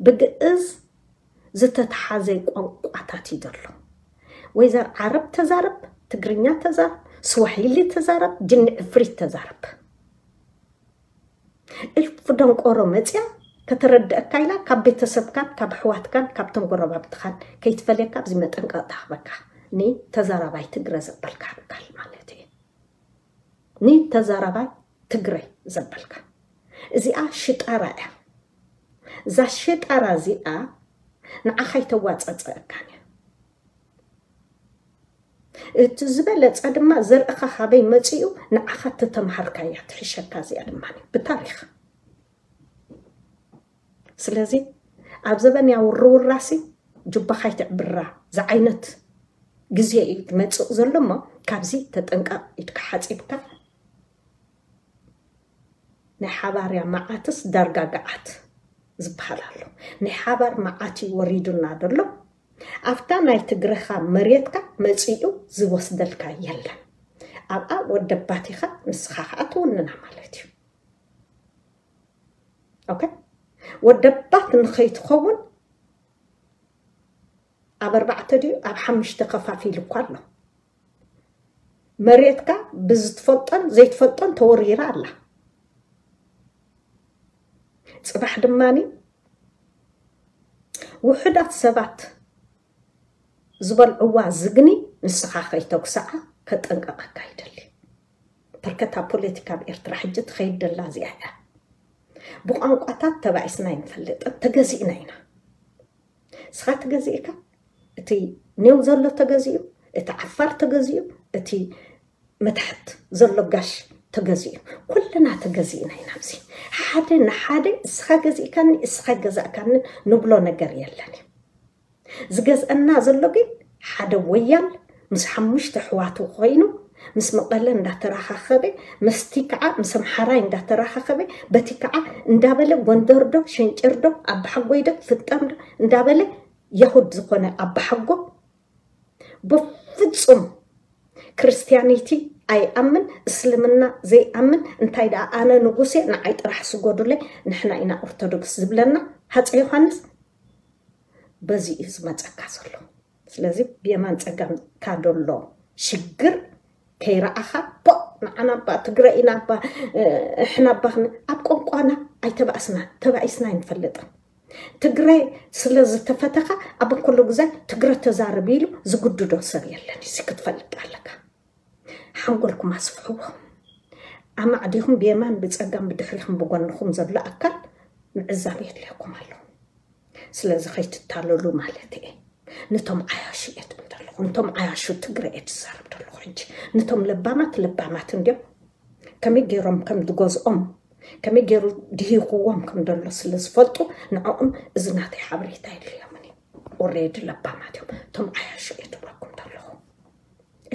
ብግእዝ ዝተተሓዘ ቋንቋታት እዩ ዘሎ። ወይዘር ዓረብ ተዛረብ፣ ትግርኛ ተዛረብ፣ ስዋሂሊ ተዛረብ፣ ጅኒ ዕፍሪት ተዛረብ። እልፍ ደንቆሮ መፅያ ከተረድአካ ኢላ ካብ ቤተሰብካን ካብ ኣሕዋትካን ካብቶም ጎረባብትኻን ከይትፈልየካ ኣብዚ መጠንቀቕታ ክበካ። ንተዛራባይ ትግረ ዘበልካ ኣካል ማለት እዩ። ንተዛራባይ ትግረ ዘበልካ። እዚኣ ሽጣራ እያ። እዛ ሽጣራ እዚኣ ንዓኻ ኣይተዋፀፀአካን እያ። እቲ ዝበለፀ ድማ ዘርእኻ ካበይ መፂኡ ንዓኻ እተተምሃርካያ ትሕሸካ። እዚኣ ድማ ብታሪኽ። ስለዚ ኣብ ዘበንያ ውርውራሲ ጁባኻ ኣይትዕብራ ዝዓይነት ግዜ እዩ ትመፅእ ዘሎ እሞ ካብዚ ተጠንቀቕ። ኢድካ ሓፂብካ ናይ ሓባርያ መዓትስ ዳርጋ ገዓት ዝበሃል ኣሎ። ናይ ሓባር መዓት እዩ ወሪዱና ዘሎ። ኣብታ ናይ ትግረኻ መሬትካ መፂኡ ዝወስደልካ የለን። ኣብኣ ወደባቲኻ ንስኻ ከዓ ትውንና ማለት እዩ። ኦኬ፣ ወደባት ንኸይትኸውን ኣብ ኣርባዕተ ድዩ ኣብ ሓሙሽተ ከፋፊሉ እኳ ኣሎ። መሬትካ ብዝትፈልጦን ዘይትፈልጦን ተወሪራ ኣላ። ፅባሕ ድማኒ ውሑዳት ሰባት ዝበልዕዋ ዝግኒ ንስኻ ከይተጉስዓ ከጠንቀቐካ ይደሊ። በርከታ ፖለቲካ ኣብ ኤርትራ ሕጂ ትኸይድ ደላ እዚኣ እያ። ብቋንቋታት ተባኢስና ኣይንፈልጥን፣ ተገዚእና ኢና። ንስኻ ተገዚእካ፣ እቲ ኔው ዘሎ ተገዚኡ፣ እቲ ዓፋር ተገዚኡ፣ እቲ መታሕት ዘሎ ጋሽ ተገዚኡ፣ ኩልና ተገዚእና ኢና። ኣብዚ ሓደ ንሓደ እስኻ ገዚእካኒ እስኻ ገዛእካኒ ንብሎ ነገር የለን እዩ። ዝገዝአና ዘሎ ግን ሓደ ወያል ምስ ሓሙሽተ ኣሕዋቱ ኮይኑ ምስ መቐለ እንዳተራኻኸበ፣ ምስቲ ከዓ ምስ ኣምሓራይ እንዳተራኻኸበ፣ በቲ ከዓ እንዳበለ ጎንደር ዶ ሸንጨር ዶ ኣባሓጎይ ዶ ፍጠም ዶ እንዳበለ የሁድ ዝኾነ ኣባሓጎ ብፍጹም ክርስቲያኒቲ ኣይኣምን፣ እስልምና ዘይኣምን፣ እንታይ ደኣ ኣነ ንጉሴ ንዓይ ጥራሕ ስጎዱለይ ንሕና ኢና ኦርቶዶክስ ዝብለና ሃፀ ዮሃንስ በዚ እዩ ዝመፀካ ዘሎ። ስለዚ ብየማን ፀጋምካ ደሎ ሽግር ከይረኣኻ ፖ ንዓና እባ ትግረ ኢና እባ እሕና እባ ኣብ ቋንቋና ኣይተባእስና ተባኢስና ኣይንፈልጥን። ትግረ ስለ ዝተፈተኻ ኣብ ኩሉ ግዜ ትግረ ተዛረብ ኢሉ ዝጉድዶ ሰብ የለን። እዚ ክትፈልጥ ኣለካ። ሓንጎልኩም ኣስፍሕዎ። ኣማዕዲኹም ብየማን ብፀጋም ብድሕሪኹም ብጎንኹም ዘሎ ኣካል ምዕዛብ የድልየኩም ኣሎ። ስለዚ ከይትታለሉ ማለት እየ። ነቶም ዓያሹ እየ ትብል ዘለኹ፣ ነቶም ዓያሹ ትግረ እየ ትዛረብ ዘለኹ። ሕጂ ነቶም ለባማት ለባማት እንዲዮም ከመይ ገይሮም ከም ዝገዝኦም ከመይ ገይሩ ድሂኽዎም ከም ዘሎ ስለ ዝፈልጡ ንዕኦም እዚ ናተይ ሓበሬታ የድልዮምን እዩ። ኦሬዲ ለባማት እዮም እቶም ዓያሹ እየ ትብለኩም ዘለኹ።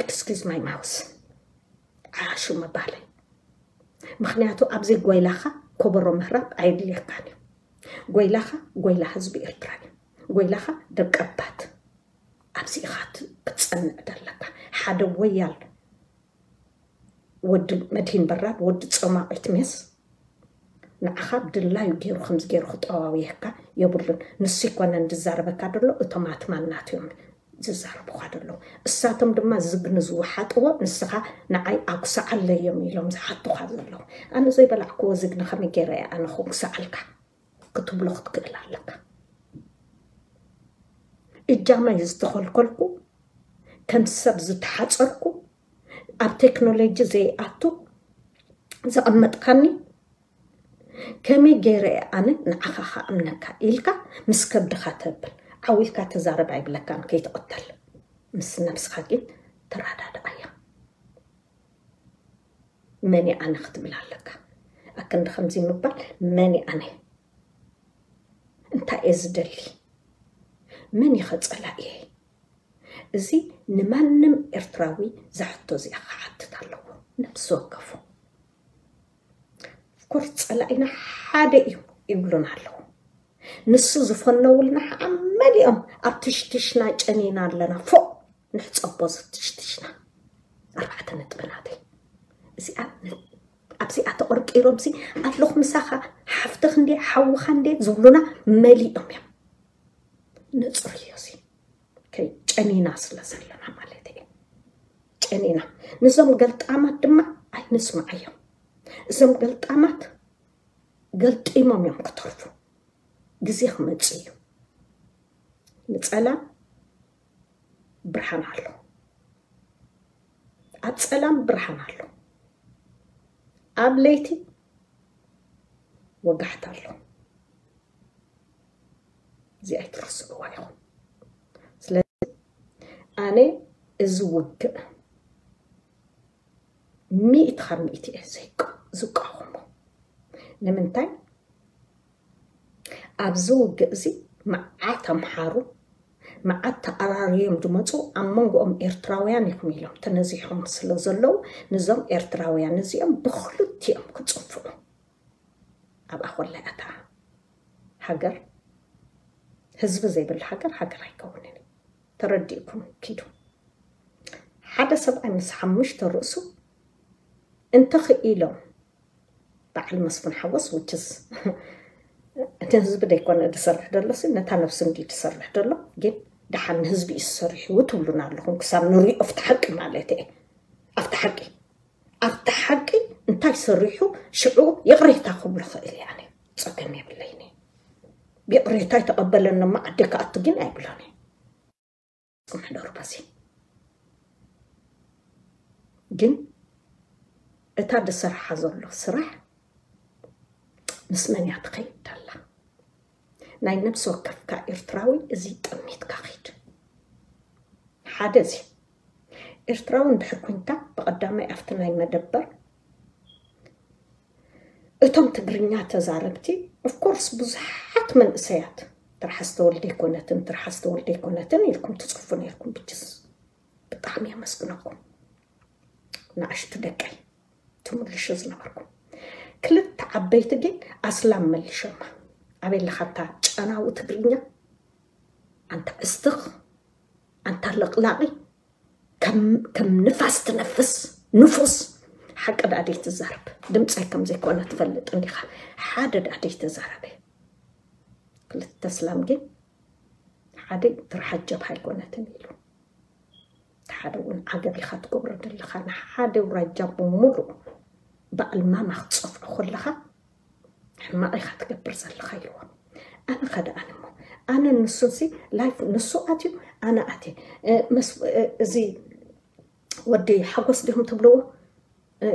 ኤክስኪዝ ማይ ማውስ ዓያሹ ምባለይ። ምክንያቱ ኣብዚ ጎይላኻ ኮበሮ ምህራብ ኣየድልየካን እዩ። ጎይላኻ ጎይላ ህዝቢ ኤርትራ እዩ። ጎይላኻ ደቀባት ኣብዚ ኢኻ ክትጸንዕ ዘለካ። ሓደ ወያል ወዲ መድሂን በራድ ወዲ ጸማቒት ሜስ ንዓኻ ብድላዩ ገይሩ ከምዚ ገይሩ ክጠዋውየካ የብሉን። ንሱ ይኮነን ዝዛረበካ ደሎ እቶም ኣትማናት እዮም ዝዛረቡኻ ደሎ። እሳቶም ድማ ዝግኒ ዝወሓጥዎ ንስኻ ንዓይ ኣጉስዓለይ እዮም ኢሎም ዝሓቱኻ ዘለዉ። ኣነ ዘይበላዕክዎ ዝግኒ ከመይ ገይረ እየ ኣነ ከጉስዓልካ ክትብሎ ክትክእል ኣለካ። እጃመይ ዝተኸልከልኩ ከም ሰብ ዝተሓፀርኩ ኣብ ቴክኖሎጂ ዘይኣቱ ዘቐመጥካኒ ከመይ ገይረ እየ ኣነ ንዓኻ ከኣምነካ ኢልካ ምስ ከብድኻ ተብል ዓው ኢልካ ተዛረብ ኣይብለካን ከይትቕተል ምስ ነብስኻ ግን ተረዳድኣያ። መን ኣነ ክትብል ኣለካ። ኣክንዲ ከምዚ ምባል፣ መን ኣነ? እንታይ እየ ዝደሊ? መን ኢኸ ጸላእየይ? እዚ ንማንም ኤርትራዊ ዝሕቶ እዚኣ ክሓትት ኣለዎ፣ ነፍሲ ወከፉ። ኦፍኮርስ ጸላኢና ሓደ እዩ ይብሉና ኣለዉ። ንሱ ዝፈነውልና ከዓ መሊኦም ኣብ ትሽትሽና ጨኒና ኣለና። ፎእ ንሕጸቦ ዝትሽትሽና። ኣርባዕተ ነጥቢ ናተይ እዚኣ ን-፣ ኣብዚኣ ተቆርቂሮም ሲ ኣለኹ ምሳኻ ሓፍትኽ እንዴ ሓውኻ እንዴ ዝብሉና መሊኦም እዮም። ነጽርዮ ሲ ጨኒና ስለ ዘለና ማለት እዩ። ጨኒና። ንዞም ገልጣማት ድማ ኣይንስምዓዮም። እዞም ገልጣማት ገልጢሞም እዮም ክተርፉ። ግዜ ክመጽእ እዩ። ንጸላም ብርሃን ኣሎ። ኣብ ጸላም ብርሃን ኣሎ። ኣብ ለይቲ ወጋሕታ ኣሎ። እዚ ኣይትረስዕዋ ኢኹም። ስለዚ ኣነ እዚ ውግእ ሚእቲ ካብ ሚእቲ እየ ዘይቅ-፣ ዝቃወሞ። ንምንታይ? ኣብዚ ውግእ እዚ መዓት ኣምሓሩ፣ መዓት ተኣራርዮም ዝመፁ ኣብ መንጎኦም ኤርትራውያን ኢኹም ኢሎም ተነዚሖም ስለ ዘለዉ፣ ንዞም ኤርትራውያን እዚኦም ብኽልቲኦም ክፅፍዑ። ኣብኣ ኮላይ ኣታ ሃገር፣ ህዝቢ ዘይብላ ሃገር፣ ሃገር ኣይከውንን እዩ። ተረዲእኩም ኪዱ። ሓደ ሰብኣይ ምስ ሓሙሽተ ርእሱ እንተኽኢሎም፣ በዓል መስፍን ሓጎስ፣ which is እቲ ህዝቢ ደይኮነ ዝሰርሕ ዘሎ ሲ፣ ነታ ነብሱ እንዲ ዝሰርሕ ዘሎ፣ ግን ደሓን ንህዝቢ እዩ ዝሰርሕ እዩ ትብሉና ኣለኹም። ክሳብ ንሪኦ ኣብቲ ሓቂ ማለት እየ። ኣብቲ ሓቂ፣ ኣብቲ ሓቂ እንታይ ሰሪሑ ሽዑ ይቕሬታ ክብሎ ኽእል እየ። ኣነ ጸገም የብለይን። ይቕሬታ ይተቐበለኒ እሞ ዓዲ ክኣቱ ግን ኣይብሎን እየ። ጽምሕደሩ በዚ ግን እታ ዝሰርሓ ዘሎ ስራሕ ምስ መን እያ ትኸይድ ደላ? ናይ ነብሲ ወከፍካ ኤርትራዊ እዚ ጠሚትካ ኺድ። ሓደ እዚ ኤርትራዊ እንድሕር ኮንካ ብቐዳማይ ኣብቲ ናይ መደበር እቶም ትግርኛ ተዛረብቲ፣ of course፣ ብዙሓት መንእሰያት ትርሓስ ተወልደ ኣይኮነትን፣ ትርሓስ ተወልደ ኣይኮነትን ኢልኩም ትጽፉ ነይርኩም። ብጅስ ብጣዕሚ የመስግነኩም ንኣሽቱ ደቀይ ትምልሹ ዝነበርኩም። ክልተ ዓበይቲ ግን ኣስላም መሊሾማ። ኣበይ ኣለኻ ኣንታ ጨናዊ ትግርኛ? ኣንታ እስትኽ፣ ኣንታ ለቕላቒ፣ ከም፣ ከም ንፋስ ትነፍስ ንፉስ። ሓቂ ደኣ ደይትዛረብ፣ ድምፀይ ከም ዘይኮነ ትፈልጥ እንዲኻ። ሓደ ደኣ ደይተዛረበ። ክልተ ኣስላም ግን ሓደ ትርሓስ ጀብሃ ኣይኮነትን ኢሉ። ሓደ እውን ዓገብ ኢኻ ትገብሮ ዘለኻ። ንሓደ ውራጃ ብምሉእ በዓል ማማ ክትጸፍዖ ከለኻ ሕማቕ ኢኻ ትገብር ዘለኻ ኢልዎ። ኣነ ኸደ ኣነ እሞ፣ ኣነ ንሱንሲ ላይፍ ንሱ ኣትዩ፣ ኣነ ኣትየ። እ፣ መስ-፣ እ፣ እዚ ወዲ ሓጎስ ዲኹም ትብልዎ? እ፣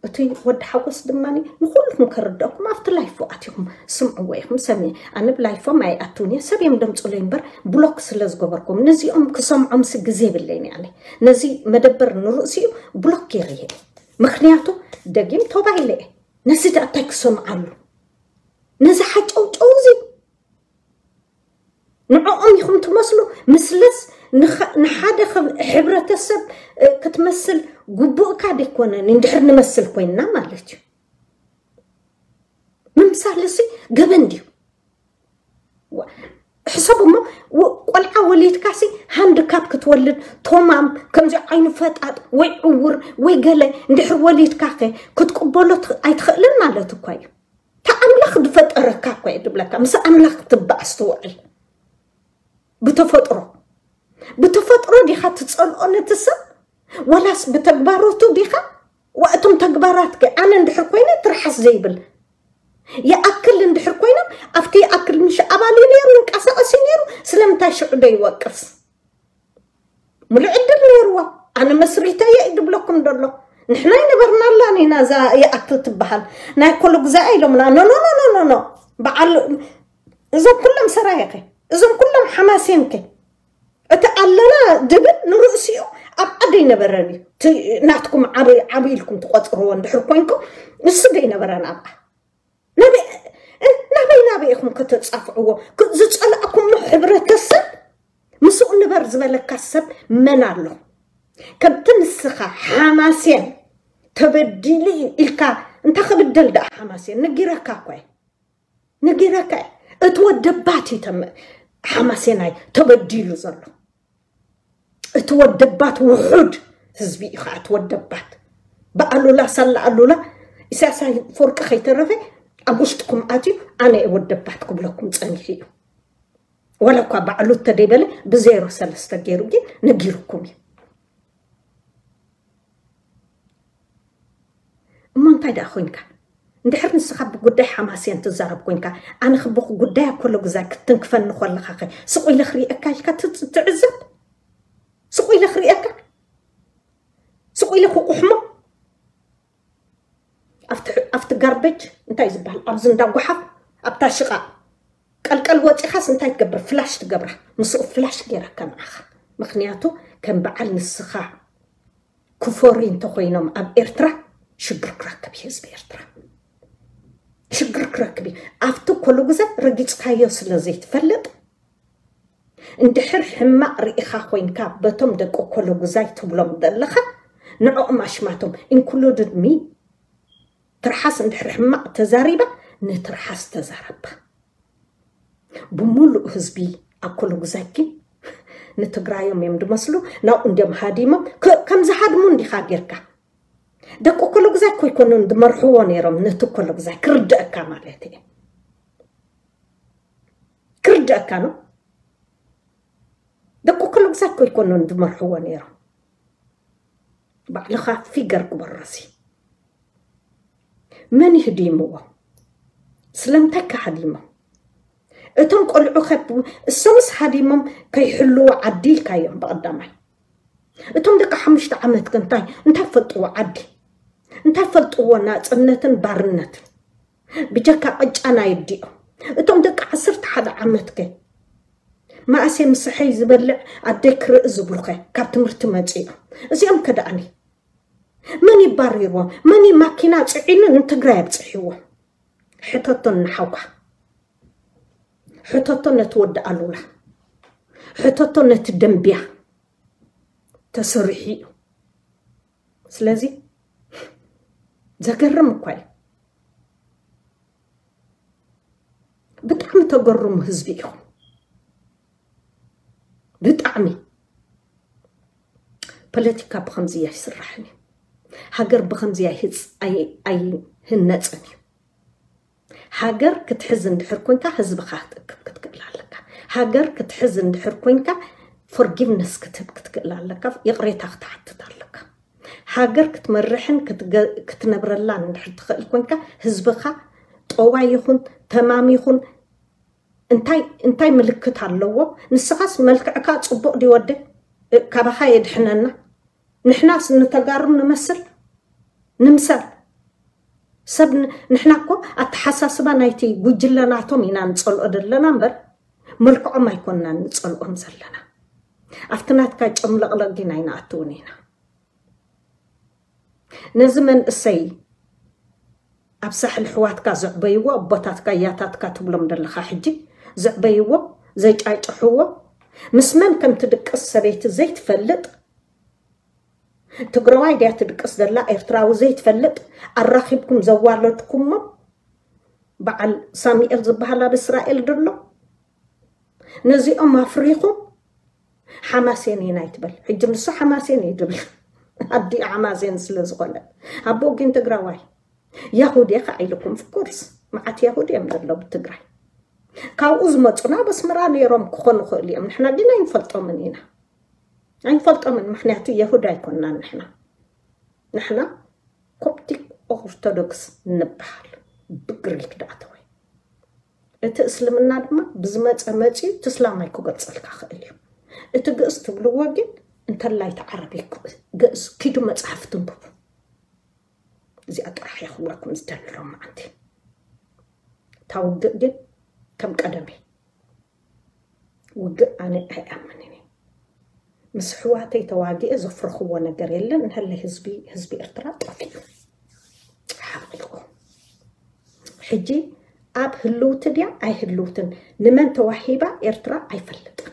እቲ ወዲ ሓጎስ ድማ ንኹልኩም ከረድአኩም ኣብቲ ላይፎ ኣትኹም ስምዕዎ ኢኹም። ሰሚ-፣ ኣነ ብላይፎም ኣይኣትውን እየ፣ ሰብ እዮም ደምፅለይ እምበር ብሎክ ስለ ዝገበርኩም። ነዚኦም ክሰምዖምሲ ግዜ የብለይን እየ ኣነ። ነዚ መደበር ንርእሲኡ ብሎክ ገይረ እየ። ምኽንያቱ ደጊም ቶባ ኢለ እየ። ነዚ ደኣ እንታይ ክሰምዓሉ? ነዚ ሓጨውጨው እዚ ንዕኦም ኢኹም ትመስሉ። ምስለስ ንኸ-፣ ንሓደ ኸብ-፣ ሕብረተሰብ፣ እ፣ ክትመስል ግቡእካ ደይኮነን፣ እንድሕር ንመስል ኮይንና ማለት እዩ። ምምሳልሲ ገበን ድዩ? ዋ-፣ ሕሰብ እሞ፣ ወ-፣ ቆልዓ ወሊድካሲ ሃንድካፕ ክትወልድ፣ ቶማም፣ ከምዚ ዓይኑ ፈጣጥ ወይ ዕውር ወይ ገለ እንድሕር ወሊድካ ከ ክትቅበሎ ት-፣ ኣይትኽእልን ማለት እኳ እዩ። እታ ኣምላኽ ዝፈጠረካ እኳ እዩ ዝብለካ። ምስ ኣምላኽ ክትበኣስ ትውዕል። ብተፈጥሮ፣ ብተፈጥሮ ዲኻ ትጸልኦ ነቲ ሰብ? ወላስ ብተግባሮቱ ዲኻ? ዋ፣ እቶም ተግባራት ከ? ኣነ እንድሕር ኮይነ ትርሓስ ዘይብል ይኣክል እንድሕር ኮይኖም፣ ኣብቲ ይኣክል ምሽ ኣባል እዩ ነይሩ፣ ይንቀሳቐስ እዩ ነይሩ፣ ስለምንታይ ሽዑ ዶ ይወቅስ? ሙሉእ ዕድል ነይርዎ። ኣነ መስሪተዮ እዩ ዝብለኩም ዘሎ። ንሕና ኣይነበርናላን ኢና እዛ ይኣክል ትበሃል። ናይ ኮሎ ግዛኢ ኢሎምና። ኖ፣ ኖ፣ ኖ፣ ኖ፣ ኖ፣ ኖ። በዓል፣ እዞም ኩሎም ሰራየኸ፣ እዞም ኩሎም ሓማሴንከ፣ እቲ ኣለና ድብል ንርእሲኡ ኣብኣ ደይነበረን እዩ። እቲ ናትኩም ዓብ ኢልኩም ትቆፅርዎ እንድሕር ኮንኩም፣ ንሱ ደይነበረን ኣብኣ። ናበይ ናበይ ኢኹም ከተፃፍዕዎ? ዝፀላእኩሞ ሕብረተሰብ፣ ምስኡ ንበር ዝበለካ ሰብ መን ኣሎ? ከምቲ ንስኻ ሓማሴን ተበዲሉ እዩ ኢልካ፣ እንታይ ክብደል ደኣ ሓማሴን? ነጊረካ እኳ እየ። ነጊረካ እየ። እቲ ወደባት እዩ ተመ-፣ ሓማሴናይ ተበዲሉ ዘሎ። እቲ ወደባት ውሑድ ህዝቢ እዩ ከዓ እቲ ወደባት። ብኣሉላ ሳላ ኣሉላ፣ ኢሳያስ ኣፈወርቂ ከይተረፈ ኣብ ውሽጥኩም ኣትዩ፣ ኣነ እየ ወደባት ክብለኩም ጸኒሑ እዩ። ዋላ እኳ ባዕሉ እንተደይበለ፣ ብዜሮ ሰለስተ ገይሩ ግን ነጊሩኩም እዩ። እሞ እንታይ ደኣ ኮይንካ? እንድሕር ንስኻ ብጉዳይ ሓማስያን ትዛረብ ኮይንካ፣ ኣነ ክብኹ ጉዳይ ኣኮሎ ግዛይ ክትንክፈኒ ከለኻ ኸ ስቕ ኢለ ክርእየካ ኢልካ ት-፣ ትዕዘብ? ስቕ ኢለ ክርእየካ? ስቕ ኢለ ክቁሕሞ? ኣብቲ፣ ኣብቲ ጋርበጅ እንታይ ዝበሃል? ኣብዚ እንዳ ጓሓፍ፣ ኣብታ ሽቓ ቀልቀል ወፂኻስ እንታይ ትገብር? ፍላሽ ትገብራ። ምስኡ ፍላሽ ገይረካ ንዓኻ። ምኽንያቱ ከም በዓል ንስኻ ክፈርዩ እንተኾይኖም ኣብ ኤርትራ ሽግር ክረክብ እዩ ህዝቢ ኤርትራ። ሽግር ክረክብ እዩ። ኣብቲ ኮሎ ግዛይ ረጊጽካዮ ስለ ዘይትፈልጥ፣ እንድሕር ሕማቕ ርኢኻ ኮይንካ በቶም ደቂ ኮሎ ግዛይ ትብሎም ዘለኻ፣ ንዕኦም ኣሽማቶም፣ included me፣ ትርሓስ እንድሕር ሕማቕ ተዛሪባ፣ ንትርሓስ ተዛረባ። ብምሉእ ህዝቢ ኣኮሎ ግዛይ ግን ንትግራዮም እዮም ዝመስሉ። ናብኡ እንዲዮም ሃዲሞም። ከ-፣ ከም ዝሃድሙ እንዲኻ ጌርካ። ደቂ ኣኮሎ ግዛይ እኮ ኣይኮኑን ዝመርሕዎ ነይሮም፣ ነቲ ኣኮሎ ግዛይ ክርድአካ ማለት እየ። ክርድአካ ነው። ደቂ ኣኮሎ ግዛይ እኮ ኣይኮኑን ዝመርሕዎ ነይሮም። ባዕልኻ ፊገር ግበሮ። እዚ መን ይህዲምዎ? ስለምንታይ ከ ሃዲሞም? እቶም ቆልዑ ከ፣ እሶምስ ሃዲሞም ከይሕልዎ ዓዲ ኢልካዮም ብቐዳማይ። እቶም ደቂ ሓሙሽተ ዓመት ከ እንታይ፣ እንታይ ፈልጥዎ ዓዲ? እንታይ ፈልጥዎ ናጽነትን ባርነትን? ብጀካ ቅጫ ናይ ኣዲኦም። እቶም ደቂ ዓሰርተ ሓደ ዓመት ከ መኣስ ምስሐይ ዝበልዕ ኣደይ ክርኢ ዝብሉ ከ ካብ ትምህርቲ መጺኦም? እዚኦም ከ ደኣኒ መን ይባሪርዎም? መን እዩ ማኪና ጽዒኑ ንትግራይ ኣብጽሕዎ? ሕተቶ ንሓውካ። ሕተቶ ነቲ ወዲ ኣሉላ። ሕተቶ ነቲ ደንብያ። ተሰሪሑ እዩ። ስለዚ ዘገርም እኳ እዩ። ብጣዕሚ ተገርሙ ህዝቢ ኢኹም። ብጣዕሚ። ፖለቲካ ብኸምዚ ኣይስራሕን እዩ። ሃገር ብኸምዚ ኣይህጽ-፣ ኣይ-፣ ኣይህነጽን እዩ። ሃገር ክትሕዝ እንድሕር ኮንካ ህዝብኻ ክትእክብ ክትክእል ኣለካ። ሃገር ክትሕዝ እንድሕር ኮንካ ፎርጊቭነስ ክትህብ ክትክእል ኣለካ። ይቕሬታ ክትሓትት ኣለካ። ሃገር ክትመርሕን ክትገ-፣ ክትነብረላን እንድሕር ትኽእል ኮንካ ህዝብኻ ጠዋይ ይኹን ተማም ይኹን እንታይ፣ እንታይ ምልክት ኣለዎ? ንስኻስ መልክዕካ ጽቡቕ ድዩ ወደ? እ፣ ካባኻ የድሕነና። ንሕናስ ንተጋሩ ንመስል? ንምሰል? ሰብ ን-፣ ንሕና እኮ ኣተሓሳስባ ናይቲ ጉጅለ ናቶም ኢና ንጸልኦ ዘለና እምበር፣ መልክዖም ኣይኮንናን ንጸልኦም ዘለና። ኣብቲ ናትካ ጨምለቕለቕ ግን ኣይንኣትውን ኢና። ነዚ መንእሰይ ኣብ ሳሕል ኣሕዋትካ ዘዕበይዎ፣ ኣቦታትካ ያታትካ ትብሎም ዘለኻ ሕጂ፣ ዘዕበይዎ፣ ዘጫጭሕዎ፣ ምስ መን ከም ትድቅስ ሰበይቲ ዘይትፈልጥ፣ ትግራዋይ ድያ ትድቅስ ዘላ ኤርትራዊ ዘይትፈልጥ፣ ኣራኺብኩም ዘዋለድኩሞ፣ በዓል ሳሙኤል ዝበሃል ኣብ እስራኤል ድሎ፣ ነዚኦም ኣፍሪኹም ሓማሴን ኢና ይትበል። ሕጂ ንሱ ሓማሴን እዩ ዝብል። ኣዲኡ ሓማሴን ስለ ዝኾነ። ኣቦኡ ግን ትግራዋይ። ያሁድ እየ ከዓ ኢልኩም፣ of course፣ መዓት ያሁድ እዮም ዘለዉ ትግራይ። ካብኡ ዝመፁና ኣብ ኣስመራ ነይሮም ክኾኑ ይኽእሉ እዮም። ንሕና ግን ኣይንፈልጦምን ኢና። ኣይንፈልጦምን፣ ምኽንያቱ የሁድ ኣይኮንናን ንሕና። ንሕና ኮፕቲክ ኦርቶዶክስ ንበሃል። ብግሪክ ደኣ ተወይ። እቲ እስልምና ድማ ብዝመፀ መፂኡ እቲ እስላማይ ክገልፀልካ ክእል እዩ። እቲ ግእዝ ትብልዎ ግን እንተላይ እቲ ዓረቢ ግእዝ ኪዱ መፅሓፍ ትንብቡ። እዚኣ ጥራሕ እየ ክብለኩም ዝደሊ ሎማዓንቲ። እታ ውግእ ግን ከም ቀደመይ ውግእ ኣነ ኣይኣምንን እየ። ምስ ኣሕዋተይ ተዋጊኤ ዘፍረኽዎ ነገር የለን። እንሀለ ህዝቢ ህዝቢ ኤርትራ ጠፊኡ፣ ሓቂቑ። ሕጂ ኣብ ህልውቲ ድያ ኣይህልውትን፣ ንመን ተዋሂባ ኤርትራ ኣይፈልጥን።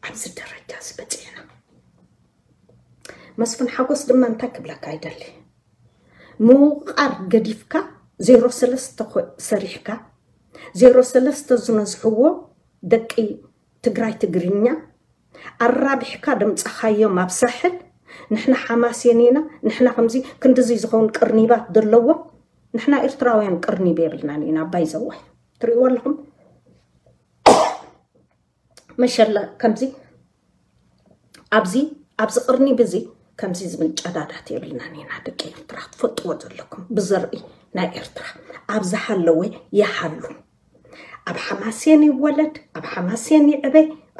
ኣብዚ ደረጃ እዚ በጺሕና። መስፍን ሓጎስ ድማ እንታይ ክብለካ ይደሊ? ምውቓር ገዲፍካ ዜሮ ሰለስተ ኮ- ሰሪሕካ፣ ዜሮ ሰለስተ ዝነዝሕዎ ደቂ ትግራይ ትግርኛ ኣራቢሕካ ደምጻኻዮም ኣብ ሳሕል። ንሕና ሓማሴን ኢና፣ ንሕና ከምዚ ክንድዚ ዝኸውን ቅርኒባት ዘለዎም። ንሕና ኤርትራውያን ቅርኒብ የብልናን ኢና። ኣባይ ዘዋይ ትርእይዎ ኣለኹም። መሸለ ከምዚ ኣብዚ ኣብዚ ቅርኒብ እዚ ከምዚ ዝብል ጨዳዳት የብልናን ኢና። ደቂ ኤርትራ ትፈልጥዎ ዘለኩም ብዘርኢ ናይ ኤርትራ ኣብ ዝሃለወ ይሃሉ። ኣብ ሓማሴን ይወለድ፣ ኣብ ሓማሴን ይዕበ፣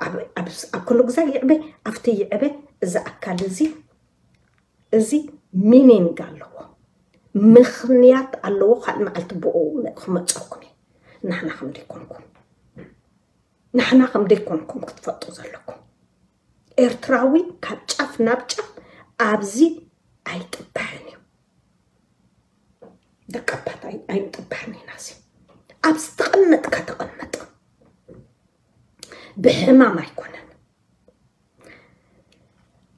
ኣብ- ኣብ- ኣብ ኩሉ ግዛ ይዕበ፣ ኣብቲ ይዕበ። እዚ ኣካል እዚ እዚ ሚኒንግ ኣለዎ፣ ምኽንያት ኣለዎ። ካልእ መዓልቲ ብኡ ክመፀኩም እዩ። ንሕና ከም ደይኮንኩም ንሕና ከም ደይኮንኩም ክትፈልጡ ዘለኩም። ኤርትራዊ ካብ ጫፍ ናብ ጫፍ ኣብዚ ኣይጥበሕን እዩ። ደቂ ኣባት ኣይ- ኣይንጥበሕን ኢና። እዚ ኣብዚ ተቐመጥካ ተቐመጥ፣ ብሕማም ኣይኮነን።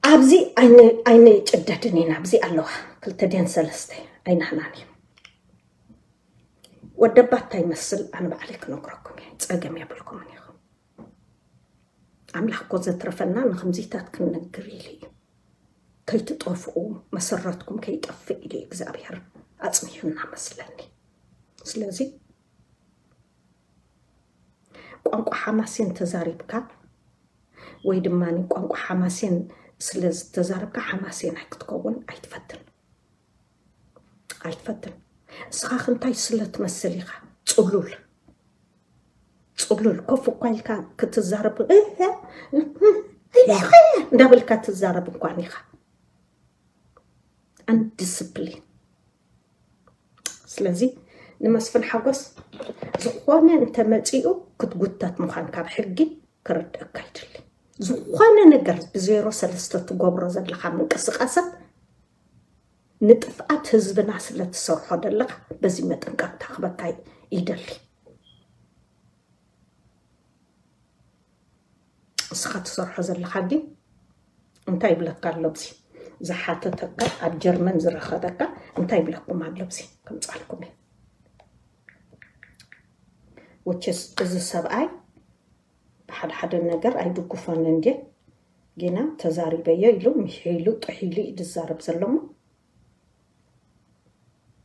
ኣብዚ ኣይን- ኣይንጭደድን ኢና። ኣብዚ ኣለዋ ክልተ ድየን ሰለስተ ኣይናህናን እዩ። ወደባት እንታይ ይመስል ኣነ ባዕለይ ክነግረኩም እየ። ጸገም የብልኩምን ኢኹም። ኣምላኽ እኮ ዘትረፈና ንክምዚታት ክንነግር ኢሉ እዩ። ከይትጠፍኡ፣ መሰረትኩም ከይጠፍእ ኢሉ እዩ እግዚኣብሔር ኣጽኒሑና መስለኒ። ስለዚ ቋንቋ ሓማሴን ተዛሪብካ ወይ ድማ ቋንቋ ሓማሴን ስለ ዝተዛረብካ ሓማሴን ኣይክትከውን ኣይትፈትን። ኣይትፈትን። እስኻ ክንታይ ስለ ትመስል ኢኻ? ጽሉል። ጽሉል። ኮፍ እኳ ኢልካ ክትዛረብ፣ እንዳበልካ ትዛረብ እንኳን ኢኻ። ኣንዲስፕሊን። ስለዚ ንመስፍን ሓጎስ ዝኾነ እንተመጺኡ ክትጉተት ምዃን ካብ ሕጊ ክርድእካ ይደሊ። ዝኾነ ነገር ብዜሮ ሰለስተ ትገብሮ ዘለኻ ምንቅስቃሳት ንጥፍኣት ህዝብና ስለ ትሰርሖ ዘለኻ በዚ መጠንቀቕታ ክበካ ይደሊ። እስኻ ትሰርሖ ዘለኻ ግን እንታይ ይብለካ ኣሎ? ብዚ ዝሓተተካ ኣብ ጀርመን ዝረኸበካ እንታይ ይብለኩም ኣሎ? ብዚ ከምጻልኩም እየ። Which is እዚ ሰብኣይ ብሓደ ሓደ ነገር ኣይድግፎን እንዴ ጌና ተዛሪበዮ ኢሉ ምሒሉ ጥሒሉ እዩ ዝዛረብ ዘሎ እሞ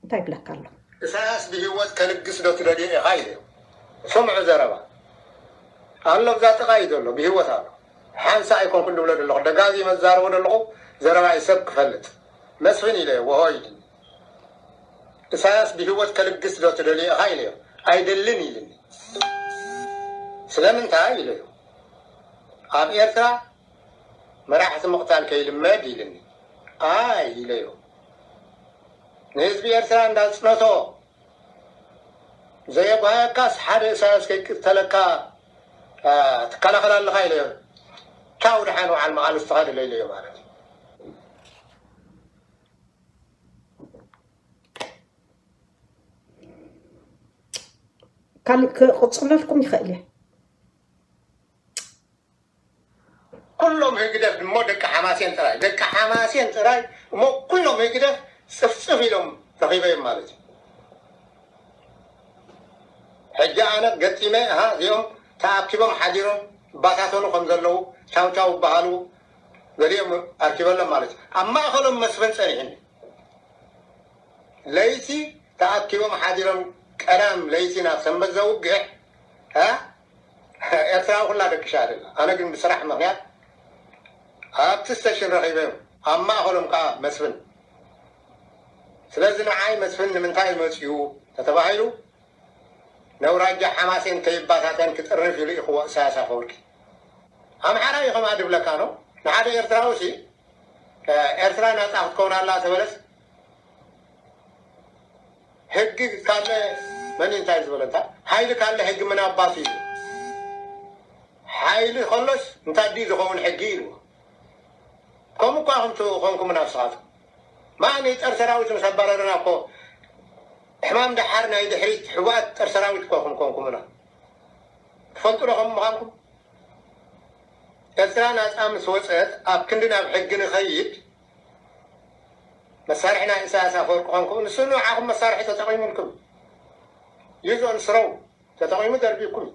እንታይ ይብለካ ኣሎ? ኢሳያስ ብህይወት ከልግስ ዶ ትደልዮ ኢኻ ኢለዮ። ስምዑ ዘረባ ኣሎ ብዛ ጥቓ እዩ ዘሎ ብህይወት ኣሎ። ሓንሳ ኣይኮንኩን ድብሎ ዘለኹ ደጋጊመ ዝዛረቦ ዘለኹ ዘረባ እዩ ሰብ ክፈልጥ መስፍን ኢለዮ ወሆ ኢልኒ። ኢሳያስ ብህይወት ከልግስ ዶ ትደልዮ ኢኻ ኢለዮ። ኣይደልን ኢልኒ። ስለምንታይ ኢለዮ። ኣብ ኤርትራ መራሕቲ ምቕታል ከይልመድ ኢልኒ። ኣይ ኢለዮ። ንህዝቢ ኤርትራ እንዳጽነቶ ዘየጓየካስ ሓደ ኢሳያስ ከይቅተለካ ትከላኸል ኣለኻ ኢለዮ። ቻው ደሓን ውዓል መቓልስትኻ ድለ ኢለዮ ማለት እዩ። ካልእ ክቕፅለልኩም ይኽእል እየ። ኩሎም ህግደፍ እሞ ደቂ ሓማሴን ጥራይ ደቂ ሓማሴን ጥራይ እሞ ኩሎም ህግደፍ ፅፍፅፍ ኢሎም ረኺበዮም ማለት እዩ። ሕጂ ኣነ ገጢመ እሃ እዚኦም ተኣኪቦም ሓዲሮም ይባታተኑ ከም ዘለዉ ቻው ቻው ይበሃሉ ገሊኦም ኣርኪበሎም ማለት እዩ። ኣብ ማእኸሎም መስፍን ፀኒሕኒ ለይቲ ተኣኪቦም ሓዲሮም ቀዳም ለይቲ ናብ ሰንበት ዘውግሕ እ ኤርትራዊ ኩላ ደቅሻ ደላ ኣነ ግን ብስራሕ ምክንያት ኣብቲ ስተሽን ረኺበዮም ኣብ ማእኸሎም ከዓ መስፍን ስለዚ ንዓይ መስፍን ንምንታይ መፅኡ ተተባሂሉ ነውራጃ ሓማሴን ከይባታተን ክጥርንፍ ኢሉ ኢኽዎ ኢሳያስ ኣፈወርቂ ኣምሓራ እዩ ከምኣ ድብለካ ነው ንሓደ ኤርትራዊ ሲ ኤርትራ ናፃ ክትከውን ኣላ ተበለስ ሕጊ ካለ መን እንታይ ዝበለ እንታይ ሓይሊ ካለ ሕጊ ምን ኣባቱ እዩ ሓይሊ ከሎስ እንታይ ድዩ ዝኸውን ሕጊ ኢልዎ። ከምኡ እኳ ከምቲ ኮንኩምና ንስኻትኩም። ማን ጸር ሰራዊት ምስ ኣባረረና እኮ ሕማም ደሓር ናይ ድሕሪት ሕቡኣት ጸር ሰራዊት እኳ ከም ኮንኩምና። ትፈልጡ ዶ ከም ምዃንኩም? ኤርትራ ናጻ ምስ ወጸት ኣብ ክንዲ ናብ ሕጊ ንኸይድ መሳርሒ ናይ ኢሳያስ ኣፈወርቂ ኮንኩም። ንሱ ንዓኹም መሳርሒ ተጠቒሙልኩም። ዩዝ ኦን ስሮው ተጠቒሙ ደርቢኩም።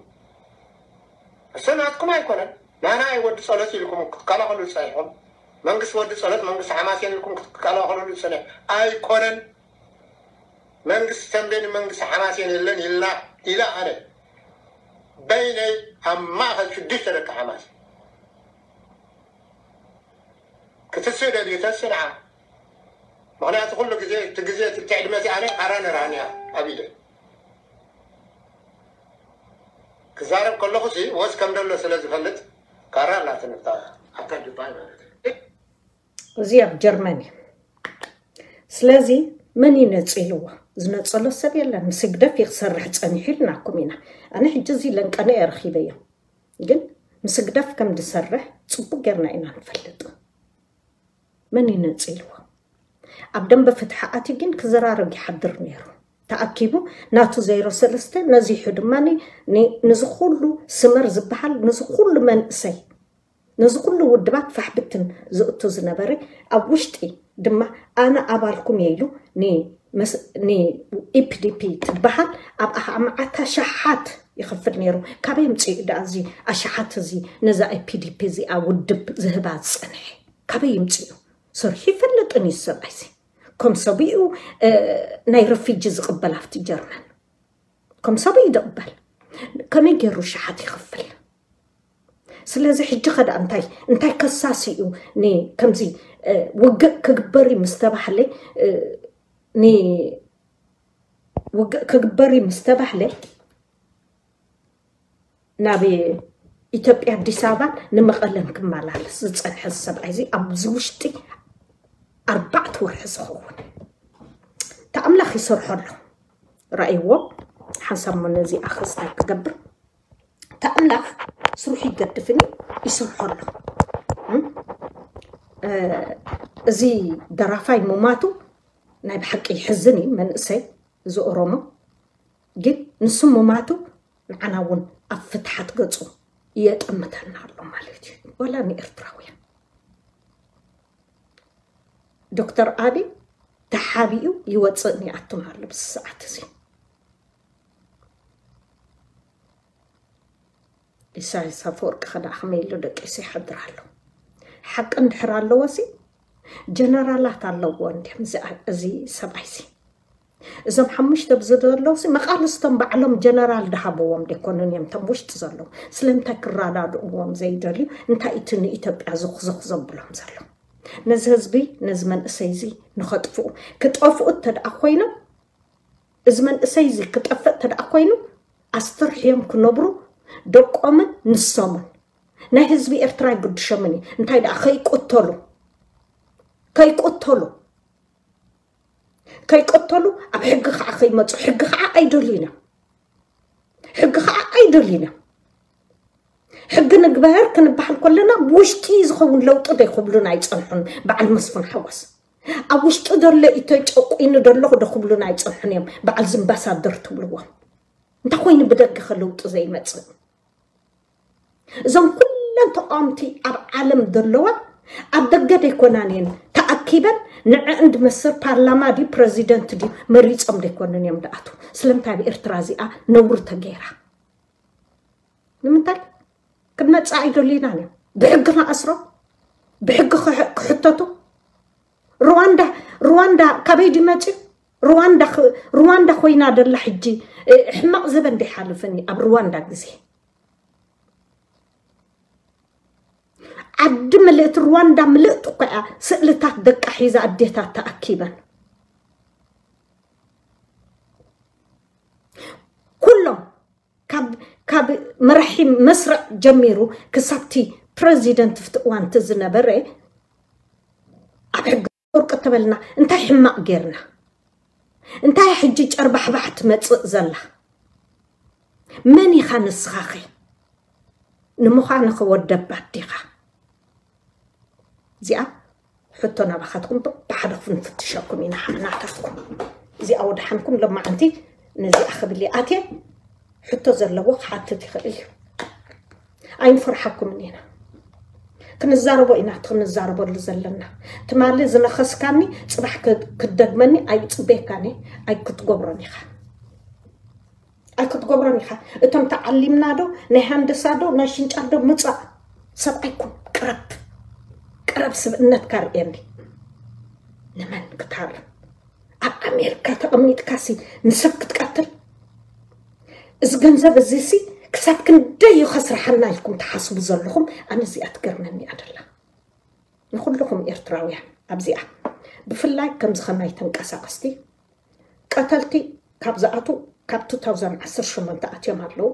እሱ ናትኩም ኣይኮነን። ናና እዩ ወዲ ጸሎት ኢልኩም ክትከላኸሉ ጸኒሕኩም። መንግስቲ ወዲ ጸሎት፣ መንግስቲ ሓማሴን ኢልኩም ክትከላኸሉ ጸኒሕ ኣይኮነን። መንግስቲ ተንቤን መንግስቲ ሓማሴን የለን ኢልና ኢላ ኣነ በይነይ ኣብ ማእኸል ሽዱሽተ ደቂ ሓማሴን ክትስእ ደልዩ ተስእ ንዓ። ምኽንያቱ ኩሉ ግዜ እቲ ግዜ እቲ ዕድመ እቲ ኣነ ካራ ነራንያ ኣብ ኢደ ክዛረብ ከለኹ ሲ ወስ ከም ደሎ ስለ ዝፈልጥ ካራ ኣላትንታ ኣታ ድባይ ማለት እዩ። እዚ ኣብ ጀርመን እዩ። ስለዚ መን እዩ ነፂልዎ? ዝነፀሎ ሰብ የለን። ምስ ህግደፍ እዩ ክሰርሕ ፀኒሑ ኢልናኩም ኢና። ኣነ ሕጂ እዚ ለንቀነ እየ ረኺበዮ። ግን ምስ ህግደፍ ከም ዝሰርሕ ፅቡቅ ጌርና ኢና ንፈልጥ። መን እዩ ነፂልዎ? ኣብ ደንበ ፍትሒ ኣትዩ ግን ክዘራረብ ይሓድር ነይሩ። ተኣኪቡ ናቱ ዜሮ ሰለስተ ነዚሑ ድማ ኒ- ኒ- ንዚ ኩሉ ስመር ዝበሃል ንዚ ኩሉ መንእሰይ ነዚ ኩሉ ውድባት ፋሕብትን ዝእቱ ዝነበረ ኣብ ውሽጢ ድማ ኣነ ኣባልኩም እየ ኢሉ ን- መስ- ን ኢፒዲፒ ትበሃል ኣብ ኣኻ መዓት ኣሽሓት ይኸፍል ነይሩ። ካበይ ምፅኡ ደኣ እዚ ኣሽሓት እዚ ነዛ ኢፒዲፒ እዚኣ ውድብ ዝህባ ዝፀንሐ? ካበይ ይምፅኡ? ሰርሑ ይፈልጥን እዩ ሰብኣይሲ። ከም ሰብኡ እ፣ ናይ ረፊጂ ዝቕበል ኣብቲ ጀርመን ከም ሰብኡ ይቕበል። ከመይ ገይሩ ሸሓት ይኸፍል? ስለዚ ሕጂ ኸዳ እንታይ እንታይ ከሳሲ እዩ? ን ከምዚ እ፣ ውግእ ክግበር እዩ ምስ ተባህለ እ፣ ን ውግእ ክግበር እዩ ምስ ተባህለ ናብ ኢትዮጵያ ኣዲስ ኣበባ ንመቐለን ክመላለስ ዝፀንሐ ሰብኣይ እዚ ኣብዚ ውሽጢ ኣርባዕተ ወርሒ ዝኸውን ተኣምላኽ ይሰርሖ ኣሎ። ረኣይዎ ሓንሳብ ሞ ነዚ ኣኸስታይ ክገብር ተኣምላኽ ስርሑ ይገድፍን ይሰርሖ ኣሎ። እም? እ፣ እዚ ደራፋይ ምማቱ ናይ ብሓቂ ይሕዝን እዩ። መንእሰይ እዚ ኦሮሞ ግን ንሱ ምማቱ ንዓና እውን ኣብ ፍትሓት ገፁ የጠምተና ኣሎ ማለት እዩ። ወላ ንኤርትራውያን ዶክተር ኣቢ ተሓቢኡ ይወፅእን ይኣቱን ኣሎ ብዚ ሰዓት እዚ። ኢሳያስ ኣፈወርቂ ኸዳ ከመይ ኢሉ ደቂሱ ይሓድር ኣሎ? ሓቂ እንድሕር ኣለዎ ሲ ጀነራላት ኣለዎ እንዲም እዚ ሰብኣይ ሲ እዞም ሓሙሽተ ብዚ ዘለዉ ሲ መቓልስቶም ባዕሎም ጀነራል ድሃብዎም ደይኮኑን እዮም እቶም ውሽጢ ዘለዉ። ስለምንታይ ክረዳድእዎም ዘይደልዩ? እንታይ እቲ ንኢትዮጵያ ዝኽዝኽ ዘብሎም ዘሎ? ነዚ ህዝቢ ነዚ መንእሰይ እዚ ንኸጥፍኡ ክጠፍኡ እተደኣ ኮይኖም እዚ መንእሰይ እዚ ክጠፍእ እተደኣ ኮይኑ ኣስተርሕዮም ክነብሩ ደቆምን ንሶምን ናይ ህዝቢ ኤርትራ ይግድሾምን እዩ። እንታይ ደኣ ከይቆተሉ ከይቆተሉ ከይቆተሉ ኣብ ሕጊ ከዓ ከይመፁ ሕጊ ከዓ ኣይደልዩን እዮም። ሕጊ ከዓ ኣይደልዩን እዮም። ሕጊ ንግበር ክንበሃል ከለና ብውሽጢ ዝኸውን ለውጢ ዘይክብሉን ኣይፀንሑን። በዓል መስፍን ሓጎስ ኣብ ውሽጢ ዘሎ ኢተጨቁኑ ደለኹ ዶ ክብሉን ኣይፀንሑን እዮም። በዓል ዝምባሳደር ትብልዎም እንታይ ኮይኑ ብደገ ከለውጢ ዘይመፅእ? እዞም ኩለን ተቃወምቲ ኣብ ዓለም ዘለዋ ኣብ ደገ ደይኮናን እየን ተኣኪበን ንዕእን ድመስር ፓርላማ ድዩ ፕረዚደንት ድዩ መሪፆም ደይኮኑን እዮም ደኣትዉ። ስለምንታይ ኣብ ኤርትራ እዚኣ ነውሪ ተገይራ? ንምንታይ ክትመፅእ ኣይደልዩናን እዮም። ብሕጊ ንኣስሮ ብሕጊ ክሕ- ክሕተቱ ሩዋንዳ ሩዋንዳ ካበይ ድመፅኡ? ሩዋንዳ ኽ- ሩዋንዳ ኮይና ደላ ሕጂ እ፣ ሕማቕ ዘበን ደይሓልፍን እዩ ኣብ ሩዋንዳ ግዜ ዓዲ ምልእቲ ሩዋንዳ ምልእቲ እኮ እያ ስእልታት ደቃ ሒዛ ኣዴታት ተኣኪበን ኩሎም ካብ ካብ መራሒ መስርዕ ጀሚሩ ክሳብቲ ፕረዚደንት ፍቲ እዋንቲ ዝነበረ ኣብ ሕጊ ወርቂ ተበልና እንታይ ሕማቕ ጌርና እንታይ ሕጂ ጨርባሕባሕ ትመፅእ ዘላ መን ኢኻ ንስኻኸ ንምዃንኸ ወደባት ዲኻ? እዚኣ ሕቶ ናባኻትኩም ብሓደ ክንፍትሸኩም ኢና። ሓናታትኩም እዚኣ ወድሓንኩም ለማዓንቲ ነዚኣ ክብል ኣትየ ሕቶ ዘለዎ ክሓትት ይኽእል እዩ። ኣይንፈርሓኩምን ኢና። ክንዛረቦ ኢና እቲ ክንዛረበሉ ዘለና። ትማሊ ዝነኸስካኒ ጽባሕ ክደግመኒ ኣይጽበየካኒ። ኣይክትገብሮን ኢኻ ኣይክትገብሮን ኢኻ። እቶም ተዓሊምና ዶ ናይ ሃንደሳ ዶ ናይ ሽንጫር ዶ ምጻእ። ሰብኣይኩም ቅረብ ቅረብ ስብእነትካ ርእየኒ። ንመን ክታርም ኣብ ኣሜሪካ ተቐሚጥካሲ ንሰብ ክትቀትል? እዚ ገንዘብ እዚሲ ክሳብ ክንደይ እዩ ከስርሓና ኢልኩም ትሓስቡ ዘለኹም? ኣነ እዚኣ ትገርመኒ ኣደላ። ንኩልኹም ኤርትራውያን ኣብዚኣ ብፍላይ ከምዚ ከማይ ተንቀሳቐስቲ ቀተልቲ ካብ ዝኣቱ ካብ 2018 ኣትዮም ኣለዉ።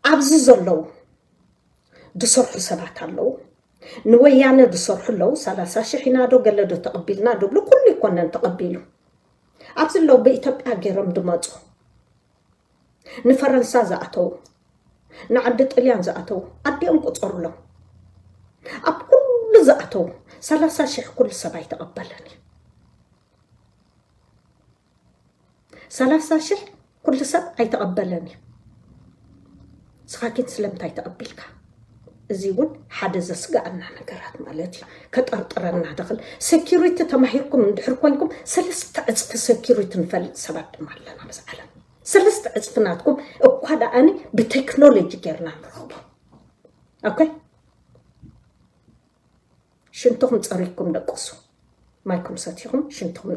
ኣብዚ ዘለዉ ዝሰርሑ ሰባት ኣለዉ። ንወያነ ዝሰርሑ ኣለዉ። 30 ሺሕ ኢና ዶ ገለ ዶ ተቐቢልና ዶ ብሉ ኩሉ ይኮነን ተቐቢሉ። ኣብዚ ኣለዉ ብኢትዮጵያ ገይሮም ድመፁ ንፈረንሳ ዝኣተዉ ንዓዲ ጥልያን ዝኣተዉ ኣዲኦም ቁፀሩሎም። ኣብ ኩሉ ዝኣተዉ 30 ሺሕ ኩሉ ሰብ ኣይተቐበለን እዩ። 30 ሺሕ ኩሉ ሰብ ኣይተቐበለን እዩ። ስኻ ግን ስለምንታይ ተቐቢልካ? እዚ እውን ሓደ ዘስጋኣና ነገራት ማለት እዩ። ከጠርጥረና ደኽል ሴኪሪቲ ተማሂርኩም እንድሕር ኮንኩም ሰለስተ ዕፅፊ ሴኪሪቲ ንፈልጥ ሰባት ድማ ኣለና ኣብዚ ዓለም። ሰለስተ ዕፅፊ ናትኩም እኳ ደኣኒ ብቴክኖሎጂ ጌርና ንረኽቦ። ኦኬ ሽንትኹም ፀሪኩም ደቅሱ። ማይኩም ሰቲኹም ሽንትኹም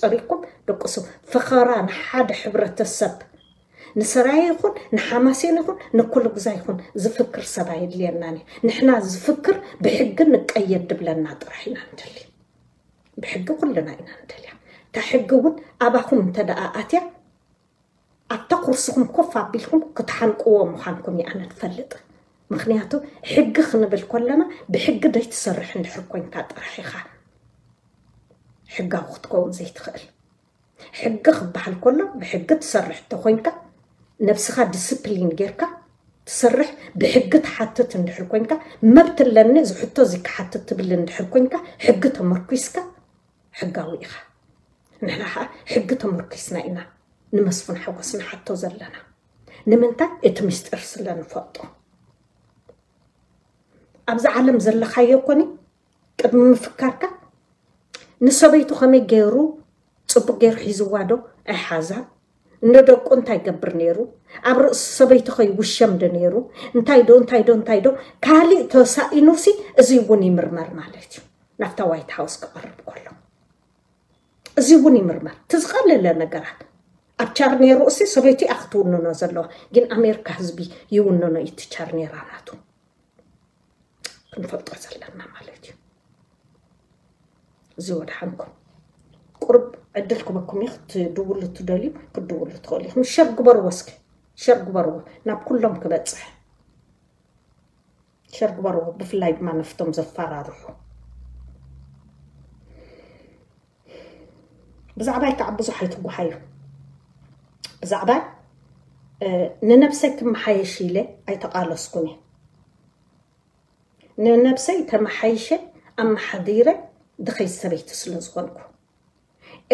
ፀሪኩም ደቅሱ። ፈኸራ ንሓደ ሕብረተሰብ ንሰራየ ይኹን ንሓማሴን ይኹን ንኩሉ ግዛ ይኹን ዝፍክር ሰብ ኣየድልየናን እዩ። ንሕና ዝፍክር ብሕጊ ንቀየድ ድብለና ጥራሕ ኢና ንደሊ። ብሕጊ ኩልና ኢና ንደልያ። እታ ሕጊ እውን ኣባኹም እንተ ደኣ ኣትያ ኣብታ ኩርስኹም ኮፍ ኣቢልኩም ክትሓንቅዎ ምዃንኩም እየ ኣነ ንፈልጥ። ምክንያቱ ሕጊ ክንብል ከለና ብሕጊ ደይትሰርሕ እንድሕር ኮንካ ጥራሕ ኢኻ ሕጋዊ ክትከውን ዘይትኽእል። ሕጊ ክበሃል ከሎ ብሕጊ ትሰርሕ እንተኮንካ ነብስኻ ዲስፕሊን ጌርካ ትሰርሕ ብሕጊ ትሓትት እንድሕር ኮንካ መብት ኣለኒ እዚ ሕቶ እዚ ክሓትት ትብል እንድሕር ኮንካ ሕጊ ተመርኩስካ ሕጋዊ ኢኻ። ንሕና ከዓ ሕጊ ተመርኪስና ኢና ንመስፍን ሓጎስ ንሓቶ ዘለና። ንምንታይ? እቲ ምስጢር ስለ ንፈልጦ። ኣብዚ ዓለም ዘለኻዮ ኮኒ ቅድሚ ምፍካርካ ንሰበይቱ ከመይ ገይሩ ፅቡቅ ገይሩ ሒዝዋ ዶ ኣይሓዛ? ንደቁ እንታይ ገብር ነይሩ? ኣብ ርእሲ ሰበይቱ ከይውሸም ዶ ነይሩ? እንታይ ዶ እንታይ ዶ እንታይ ዶ ካሊእ ተሳኢኑሲ እዚ እውን ይምርመር ማለት እዩ። ናብታ ዋይት ሃውስ ክቐርብ ከሎ እዚ እውን ይምርመር። እቲ ዝቐለለ ነገራት ኣብ ቻርኔሩ እሲ ሰበይቱ እያ ክትውንኖ ዘለዋ፣ ግን ኣሜሪካ ህዝቢ ይውንኖ እዩ እቲ ቻርኔራ ናቱ። ክንፈልጦ ዘለና ማለት እዩ። እዚ ወድሓንኩም ቁርብ ዕድል ክበኩም እዩ። ክትድውሉ ትደልዩ ክትድውሉ ትኽእሉ ኢኹም። ሸር ግበርዎ እስኪ፣ ሸር ግበርዎ ናብ ኩሎም ክበፅሕ ሸር ግበርዎ። ብፍላይ ድማ ነፍቶም ዘፈራርሑ ብዛዕባይ ከዓ ብዙሕ ኣይትጓሓዩ። ብዛዕባይ ንነብሰይ ክመሓየሽ ኢለ ኣይተቓለስኩን እየ። ንነብሰይ ተመሓይሸ ኣመሓዲረ ድኸይ ሰበይቲ ስለ ዝኾንኩ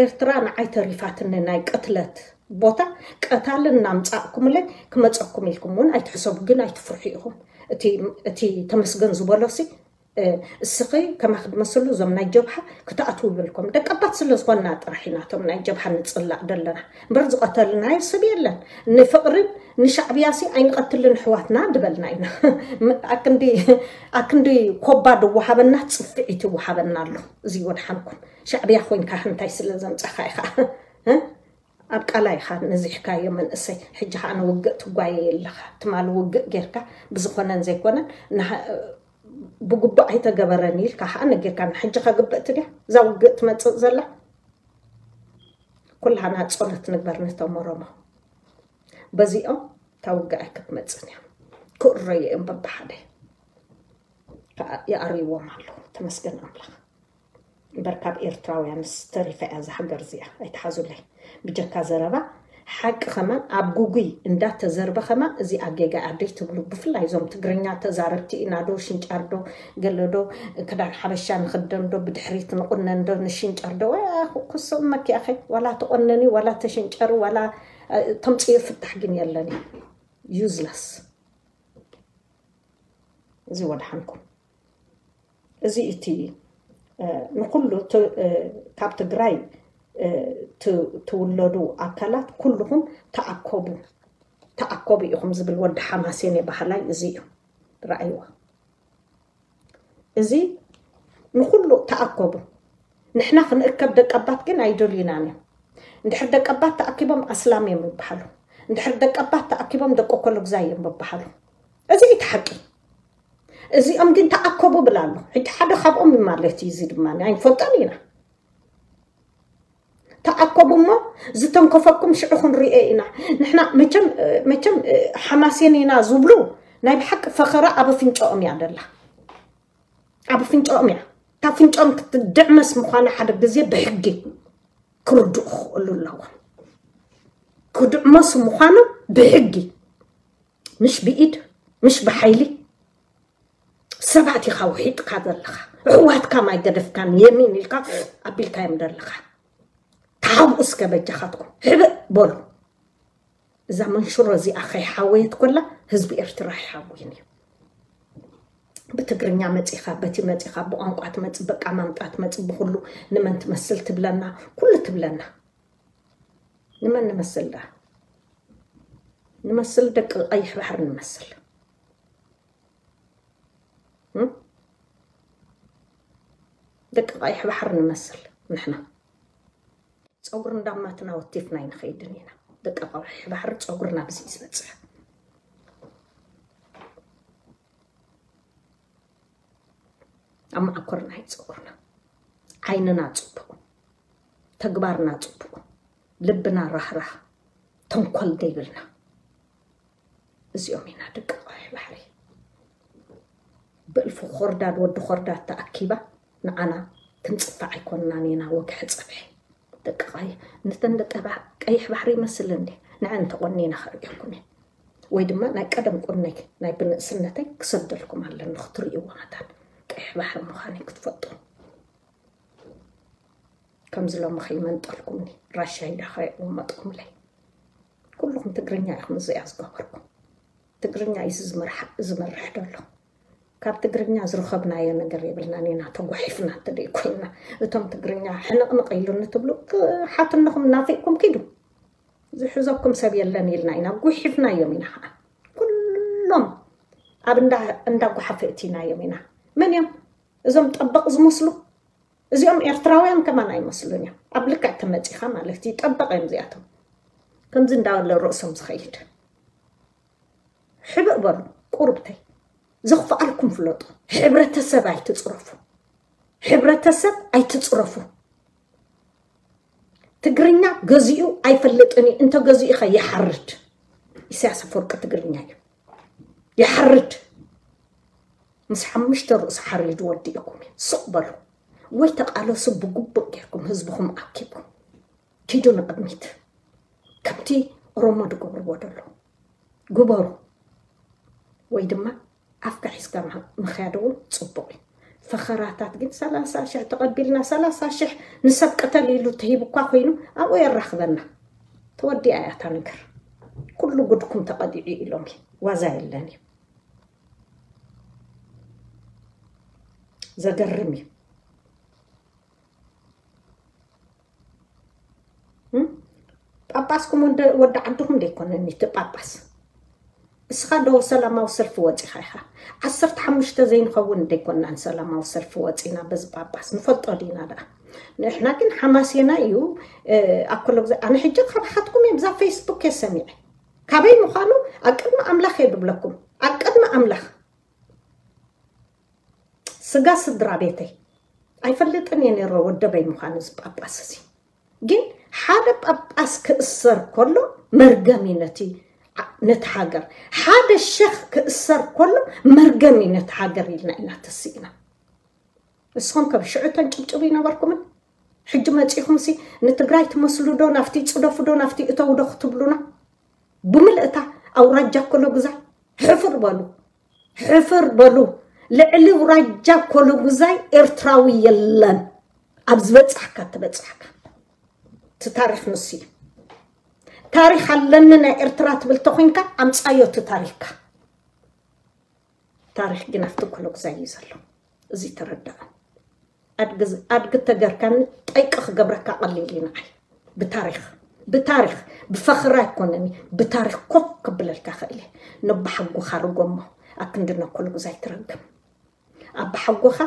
ኤርትራ ንዓይ ተሪፋትኒ ናይ ቅትለት ቦታ ቀታሊ እናምፃእኩምለይ ክመፀኩም ኢልኩም እውን ኣይትሕሰቡ፣ ግን ኣይትፍርሑ ኢኹም። እቲ ተመስገን ዝበሎሲ እስኺ ከማኺ ድመስሉ እዞም ናይ ጀብሃ ክትኣትዉ ይብልኩም። ደቀባት ስለ ዝኾንና ጥራሕ ኢና እቶም ናይ ጀብሃ ንፅላእ ዘለና እምበር ዝቐተልናዮ ሰብ የለን። ንፍቕርን ንሻዕብያሲ ኣይንቐትልን ኣሕዋትና ድበልና ኢና። ኣክንዲ ኣክንዲ ኮባ ድወሃበና ፅፍዒት ይወሃበና ኣሎ። እዚ ወድሓንኩም ሻዕብያ ኮይንካ እንታይ ስለ ዘምፀኻ ኢኻ ኣብ ቃላ ኢኻ ነዚሕካዮ መንእሰይ። ሕጂ ከዓ ንውግእ ትጓየ ኣለኻ። ትማሊ ውግእ ጌርካ ብዝኾነን ዘይኮነን ብግቡእ ኣይተገበረን ኢልካ ከዓ ነጊርካ ሕጂ ከግብእቲ ድያ እዛ ውግእ ትመፅእ ዘላ? ኩላህና ጸሎት ንግበር ነቶም ኦሮሞ። በዚኦም እታ ውግእ ኣይክትመፅን እያ። ክእረዩ እዮም በብሓደ። ከዓ ይኣርይዎም ኣለዉ። ተመስገን ኣምላኽ። እምበር ካብ ኤርትራውያንስ ተሪፋ እያ እዛ ሃገር እዚኣ። ኣይትሓዙለይ። ብጀካ ዘረባ ሓቂ ከማን ኣብ ጉጉይ እንዳተዘርበ ከማን እዚኣ ጌጋ እያ ደይትብሉ። ብፍላይ እዞም ትግርኛ ተዛረብቲ ኢና ዶ ሽንጫር ዶ ገለ ዶ ክዳን ሓበሻ ንኽደን ዶ ብድሕሪት ንቑነን ዶ ንሽንጨር ዶ ክስም መኪያኸ ዋላ ተቆነኒ ዋላ ተሽንጨሩ ዋላ ተምፅዮ ፍታሕ ግን የለን እዩ። Useless። እዚ ወድሓንኩም። እዚ እቲ ንኩሉ ካብ ትግራይ ትውለዱ ኣካላት ኩልኹም ተኣከቡ ተኣከቡ ኢኹም ዝብል ወዲ ሓማሴን የባህላይ እዚ እዩ። ረኣይዋ። እዚ ንኩሉ ተኣከቡ። ንሕና ክንእከብ ደቀባት ግን ኣይደልዩናን እዮም። እንድሕር ደቀባት ተኣኪቦም ኣስላም እዮም ይበሃሉ። እንድሕር ደቀባት ተኣኪቦም ደቂ ኮሎግዛይ እዮም ይበሃሉ። እዚ እዩ እቲ ሓቂ። እዚኦም ግን ተኣከቡ ብላ ኣሎ። ሕጂ ሓደ ካብኦም እዩ ማለት እዩ። እዚ ድማ ኣይንፈልጦን ኢና። ተኣከቡ እሞ ዝተንከፈኩም ሽዑ ክንሪኦ ኢና። ንሕና መቸም መቸም ሓማሴን ኢና ዝብሉ ናይ ብሓቂ ፈኸራ ኣብ ኣፍንጫኦም እያ ደላ። ኣብ ኣፍንጫኦም እያ። እታ ኣፍንጫኦም ክትድዕመስ ምዃና ሓደ ግዜ ብሕጊ ክርድኡ ክኽእሉ ኣለዎም። ክድዕመሱ ምዃኑ ብሕጊ፣ ምሽ ብኢድ፣ ምሽ ብሓይሊ። ሰባት ኢኻ ውሒጥካ ዘለኻ። ኣሕዋትካ ማይ ገደፍካን የሚን ኢልካ ኣቢልካዮም ዘለኻ። ተሓብኡ እስከ በጃኻትኩም። ሕብእ በሉ። እዛ መንሽሮ እዚኣ ከይሓወየት ኮላ ህዝቢ ኤርትራ ኣይሓውይን እዩ። ብትግርኛ መጺኻ፣ በቲ መጺኻ፣ ብቋንቋ ትመጽእ፣ በቃ ማምጣ ትመጽእ፣ ብኹሉ ንመን ትመስል ትብለና፣ ኩሉ ትብለና። ንመን ንመስል ደኣ? ንመስል ደቂ ቀይሕ ባሕሪ ንመስል። እም? ደቂ ቀይሕ ባሕሪ ንመስል ንሕና። ጸጉሪ እንዳማትና ወቲፍና ኣይንኸይድን ኢና። ደቂ ቀይሕ ባሕሪ ጸጉርና ብዚ እዩ ዝበጽሕ። ኣብ መዓኮርና እዩ ጸጉርና። ዓይንና ጽቡቕ፣ ተግባርና ጽቡቕ፣ ልብና ራህራህ፣ ተንኮል ዘይብልና። እዚኦም ኢና ደቂ ቀይሕ ባሕሪ። ብእልፊ ኮርዳድ ወዲ ኮርዳድ ተኣኪባ ንዓና ክንጽፋዕ ኣይኮንናን ኢና ወግሐ ጸብሐ። ደቂ ቀይሕ፣ ነተን ደቂ ባ-፣ ቀይሕ ባሕሪ ይመስል እንዴ? ንዐን ተቆኒነ ከርእየኩም እየ። ወይ ድማ ናይ ቀደም ቁነይ ናይ ብንእስነተይ ክሰደልኩም ኣለኒ ክትርእይዎ መታን ቀይሕ ባሕሪ ምዃነይ ክትፈልጡ። ከምዚ ሎሚ ከይመንጠልኩምኒ ራሻ ኢዳ ከይቕመጥኩምለይ። ኩልኹም ትግርኛ ኢኹም እዚኣ ዝገበርኩም። ትግርኛ እዩ ዝመርሕ-፣ ዝመርሕ ዘሎ። ካብ ትግርኛ ዝረኸብናዮ ነገር የብልናን ኢና ተጓሒፍና እንተደይ ኮይንና። እቶም ትግርኛ ሕንቕንቕ ኢሉኒ ትብሉ፣ ክሓትነኹም ናፊቕኩም ኪዱ። ዝሕዘኩም ሰብ የለን ኢልና ኢና፣ ጉሒፍናዮም ኢና ኸዓ። ኩሎም ኣብ እንዳ፣ እንዳ ጓሓፈ እቲናዮም ኢና። መን እዮም እዞም ጠበቕ ዝመስሉ? እዚኦም ኤርትራውያን ከማን ኣይመስሉን እዮም። ኣብ ልክዕ ተመጺኻ ማለት እዩ፣ ጠበቕ እዮም እዚኣቶም። ከምዚ እንዳበለ ርእሶም ዝኸይድ። ሕብእ በሉ፣ ቁርብተይ። ዘኽፍኣልኩም ፍለጡ። ሕብረተሰብ ኣይትጽረፉ። ሕብረተሰብ ኣይትጽረፉ። ትግርኛ ገዚኡ ኣይፈልጥን እዩ፣ እንተ ገዚኡ ኸ ይሓርድ። ኢሳያስ ኣፈወርቂ ትግርኛ እዩ። ይሓርድ። ምስ ሓሙሽተ ርእሱ ሓሪዱ ወዲእኩም እዩ። ስቕ በሉ። ወይ ተቓለሱ ብግቡእ ጌርኩም ህዝብኹም ኣኪብኩም። ኪዱ ንቕድሚት። ከምቲ ኦሮሞ ዝገብርዎ ዘለዉ ግበሩ። ወይ ድማ ኣፍካ ሒዝካ ምኽ-፣ ምኽያድ እውን ጽቡቕ እዩ። ፈኸራታት ግን ሰላሳ ሽሕ ተቐቢልና፣ ሰላሳ ሽሕ ንሰብ ቅተል ኢሉ ተሂቡ እኳ ኮይኑ ኣብኡ የራኽበና። ተወዲኣ እያ እታ ነገር። ኩሉ ጉድኩም ተቐዲዑ ኢሎም እዩ። ዋዛ የለን እዩ። ዘገርም እዩ። እም? ጳጳስኩም ወደ-፣ ወዲ ዓድኹም ደይኮነን እቲ ጳጳስ። እስኻ ዶ ሰላማዊ ሰልፊ ወጺኻ ኢኻ? ዓሰርተ ሓሙሽተ ዘይንኸውን ደይኮናን ሰላማዊ ሰልፊ ወጺና በዚ ጳጳስ። ንፈልጦ ዲና ደኣ? ንሕና ግን ሓማሴና እዩ፣ እ፣ ኣኮሎ ግዜ-፣ ኣነ ሕጂ ካባኻትኩም እየ ብዛ ፌስቡክ እየ ሰሚዐ። ካበይ ምዃኑ ኣብ ቅድሚ ኣምላኽ እየ ድብለኩም። ኣብ ቅድሚ ኣምላኽ። ስጋ ስድራ ቤተይ። ኣይፈልጥን እየ ነይረ ወደበይ ምዃኑ እዚ ጳጳስ እዚ። ግን ሓደ ጳጳስ ክእሰር ከሎ መርገም እዩ ነቲ ዓ-፣ ነቲ ሃገር። ሓደ ሸኽ ክእሰር ከሎ መርገም እዩ ነቲ ሃገር ኢልና ኢና ተስኢና። ንስኹም ከም ሽዑ ተንጭብጭቡ ይነበርኩምን? ሕጂ መፂኹም ሲ ንትግራይ ትመስሉ ዶ ናፍቲ ፅደፉ ዶ ናፍቲ እተው ዶ ክትብሉና? ብምልእታ ኣውራጃ ኮሎጉዛይ ሕፍር በሉ፣ ሕፍር በሉ። ልዕሊ ኣውራጃ ኮሎጉዛይ ኤርትራዊ የለን። ኣብ ዝበፃሕካ ትበፃሕካ። እቲ ታሪኽ ንሱ እዩ። ታሪኽ ኣለኒ ናይ ኤርትራ ትብል ተኾይንካ ኣምፃዮ እቲ ታሪኽካ። ታሪኽ ግን ኣብቲ ኮሎጉዛይ እዩ ዘሎ። እዚ ተረዳእ። ኣድጊ ተገርካኒ ጠይቂ ክገብረካ ቀሊል እዩ ንዓይ። ብታሪኽ ብታሪኽ ብፈኽሪ ኣይኮነኒ ብታሪኽ ኮፍ ክብለልካ ክእል እየ። ነባሓጎኻ ርጎሞ ኣብ ክንዲ ነኮልጉዛይ ትረግም ኣባሓጎኻ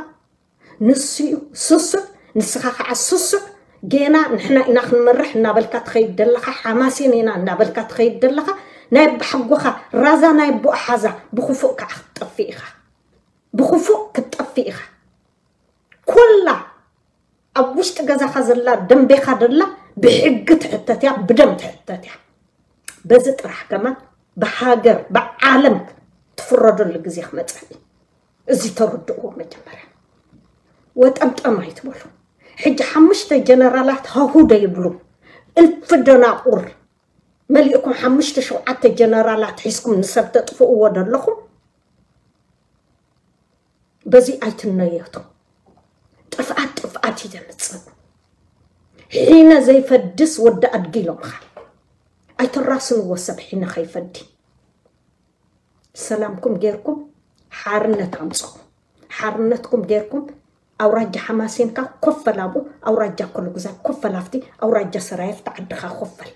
ንሱ እዩ ስሱዕ። ንስኻ ከዓ ስሱዕ። ጌና ንሕና ኢና ክንመርሕ እናበልካ ትኸይድ ዘለኻ ሓማሴን ኢና እናበልካ ትኸይድ ዘለኻ ናይ ኣባሓጎኻ ራዛ ናይ ኣቦኣ ሓዛ ብክፉእ ከዓ ክትጠፍእ ኢኻ። ብክፉእ ክትጠፍእ ኢኻ። ኩላ ኣብ ውሽጢ ገዛኻ ዘላ ደንቤኻ ደላ ብሕጊ ትሕተት እያ፣ ብደም ትሕተት እያ። በዚ ጥራሕ ከማን ብሃገር ብዓለም ትፍረደሉ ግዜ ክመፀ እዩ። እዚ ተረድእዎ መጀመርያ። ወጠምጠም ኣይትበሉ። ሕጂ ሓሙሽተ ጀነራላት ሃሁ ዶ ይብሉ? እልፊ ደናቁር መሊእኩም ሓሙሽተ ሸውዓተ ጀነራላት ሒዝኩም ንሰብ ተጥፍእዎ ደለኹም። በዚ ኣይትነየቱ። ጥፍኣት ጥፍኣት እዩ ዘምፅእ። ሒነ ዘይፈድስ ወዲ ኣድጊ ኢሎምኻ። ኣይተራስንዎ ሰብ ሒነ ከይፈዲ። ሰላምኩም ጌርኩም ሓርነት ኣምፅኹ። ሓርነትኩም ጌርኩም ኣውራጃ ሓማሴንካ ኮፈል ኣብኡ፣ ኣውራጃ ኮልጉዛይ ኮፈል ኣብቲ፣ ኣውራጃ ሰራየፍቲ ዓድኻ ኮፈል።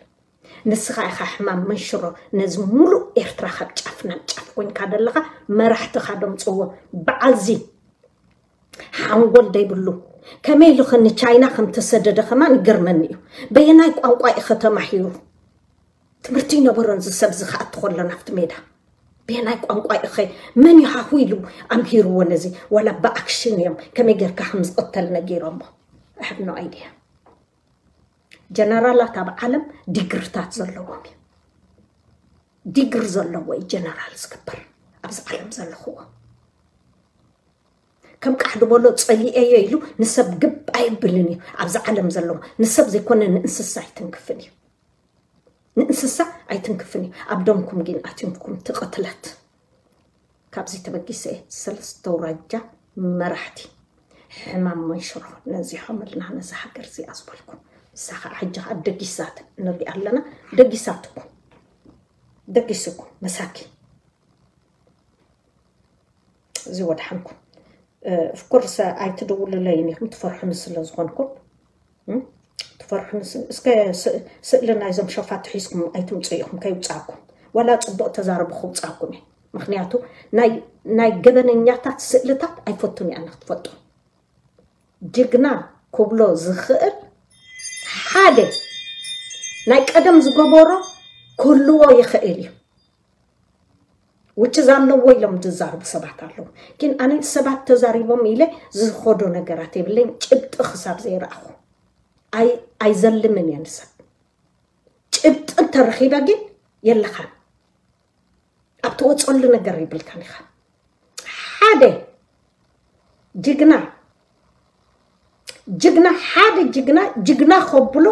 ንስኻ ኢኻ ሕማም መንሽሮ ነዚ ሙሉእ ኤርትራ ካብ ጫፍ ናብ ጫፍ ኮንካ ደለኻ። መራሕትኻ ደምፅዎ በዓልዚ ሓንጎል ደይብሉ ከመይ ኢሉ ኸ ንቻይና ከም ተሰደደ ከማን ይገርመኒ እዩ። በየናይ ቋንቋ ኢኸ ተማሂሩ? ትምህርቲ ይነበሮን እዚ ሰብ እዚ ክኣቱ ከሎ ናብቲ ሜዳ በየናይ ቋንቋ ኢኸ መን ይሃሁ ኢሉ ኣምሂርዎ ነዚ? ዋላ ብኣክሽን እዮም ከመይ ጌርካ ከም ዝቕተል ነጊሮሞ። I have no idea። ጀነራላት ኣብ ዓለም ዲግርታት ዘለዎም እዩ። ዲግሪ ዘለዎ እዩ ጀነራል ዝግበር ኣብዚ ዓለም ዘለኽዎ። ከም ቃሕ ድበሎ ፀሊኤዮ ኢሉ ንሰብ ግብ ኣይብልን እዩ። ኣብዚ ዓለም ዘለዎ ንሰብ ዘይኮነ ንእንስሳ ኣይትንክፍን እዩ። ንእንስሳ ኣይትንክፍን እዩ። ኣብ ደምኩም ግን ኣትንኩም ትቕትለት። ካብዚ ተበጊሰ ሰለስተ ኣውራጃ መራሕቲ ሕማም መንሽሮ ነዚሖምልና ነዛ ሃገር እዚኣ ዝበልኩ። ንሳ ከዓ ሕጂ ከዓ ደጊሳት ንሪኣ ኣለና። ደጊሳትኩም ደጊስኩም መሳኪ እዚ ወድሓንኩም። ኦፍኮርስ ኣይትደውልለይን ኢኹም ትፈርሑኒ ስለ ዝኾንኩም። ትፈርሑኒ እስከ ስእሊ ናይዞም ሸፋት ሒዝኩም ኣይትምፁ ኢኹም ከይውፃኩም። ዋላ ፅቡቕ ተዛረቡ ክውፃኩም እዩ። ምክንያቱ ናይ ገበነኛታት ስእልታት ኣይፈቱን እያ ክትፈጡ። ጅግና ክብሎ ዝኽእል ሓደ ናይ ቀደም ዝገበሮ ክህልዎ ይኽእል እዩ። ውጭ ኣለዎ ኢሎም ዝዛርቡ ሰባት ኣለዉ። ግን ኣነ ሰባት ተዛሪቦም ኢለ ዝኸዶ ነገራት የብለኝ። ጭብጢ ክሳብ ዘይረኣኹ ኣይዘልምን እየ ንሰብ። ጭብጢ እንተረኺበ ግን የለኻን። ኣብ ትወፀሉ ነገር ይብልካን ኢኻ። ሓደ ጅግና ጅግና ሓደ ጅግና ጅግና ከብሎ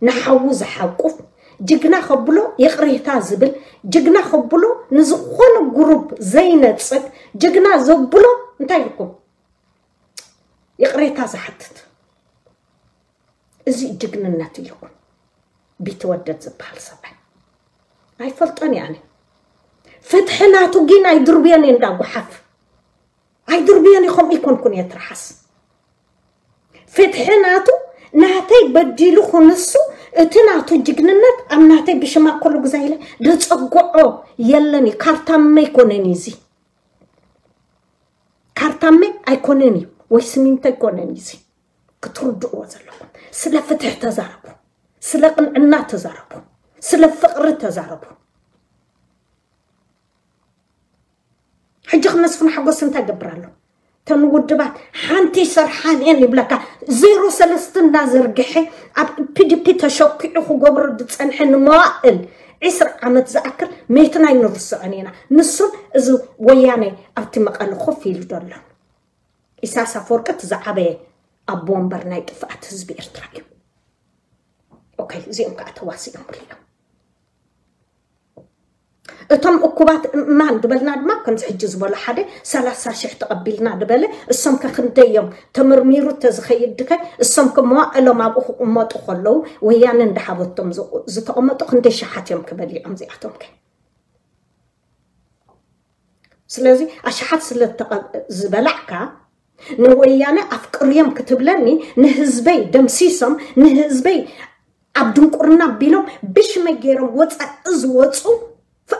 ንሓዉ ዝሓቁፍ ጅግና ከብሎ ይቕሬታ ዝብል ጅግና ከብሎ ንዝኾነ ጉሩብ ዘይነፅግ ጅግና ዘብሎ እንታይ ኢልኩም ይቕሬታ ዝሓትት እዚ ጅግንነት ኢልኩም ቢትወደድ ዝበሃል ሰብኣይ ኣይፈልጦን እየ ኣነ። ፍትሒ ናቱ ግን ኣይድርብዮን እየ እንዳ ጓሓፍ ኣይድርብዮን እየ። ከምኡ ይኮንኩን እየ ትርሓስ ፍትሒ ናቱ ናተይ በዲሉ ክንሱ እቲ ናቱ ጅግንነት ኣብ ናተይ ብሽማ ኮሉ ግዛ ኢለ ደፀጎዖ የለን እዩ። ካርታመ ኣይኮነን እዩ እዚ ካርታመ ኣይኮነን እዩ ወይ ስሚንቶ ኣይኮነን እዩ እዚ ክትርድእዎ ዘለኩም። ስለ ፍትሒ ተዛረቡ፣ ስለ ቅንዕና ተዛረቡ፣ ስለ ፍቕሪ ተዛረቡ። ሕጂ ክመስፍን ሓጎስ እንታይ ይገብር ኣሎ? ተን ውድባት ሓንቲ ሰርሓን እየን ይብለካ። ዜሮ ሰለስተ እናዘርግሐ ኣብ ፒዲፒ ተሸኪዑ ክገብሮ ዝፀንሐ ንመዋእል ዒስራ ዓመት ዝኣክል መይትና ኣይንርስዖን ኢና። ንሱን እዚ ወያነ ኣብቲ መቐለ ኮፍ ኢሉ ዘሎ ኢሳያስ ኣፈወርቂ እቲ ዝዓበየ ኣቦ ወንበር ናይ ጥፍኣት ህዝቢ ኤርትራ እዩ። ኦኬ፣ እዚኦም ከዓ ተዋሲኦም ብልዮም። እቶም እኩባት እማን ዝበልና ድማ ከምዚ ሕጂ ዝበሎ ሓደ ሰላሳ ሽሕ ተቐቢልና ዝበለ፣ እሶም ከ ክንደዮም ተመርሚሩ ተዝኸይድ ድከ እሶም ከ መዋዕሎም ኣብኡ ክቕመጡ ከለዉ ወያነ እንዳሃበቶም ዝቑ- ዝተቐመጡ ክንደይ ሸሓት እዮም ክበሊዖም እዚኣቶም ከ? ስለዚ ኣሽሓት ስለ ተቐ- ዝበላዕካ ንወያነ ኣፍቅርዮም ክትብለኒ ንህዝበይ ደምሲሶም ንህዝበይ ኣብ ድንቁርና ኣቢሎም ብሽመይ ገይሮም ወፃኢ ዝወፁ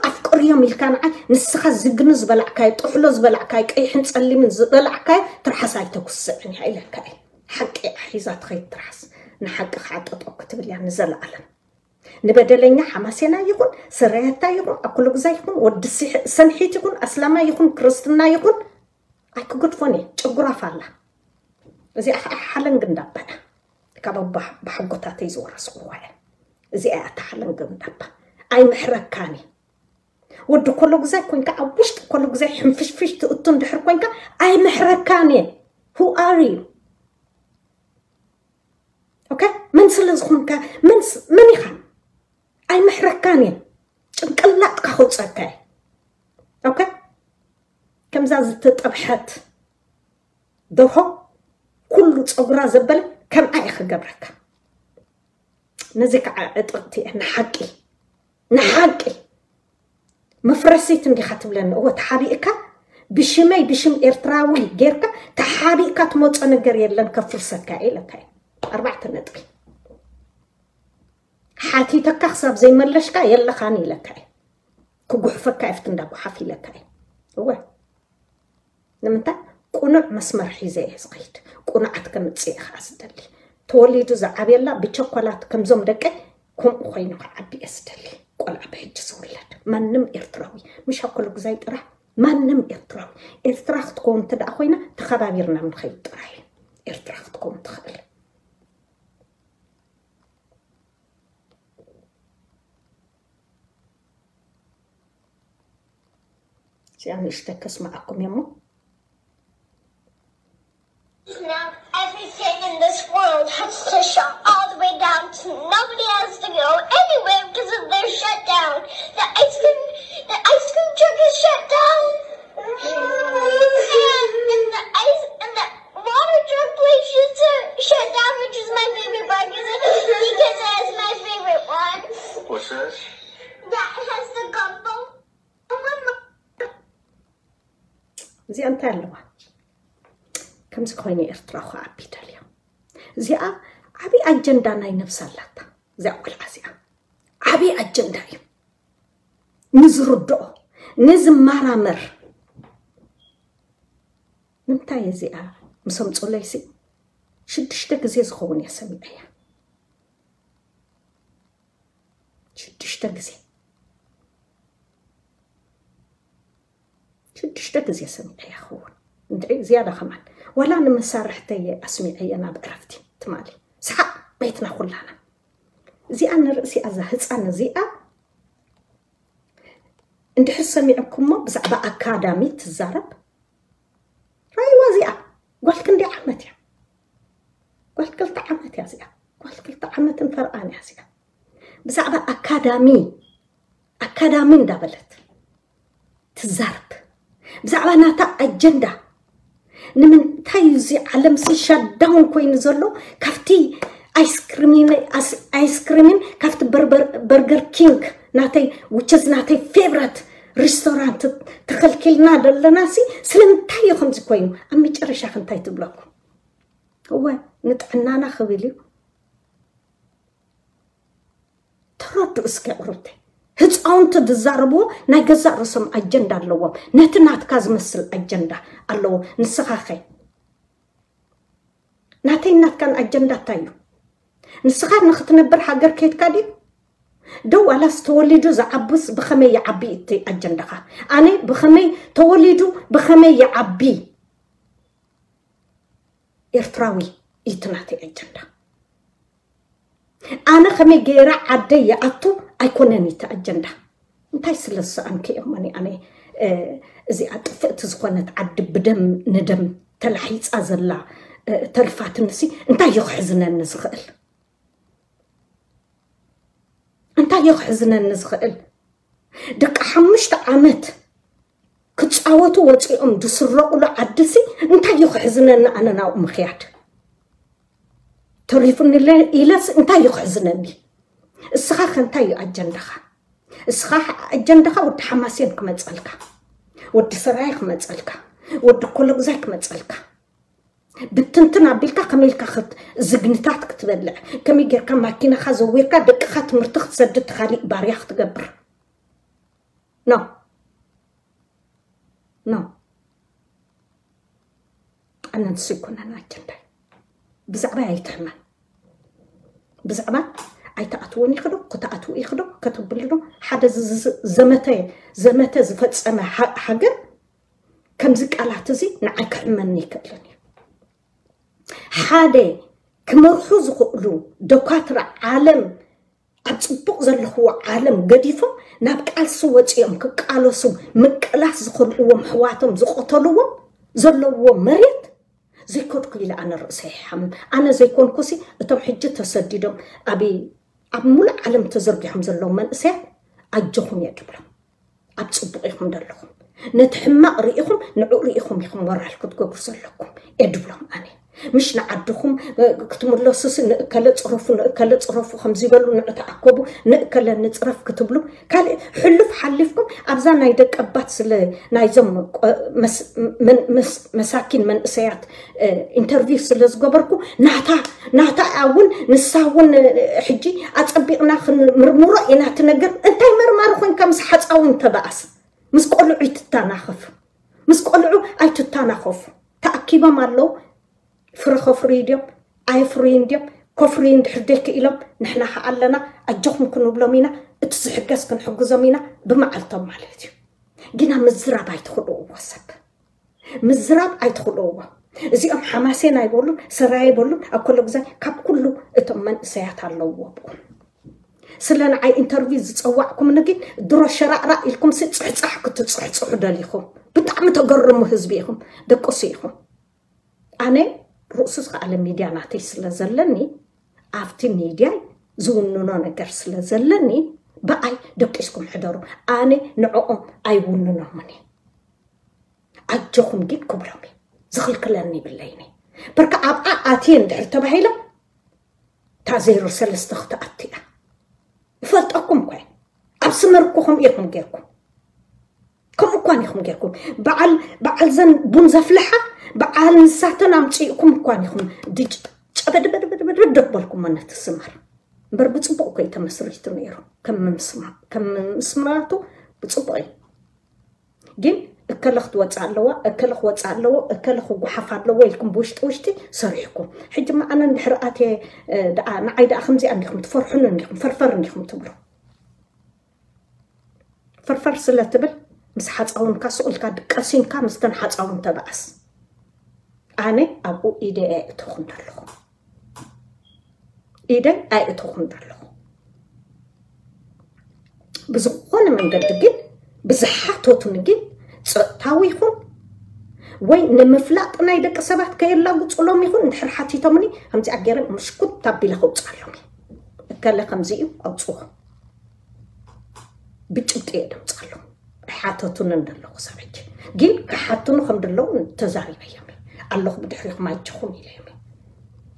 ኣፍቅርዮም ኢልካ ንዓይ ንስኻ ዝግኒ ዝበላዕካዮ ጥሕሎ ዝበላዕካዮ ቀይሕን ፀሊምን ዝበላዕካዮ ትርሓስ ኣይተኩስዕን እያ ኢለካ እየ። ሓቂ ሒዛ ትኸይድ ትርሓስ ንሓቂ ከዓ ጠጠው ክትብል እያ ንዘለኣለም። ንበደለኛ ሓማሴና ይኹን ስረያታ ይኹን ኣኩለጉዛ ይኹን ወዲ ሲሕ- ሰንሒት ይኹን ኣስላማ ይኹን ክርስትና ይኹን ኣይክገድፎን እየ። ጨጉራፍ ኣላ እዚኣ ከዓ ሓለንግ እንዳባ እያ። ካብ ኣባ- ብሓጎታተይ ዝወረስኩዋ እያ። እዚኣ እያ እታ ሓለንግ እንዳባ። ኣይምሕረካን እየ። ወዲ ኮሎጉዛይ ኮንካ ኣብ ውሽጢ ኮሎጉዛይ ሕንፍሽፍሽ ትእቱ እንድሕር ኮንካ ኣይምሕረካን እየ። Who are you? ኦኬ፣ መን ስለ ዝኾንካ መን ስ- መን ኢኻ? ኣይምሕረካን እየ። ጭንቅላጥካ ከውፀካ እየ። ኦኬ፣ ከምዛ ዝተጠብሐት ደርሆ ኩሉ ፀጉራ ዘበለ ከምኣ እየ ክገብረካ። ነዚ ከዓ ዕጥቕቲ እየ ንሓቂ ንሓቂ መፍረሲት እንዲኻ ትብለኒ። እወ ተሓቢእካ ብሽመይ ብሽም ኤርትራዊ ጌርካ ተሓቢእካ ትመፆ ነገር የለን ከፍርሰካ እየ ኢለካ እየ። ኣርባዕተ ነጥቢ። ሓቲተካ ክሳብ ዘይመለሽካ የለኻን ኢለካ እየ። ክጉሕፈካ እየ ፍትንዳ ጓሓፍ ኢለካ እየ። እወ ንምንታይ ቁኑዕ መስመር ሒዘ እየ ዝኸይድ። ቁኑዓት ከምፅእ እየ ከዓ ዝደሊ። ተወሊዱ ዝዓብየላ ብቸኮላት ከምዞም ደቀይ ከምኡ ኮይኑ ክዓቢ እየ ዝደሊ። ቆልዓ ብሕጂ ዝውለድ ማንም ኤርትራዊ ምሽ ኣኮለጉዛይ ጥራሕ ማንም ኤርትራዊ ኤርትራ ክትከውን እንተ ደኣ ኮይና ተኸባቢርና ንኸይድ ጥራሕ እዩ ኤርትራ ክትከውን ትኽእል። እዚኣ ንእሽተይ ከስምዓኩም እየ እሞ Now everything in this world has to shut all the way down. So nobody has to go anywhere because of their shutdown. The ice cream, the ice cream truck is shut down. And, and the ice and the water truck place is uh, shut down, which is my favorite part because it, because it is my favorite one. What's that? That has the gumbo. እዚኣ እንታይ ኣለዋ? ከምዚ ኮይኑ ኤርትራ ክዓቢ ደልያ። እዚኣ ዓብዪ ኣጀንዳ ናይ ነብሳ ኣላታ። እዚኣ ቆልዓ እዚኣ ዓብዪ ኣጀንዳ እዩ። ንዝርድኦ ንዝመራመር ንምንታይ እዚኣ ምስ ኣምፁለይሲ ሽዱሽተ ግዜ ዝኸውን እየ ሰሚዐያ። ሽዱሽተ ግዜ ሽዱሽተ ግዜ ሰሚዐያ ክኸውን እንድዒ ዝያዳ ከማን ዋላ ንመሳርሕተየ ኣስሚዐየ ናብ ዕረፍቲ ትማሊ ሰሓቕ ቤትና ኩላና እዚኣ ንርእሲ ኣዛ ህፃን እዚኣ እንድሕር ሰሚዕኩሞ ብዛዕባ ኣካዳሚ ትዛረብ ራይዋ እዚኣ ጓል ክንደይ ዓመት እያ ጓል ክልተ ዓመት እያ እዚኣ ጓል ክልተ ዓመትን ፈርቓን እያ እዚኣ ብዛዕባ ኣካዳሚ ኣካዳሚ እንዳበለት ትዛረብ ብዛዕባ ናታ ኣጀንዳ ንምንታይ እዚ ዓለም ሲ ሻዳውን ኮይኑ ዘሎ ካብቲ ኣይስክሪምን ካብቲ በርገር ኪንግ ናተይ ውቸዝ ናተይ ፌቨረት ሪስቶራንት ተኸልኪልና ዘለና ሲ ስለምንታይ እዩ ከምዚ ኮይኑ ኣብ መጨረሻ ክንታይ ትብለኩም እወ ንጥዕናና ክብል እዩ ተረዱ እስከ ቁሩብተ ህፃውንቲ ዝዛረብዎ ናይ ገዛእ ርእሶም ኣጀንዳ ኣለዎም ነቲ ናትካ ዝመስል ኣጀንዳ ኣለዎ ንስኻኸ ናተይ ናትካን ኣጀንዳ እንታይ እዩ ንስኻ ንክትነብር ሃገር ከይድካ ድዩ ደው ኣላስ ተወሊዱ ዝዓብስ ብኸመይ ይዓቢ እቲ ኣጀንዳኻ ኣነ ብኸመይ ተወሊዱ ብኸመይ ይዓቢ ኤርትራዊ እዩ እቲ ናተይ ኣጀንዳ ኣነ ከመይ ገይረ ዓደይ ይኣቱ ኣይኮነን እቲ ኣጀንዳ እንታይ ስለ ዝሰኣንኪ እሞኒ ኣነ እዚኣ ጥፍእቲ ዝኾነት ዓዲ ብደም ንደም ተላሒፃ ዘላ ተሪፋትንሲ እንታይ እዩ ክሕዝነኒ ዝኽእል? እንታይ እዩ ክሕዝነኒ ዝኽእል? ደቂ ሓሙሽተ ዓመት ክፃወቱ ወፂኦም ዝስረቑሉ ዓድሲ እንታይ እዩ ክሕዝነኒ? ኣነ ናብኡ ምኽያድ ተሪፉኒ ኢለስ እንታይ እዩ ክሕዝነኒ? እስኻ ከ እንታይ እዩ ኣጀንዳኻ? እስኻ ኣጀንዳኻ ወዲ ሓማሴን ክመፀልካ፣ ወዲ ሰራየ ክመፀልካ፣ ወዲ ኮለጉዛይ ክመፀልካ፣ ብትንትን ኣቢልካ ከመይ ኢልካ ዝግንታት ክትበልዕ፣ ከመይ ጌርካ ማኪናኻ ዘዊርካ ደቅኻ ትምህርቲ ክትሰድድ፣ ካሊእ ባርያ ክትገብር? ኖ ኖ ኣነንስ ይኮነን ኣጀንዳይ። ብዛዕባ ኣይትሕመን። ብዛዕባ ኣይትኣትውን ይኽዶ ክትኣትው ይኽዶ ከተብልዶ ሓደ ዘመተ ዘመተ ዝፈጸመ ሃገር ከምዚ ቃላት እዚ ንዓይ ክሕመኒ ይክእልን እዩ። ሓደ ክመርሑ ዝኽእሉ ደኳትራ ዓለም ኣብ ጽቡቕ ዘለኽዎ ዓለም ገዲፎም ናብ ቃልሲ ወጺኦም ክቃለሱ ምቅላስ ዝኸልእዎም ኣሕዋቶም ዝቐተልዎም ዘለውዎ መሬት ዘይከድኩ ኢለ ኣነ ርእሰይ ይሓምም። ኣነ ዘይኮንኩሲ እቶም ሕጂ ተሰዲዶም ኣብ ኣብ ሙሉእ ዓለም ተዘርጊሖም ዘለዉ መንእሰያት ኣጆኹም እየ ድብሎም። ኣብ ጽቡቕ ኢኹም ዘለኹም። ነቲ ሕማቕ ርኢኹም ንዕኡ ርኢኹም ኢኹም ሞራል ክትገብሩ ዘለኩም እየ ድብሎም ኣነ። ምሽ ንዓድኹም ክትምለሱሲ ንእከለ ጽረፉ ንእከለ ጽረፉ ከምዚ በሉ ንዑ ተኣከቡ ንእከለ ንጽረፍ ክትብሉ ካልእ ሕሉፍ ሓሊፍኩም ኣብዛ ናይ ደቀባት ስለ ናይዞም መሳኪን መንእሰያት ኢንተርቪው ስለ ዝገበርኩ ናታ ናታ እውን ንሳ እውን ሕጂ ኣጸቢቕና ክንምርምሮ ኢና ትነገር። እንታይ መርማሪ ኮንካ ምስ ሓጻዊ እንተበኣስ ምስ ቆልዑ ይትታናኸፍ ምስ ቆልዑ ኣይትታናኸፉ። ተኣኪቦም ኣለዉ ፍረ ከፍርዩ ድዮም ኣይፍርዩን ድዮም? ከፍርዩ እንድሕር ደይ ክኢሎም ንሕና ከዓ ኣለና ኣጆኹም ክንብሎም ኢና። እቲ ዝሕገዝ ክንሕግዞም ኢና ብመዓልቶም ማለት እዩ። ግና ምዝራብ ኣይትኽልእዎ ሰብ ምዝራብ ኣይትኽልእዎ። እዚኦም ሓማሴን ኣይበሉን ሰራይ ኣይበሉን ኣብ ኮሎ ግዛይ ካብ ኩሉ እቶም መንእሰያት ኣለውዎ ብኡ ስለ ንዓይ ኢንተርቪው ዝፀዋዕኩም ንግን ድሮ ሸራዕራዕ ኢልኩም ሲ ፅሕፃሕ ክትፅሕፅሑ ደሊኹም ብጣዕሚ ተገርሙ ህዝቢ ኢኹም ደቅሱ ኢኹም። ኣነ ርእሱ ዝኸኣለ ሚድያ ናተይ ስለ ዘለኒ ኣብቲ ሚድያይ ዝውንኖ ነገር ስለ ዘለኒ ብኣይ ደቂስኩም ሕደሩ። ኣነ ንዕኦም ኣይውንኖምን ኣጆኹም ግን ክብሎም ዝኽልክለኒ ይብለይኒ። በርካ ኣብኣ ኣትየ እንድሕር ተባሂሎም እታ ዜሮ ሰለስተ ክትኣቱ እያ። ይፈልጠኩም እኳ ኣብ ስመር እኮ ከምኡ ኢኹም ጌርኩም ከምኡ እኳን ኢኹም ጌርኩም በዓል በዓል ዘን ቡን ዘፍልሓ በዓል ንሳተን ኣምፅእኩም እኳን ኢኹም ድጭ ጨበድበድበድበድ ደበልኩም ነቲ ስመር እምበር ብፅቡቅ እኮ እዩ ተመስሪቱ ነይሩ። ከም ምስማቱ ብፅቡቅ እዩ። ግን እከለ ክትወፅእ ኣለዋ እከለ ክወፅእ ኣለዎ እከለ ክጓሓፍ ኣለዎ ኢልኩም ብውሽጢ ውሽጢ ሰሪሕኩም። ሕጂ መኣነ እንድሕር ኣትየ ንዓይ ደኣ ከምዚኣ እንዲኹም ትፈርሑን እንዲኹም ፈርፈር እንዲኹም ትብሉ። ፈርፈር ስለ ትብል ምስ ሓፃውንካ ስቕ ኢልካ ድቀሲንካ ምስተን ሓፃውን ተበኣስ። ኣነ ኣብኡ ኢደይ ኣይእተኹን ዘለኹ ኢደይ ኣይእተኹን ዘለኹ። ብዝኾነ መንገዲ ግን ብዝሓተቱኒ ግን ፀጥታዊ ይኹን ወይ ንምፍላጥ ናይ ደቂ ሰባት ከየላጉፅሎም ይኹን እንድሕር ሓቲቶምኒ ከምዚኣ ገይረ ምሽኩት ኣቢለ ከውፅኣሎም እየ። እከለ ከምዚ እዩ ኣውፅዎ ብጭብጢ እየ ደምፅኣሎም። ኣይሓተቱንን ዘለኹ ሰብ ሕጂ ግን ክሓትኑ ከም ደለዉ ተዛሪበዮም እየ ኣለኹ ብድሕሪኹም ኣይችኹም ኢለዮም እየ።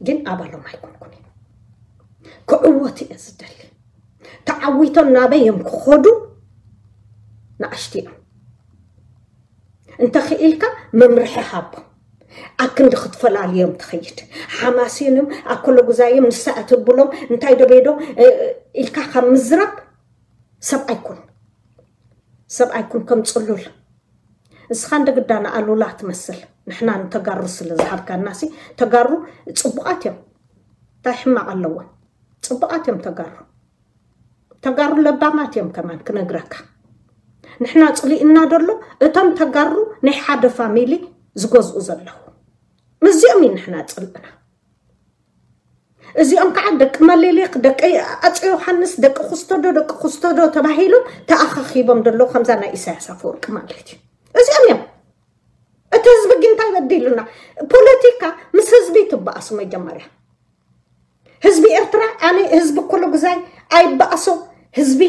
ግን ኣባሎም ኣይኮንኩን እየ ክዕወት እየ ዝደሊ። ተዓዊቶም ናበይ እዮም ክኸዱ ንኣሽቲ እዮም። እንተኽኢልካ መምርሒ ሃቦም ኣክንዲ ክትፈላልዮም ትኸይድ ሓማሴኖም ኣኮለጉዛዮም ንሳ እትብሎም እንታይ ዶ ቤዶ ኢልካ ካብ ምዝራብ ሰብኣይ ኩን ሰብኣይ ኩን ከም ፅሉል እስኻ እንደ ግዳ ንኣሉላ ትመስል ንሕና ንተጋሩ ስለ ዝሃብካናሲ ተጋሩ ፅቡቓት እዮም እንታይ ሕማቕ ኣለዎም ፅቡቓት እዮም ተጋሩ ተጋሩ ለባማት እዮም ከማን ክነግረካ ንሕና ፅሊእና ደሎ እቶም ተጋሩ ናይ ሓደ ፋሚሊ ዝገዝኡ ዘለዉ ምስዚኦም እዩ ንሕና ፅልእና እዚኦም ከዓ ደቂ መሌሌክ ደቂ ኣፀ ዮሃንስ ደቂ ኩስተዶ ደቂ ኩስተዶ ተባሂሎም ተኣኻኺቦም ደሎ ከምዛ ናይ ኢሳያስ ኣፈወርቂ ማለት እዩ እዚኦም እዮም እቲ ህዝቢ ግን እንታይ በደ ኢሉና። ፖለቲካ ምስ ህዝቢ ትበኣሱ መጀመርያ። ህዝቢ ኤርትራ ኣነ ህዝቢ ኩሉ ግዛይ ኣይበኣሶ፣ ህዝቢ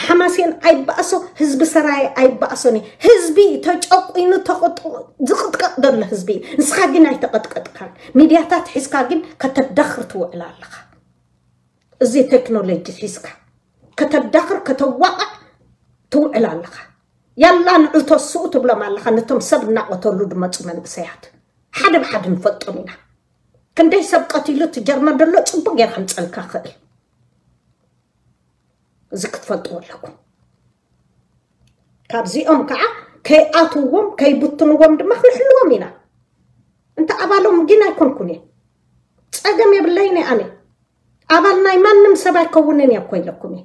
ሓማሴን ኣይበኣሶ፣ ህዝቢ ሰራየ ኣይበኣሶን እዩ። ህዝቢ ተጨቁኑ ተቐጡ ዝቕጥቀጥ ዘሎ ህዝቢ እዩ። ንስኻ ግን ኣይተቐጥቀጥካን። ሚድያታት ሒዝካ ግን ከተዳኽር ትውዕል ኣለኻ። እዚ ቴክኖሎጂ ሒዝካ ከተዳኽር ከተዋቕዕ ትውዕል ኣለኻ። ያላ ንዑ ተስኡ ትብሎም ኣለኻ ነቶም ሰብ እናቐተሉ ድመፁ መንእሰያት። ሓደ ብሓደ ንፈልጦም ኢና። ክንደይ ሰብ ቀቲሉ እቲ ጀርመን ዘሎ ፅቡቅ ጌር ከምፀልካ ክእል። እዚ ክትፈልጥዎ ኣለኩም። ካብዚኦም ከዓ ከይኣትዎም ከይብትንዎም ድማ ክንሕልዎም ኢና። እንተ ኣባሎም ግን ኣይኮንኩን እየ። ፀገም የብለይን እየ ኣነ። ኣባል ናይ ማንም ሰብ ኣይከውንን እየ እኮ ኢለኩም እየ።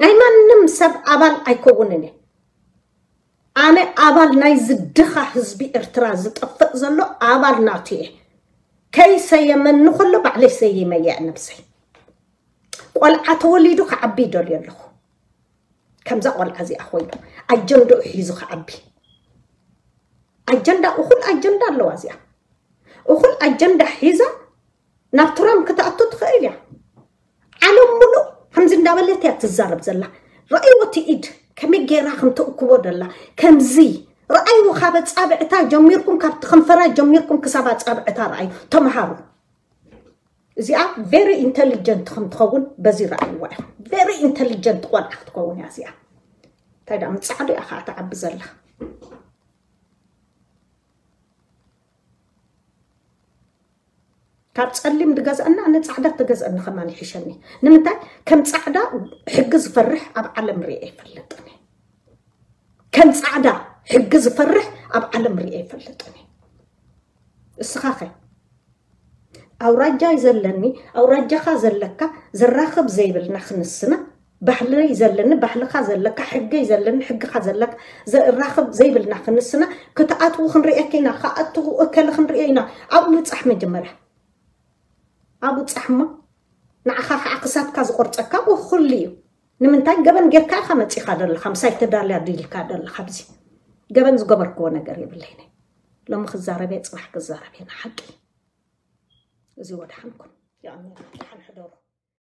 ናይ ማንም ሰብ ኣባል ኣይከውንን እየ። ኣነ ኣባል ናይ ዝድኻ ህዝቢ ኤርትራ ዝጠፍእ ዘሎ ኣባል ናቱ እየ። ከይሰየመኒ ከሎ ባዕለይ ሰይመየ ነብሰይ። ቆልዓ ተወሊዱ ክዓቢ ይደልዮ ኣለኹ። ከምዛ ቆልዓ እዚኣ ኮይኑ ኣጀንዳኡ ሒዙ ክዓቢ። ኣጀንዳ፣ እኹል ኣጀንዳ ኣለዋ እዚኣ። እኹል ኣጀንዳ ሒዛ ናብ ትራምፕ ክትኣቱ ትኽእል እያ። ዓለም ሙሉእ ከምዚ እንዳበለት እያ ትዛረብ ዘላ። ረኣይዎ እቲ ኢድ ከመይ ገይራ ከም ተእክቦ ደላ። ከምዚ ረኣይዎ፣ ካብ ኣጻብዕታ ጀሚርኩም፣ ካብቲ ከንፈራ ጀሚርኩም ክሳብ ኣጻብዕታ ረኣዩ። ተምሃሩ። እዚኣ ቨሪ ኢንተሊጀንት ከም ትኸውን በዚ ረኣይዋ እያ። ቨሪ ኢንተሊጀንት ቆልዓ ክትከውን እያ እዚኣ። እንታይ ደኣ ምጻዕዱ እያ ከዓ ትዓቢ ዘላ። ካብ ጸሊም ድገዝአና ኣነ ጻዕዳ ተገዝአኒ ከማን ይሕሸኒ። ንምንታይ ከም ጻዕዳ ሕጊ ዝፈርሕ ኣብ ዓለም ሪኤ ኣይፈልጥን እየ። ከም ጻዕዳ ሕጊ ዝፈርሕ ኣብ ዓለም ሪኤ ኣይፈልጥን እየ። እስኻ ኸ ኣውራጃ ዘለኒ ኣውራጃኻ ዘለካ ዘራኽብ ዘይብልና ክንስና ባህለይ ዘለኒ ባህልኻ ዘለካ ሕገይ ዘለኒ ሕግኻ ዘለካ ዘራኽብ ዘይብልና ክንስና ክትኣትዉ ክንርእየካ ኢና። ክኣትዉ እከለ ክንርእዮ ኢና። ኣብኡ ብጻሕ መጀመርያ ኣብኡ ጻሕ እሞ ንዓኻ ከዓ ክሳብካ ዝቆርጸካ ኣብኡ ኩሉ እዩ። ንምንታይ ገበን ጌርካ ኢኻ መጺኻ ዘለኻ ምሳይ ተዳልያ ድልካ ዘለኻ ኣብዚ ገበን ዝገበርክዎ ነገር የብለይን። ሎሚ ክዛረብ እየ ጽባሕ ክዛረብ እየ ንሓቂ። እዚ ወድሓንኩም ይቐኒ። ደሓን ሕደሩ።